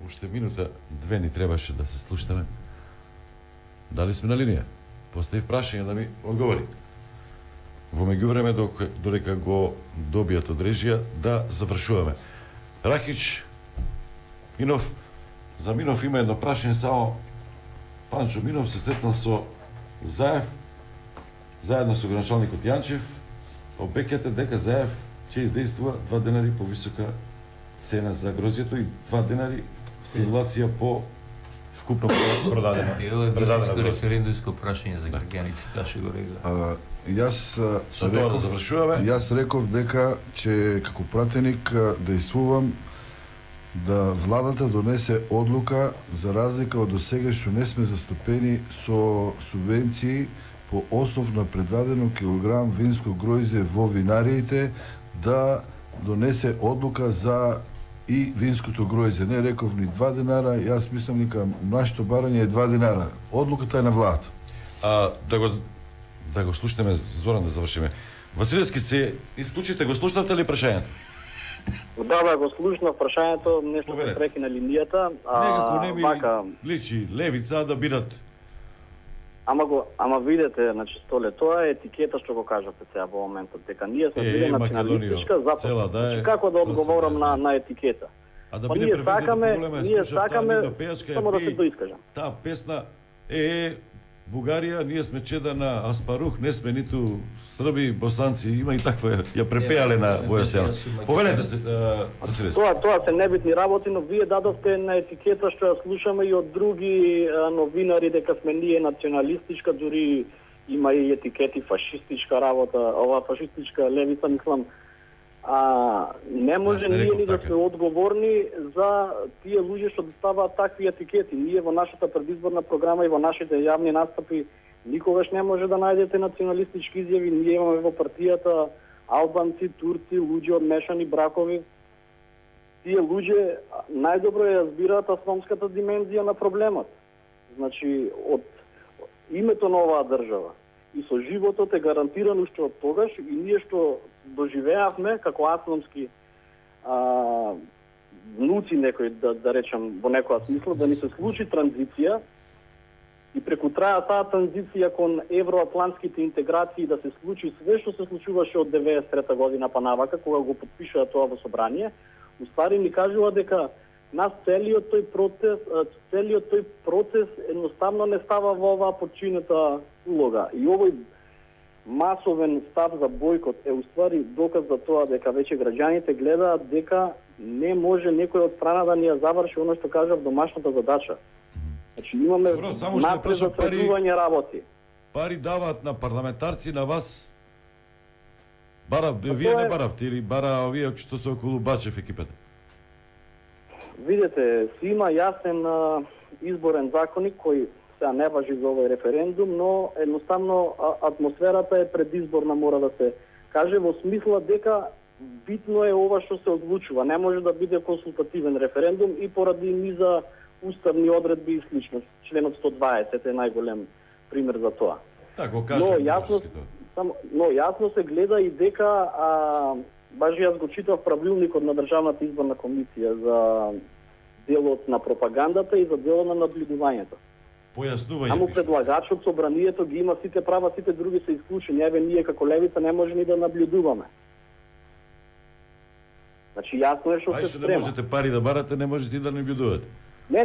уште минута, две ни требаше да се слушнеме. Дали сме на линија? Поставив прашање да ми одговори. Во меѓувреме додека го добијат од режија да завршуваме. Рахич, Минов, за Минов има едно прашање само. Панчо Минов се сретнал со Заев, заедно со граначалникот Јанчев, обекјате дека Заев ќе издействува 2 денари повисока цена за грозјето и 2 денари стимулација по вкупно продадено. Ево е високо референдумско прашање за граѓаните, таа ќе го рега. Јас Со тоа да завршуваме. Јас реков дека че како пратеник действувам да владата донесе одлука за разлика од досега што не сме застапени со субвенции по основ на предадено килограм винско гројзе во винариите, да донесе одлука за и винското гројзе. Не реков ни 2 денара, јас мислам дека нашето барање е 2 денара. Одлуката е на владата. Да го слушнеме, Зоран, да завршиме. Василевски, се исклучите, го слушнавте ли прашањето? Да, го слушнав прашањето, нешто се прекина линијата. Некако не ми личи левица да бидат. Ама видете, значи Столе, тоа е етикета што го кажавте сега во моментот, дека ние сме били националистичка запад. Значи, како да одговорам на етикета? А да биде превезено ние сакаме само да се доискажам. Таа песна Бугарија, ние сме чеда на Аспарух, не сме ниту срби, босанци, има и таква, ја препеале на Војастена. Повелете се, Василевски. Тоа се небитни работи, но вие дадовте на етикета што ја слушаме и од други новинари дека сме ние националистичка, дури има и етикети фашистичка работа, ова фашистичка левица, мислам. Не може ние ни да сме одговорни за тие луѓе што ставаат такви етикети. Ние во нашата предизборна програма и во нашите јавни настапи никогаш не може да најдете националистички изјави. Ние имаме во партијата албанци, турци, луѓе од мешани бракови. Тие луѓе најдобро ја разбираат асономската димензија на проблемот. Значи, од името на оваа држава и со животот е гарантирано уште од тогаш и ние што доживеавме како асономски внуци некој, да речам, во некоја смисла, да ни се случи транзиција и преку таа транзиција кон евроатлантските интеграции да се случи све што се случуваше од 93 година па навака, кога го подпишаа тоа во собрание, уствари ни кажува дека нас целиот тој процес едноставно не става во оваа подчинета улога. И овој масовен став за бојкот е уствари доказ за тоа дека веќе граѓаните гледаат дека не може некој од страна да ни ја заврши она што кажав домашната задача. Значи имаме напредување работи. Пари даваат на парламентарци, на вас вие не баравте или бара овие што се околу Бачев екипата? Видете, си има јасен изборен законник кој сега не важи за овој референдум, но едноставно атмосферата е предизборна, мора да се каже, во смисла дека битно е ова што се одлучува. Не може да биде консултативен референдум и поради низа уставни одредби и слично. Членот 120 е најголем пример за тоа. Так, го кажем. Но јасно се гледа и дека баш јас го читав правилникот на Државната изборна комисија за делот на пропагандата и за делот на наблюдувањето. Појаснување. Само предлагачот, собранието ги има сите права, сите други се исклучени. Еве ние како левица не може ни да наблюдуваме. Значи јасно е што се спрема. Не можете пари да барате, не можете и да наблюдувате. Не,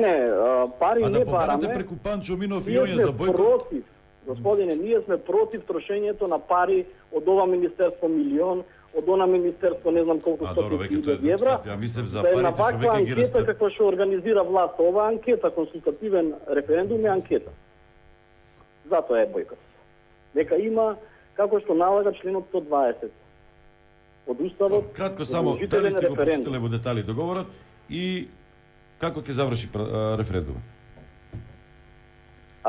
пари не бараме. А да побарате преку Панчо Минов и Јоња за бојкот? Против. Господине, ние сме против трошењето на пари од ова министерство милион, од она министерство не знам колку стотици евра. Ја мислев за парите што веќе ги анкета како што организира власт. Ова анкета, консултативен референдум е анкета. Затоа е бојкот. Нека има како што налага членот 120 од уставот. Кратко само, дали сте го прочитале во детали договорот и како ќе заврши референдумот?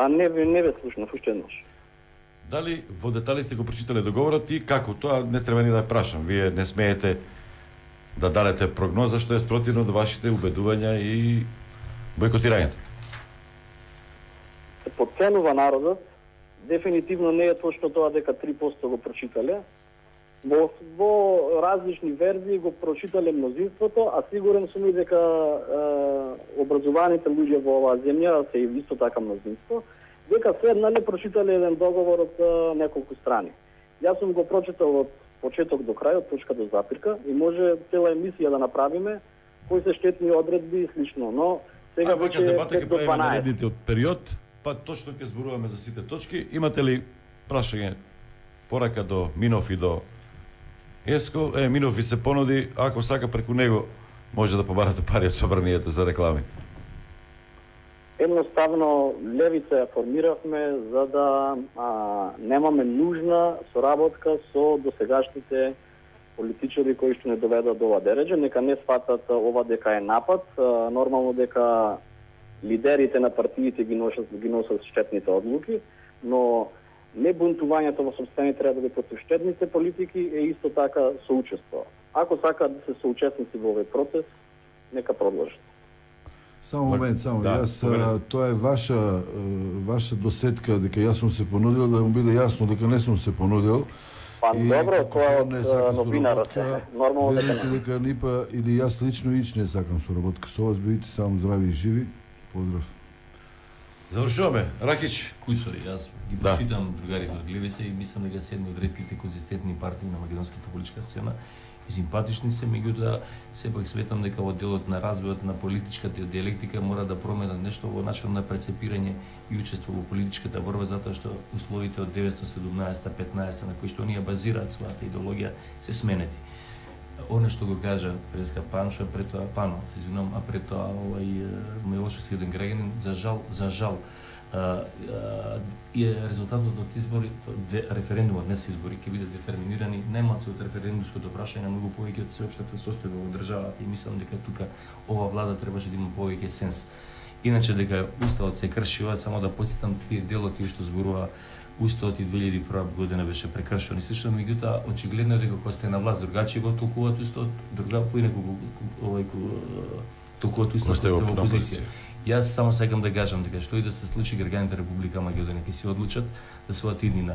Не ве слушнав уште еднаш. Дали во детали сте го прочитале договорот и како? Тоа не треба ни да прашам. Вие не смеете да дадете прогноза што е спротивно до вашите убедувања и бојкотирањето. Подценува народот. Дефинитивно не е точно тоа дека 3% го прочитале. Во различни верзии го прочитале мнозинството, а сигурен сум и дека образованите луѓе во оваа земја се и исто така мнозинство, дека седнале прочитале еден договор од неколку страни. Јас сум го прочитал од почеток до крај, од точка до запирка и може цела емисија да направиме кои се штетни одредби и слично, но сега веќе дебата ќе правиме наредните од период, па точно ќе зборуваме за сите точки. Имате ли прашање, порака до Минов и до Еско? Минов ви се понуди, ако сака преку него може да побарате пари од собранието за реклами? Едноставно, левица ја формиравме за да немаме нужна соработка со досегашните политичари кои што не доведат до ова дереđe, нека не сватат ова дека е напад, нормално дека лидерите на партиите ги носат штетните одлуки, но не бунтувањето во сопствени треба да против штетните политики е исто така соучество. Ако сакаат да се соучесници во овој процес, нека продолжат. Само момент, тоа е ваша досетка дека јас сум се понудил, да му биде јасно дека не сум се понудил. Па добро, тоа е од новинарот. Нормално дека нипа или јас лично не сакам соработка со вас, бидете само здрави и живи. Поздрав. Завршуваме. Ракич. Кујсори, јас ги почитам другарите од Глевеса и мислам дека се едни од ретките конзистентни партии на македонската политичка сцена. И симпатични се, меѓутоа сепак сметам дека во делот на развојот на политичката диалектика мора да променат нешто во начинот на прецепирање и учество во политичката борба, затоа што условите од 1917-15 на кои што оние базираат својата идеологија се сменети. Оно што го кажа преска Паншо, пред тоа Пано, извинувам, а пред тоа Милошевски еден граѓанин, за жал, и резултатот од избори, референдумот, не се избори, ќе бидат детерминирани најмалку од референдумското прашање, многу повеќе од сеопштата состојба во државата и мислам дека тука ова влада требаше да има повеќе сенс. Иначе дека уставот се крши, само да потсетам тие делоти што зборува уставот и 2001 година беше прекршен и слично, меѓутоа очигледно дека кога сте на власт другачи го толкуваат уставот, друга поинаку толкуваат уставот сте во опозиција. Јас само сакам да кажам дека што и да се случи, граѓаните Република Македонија ќе се одлучат да својата иднина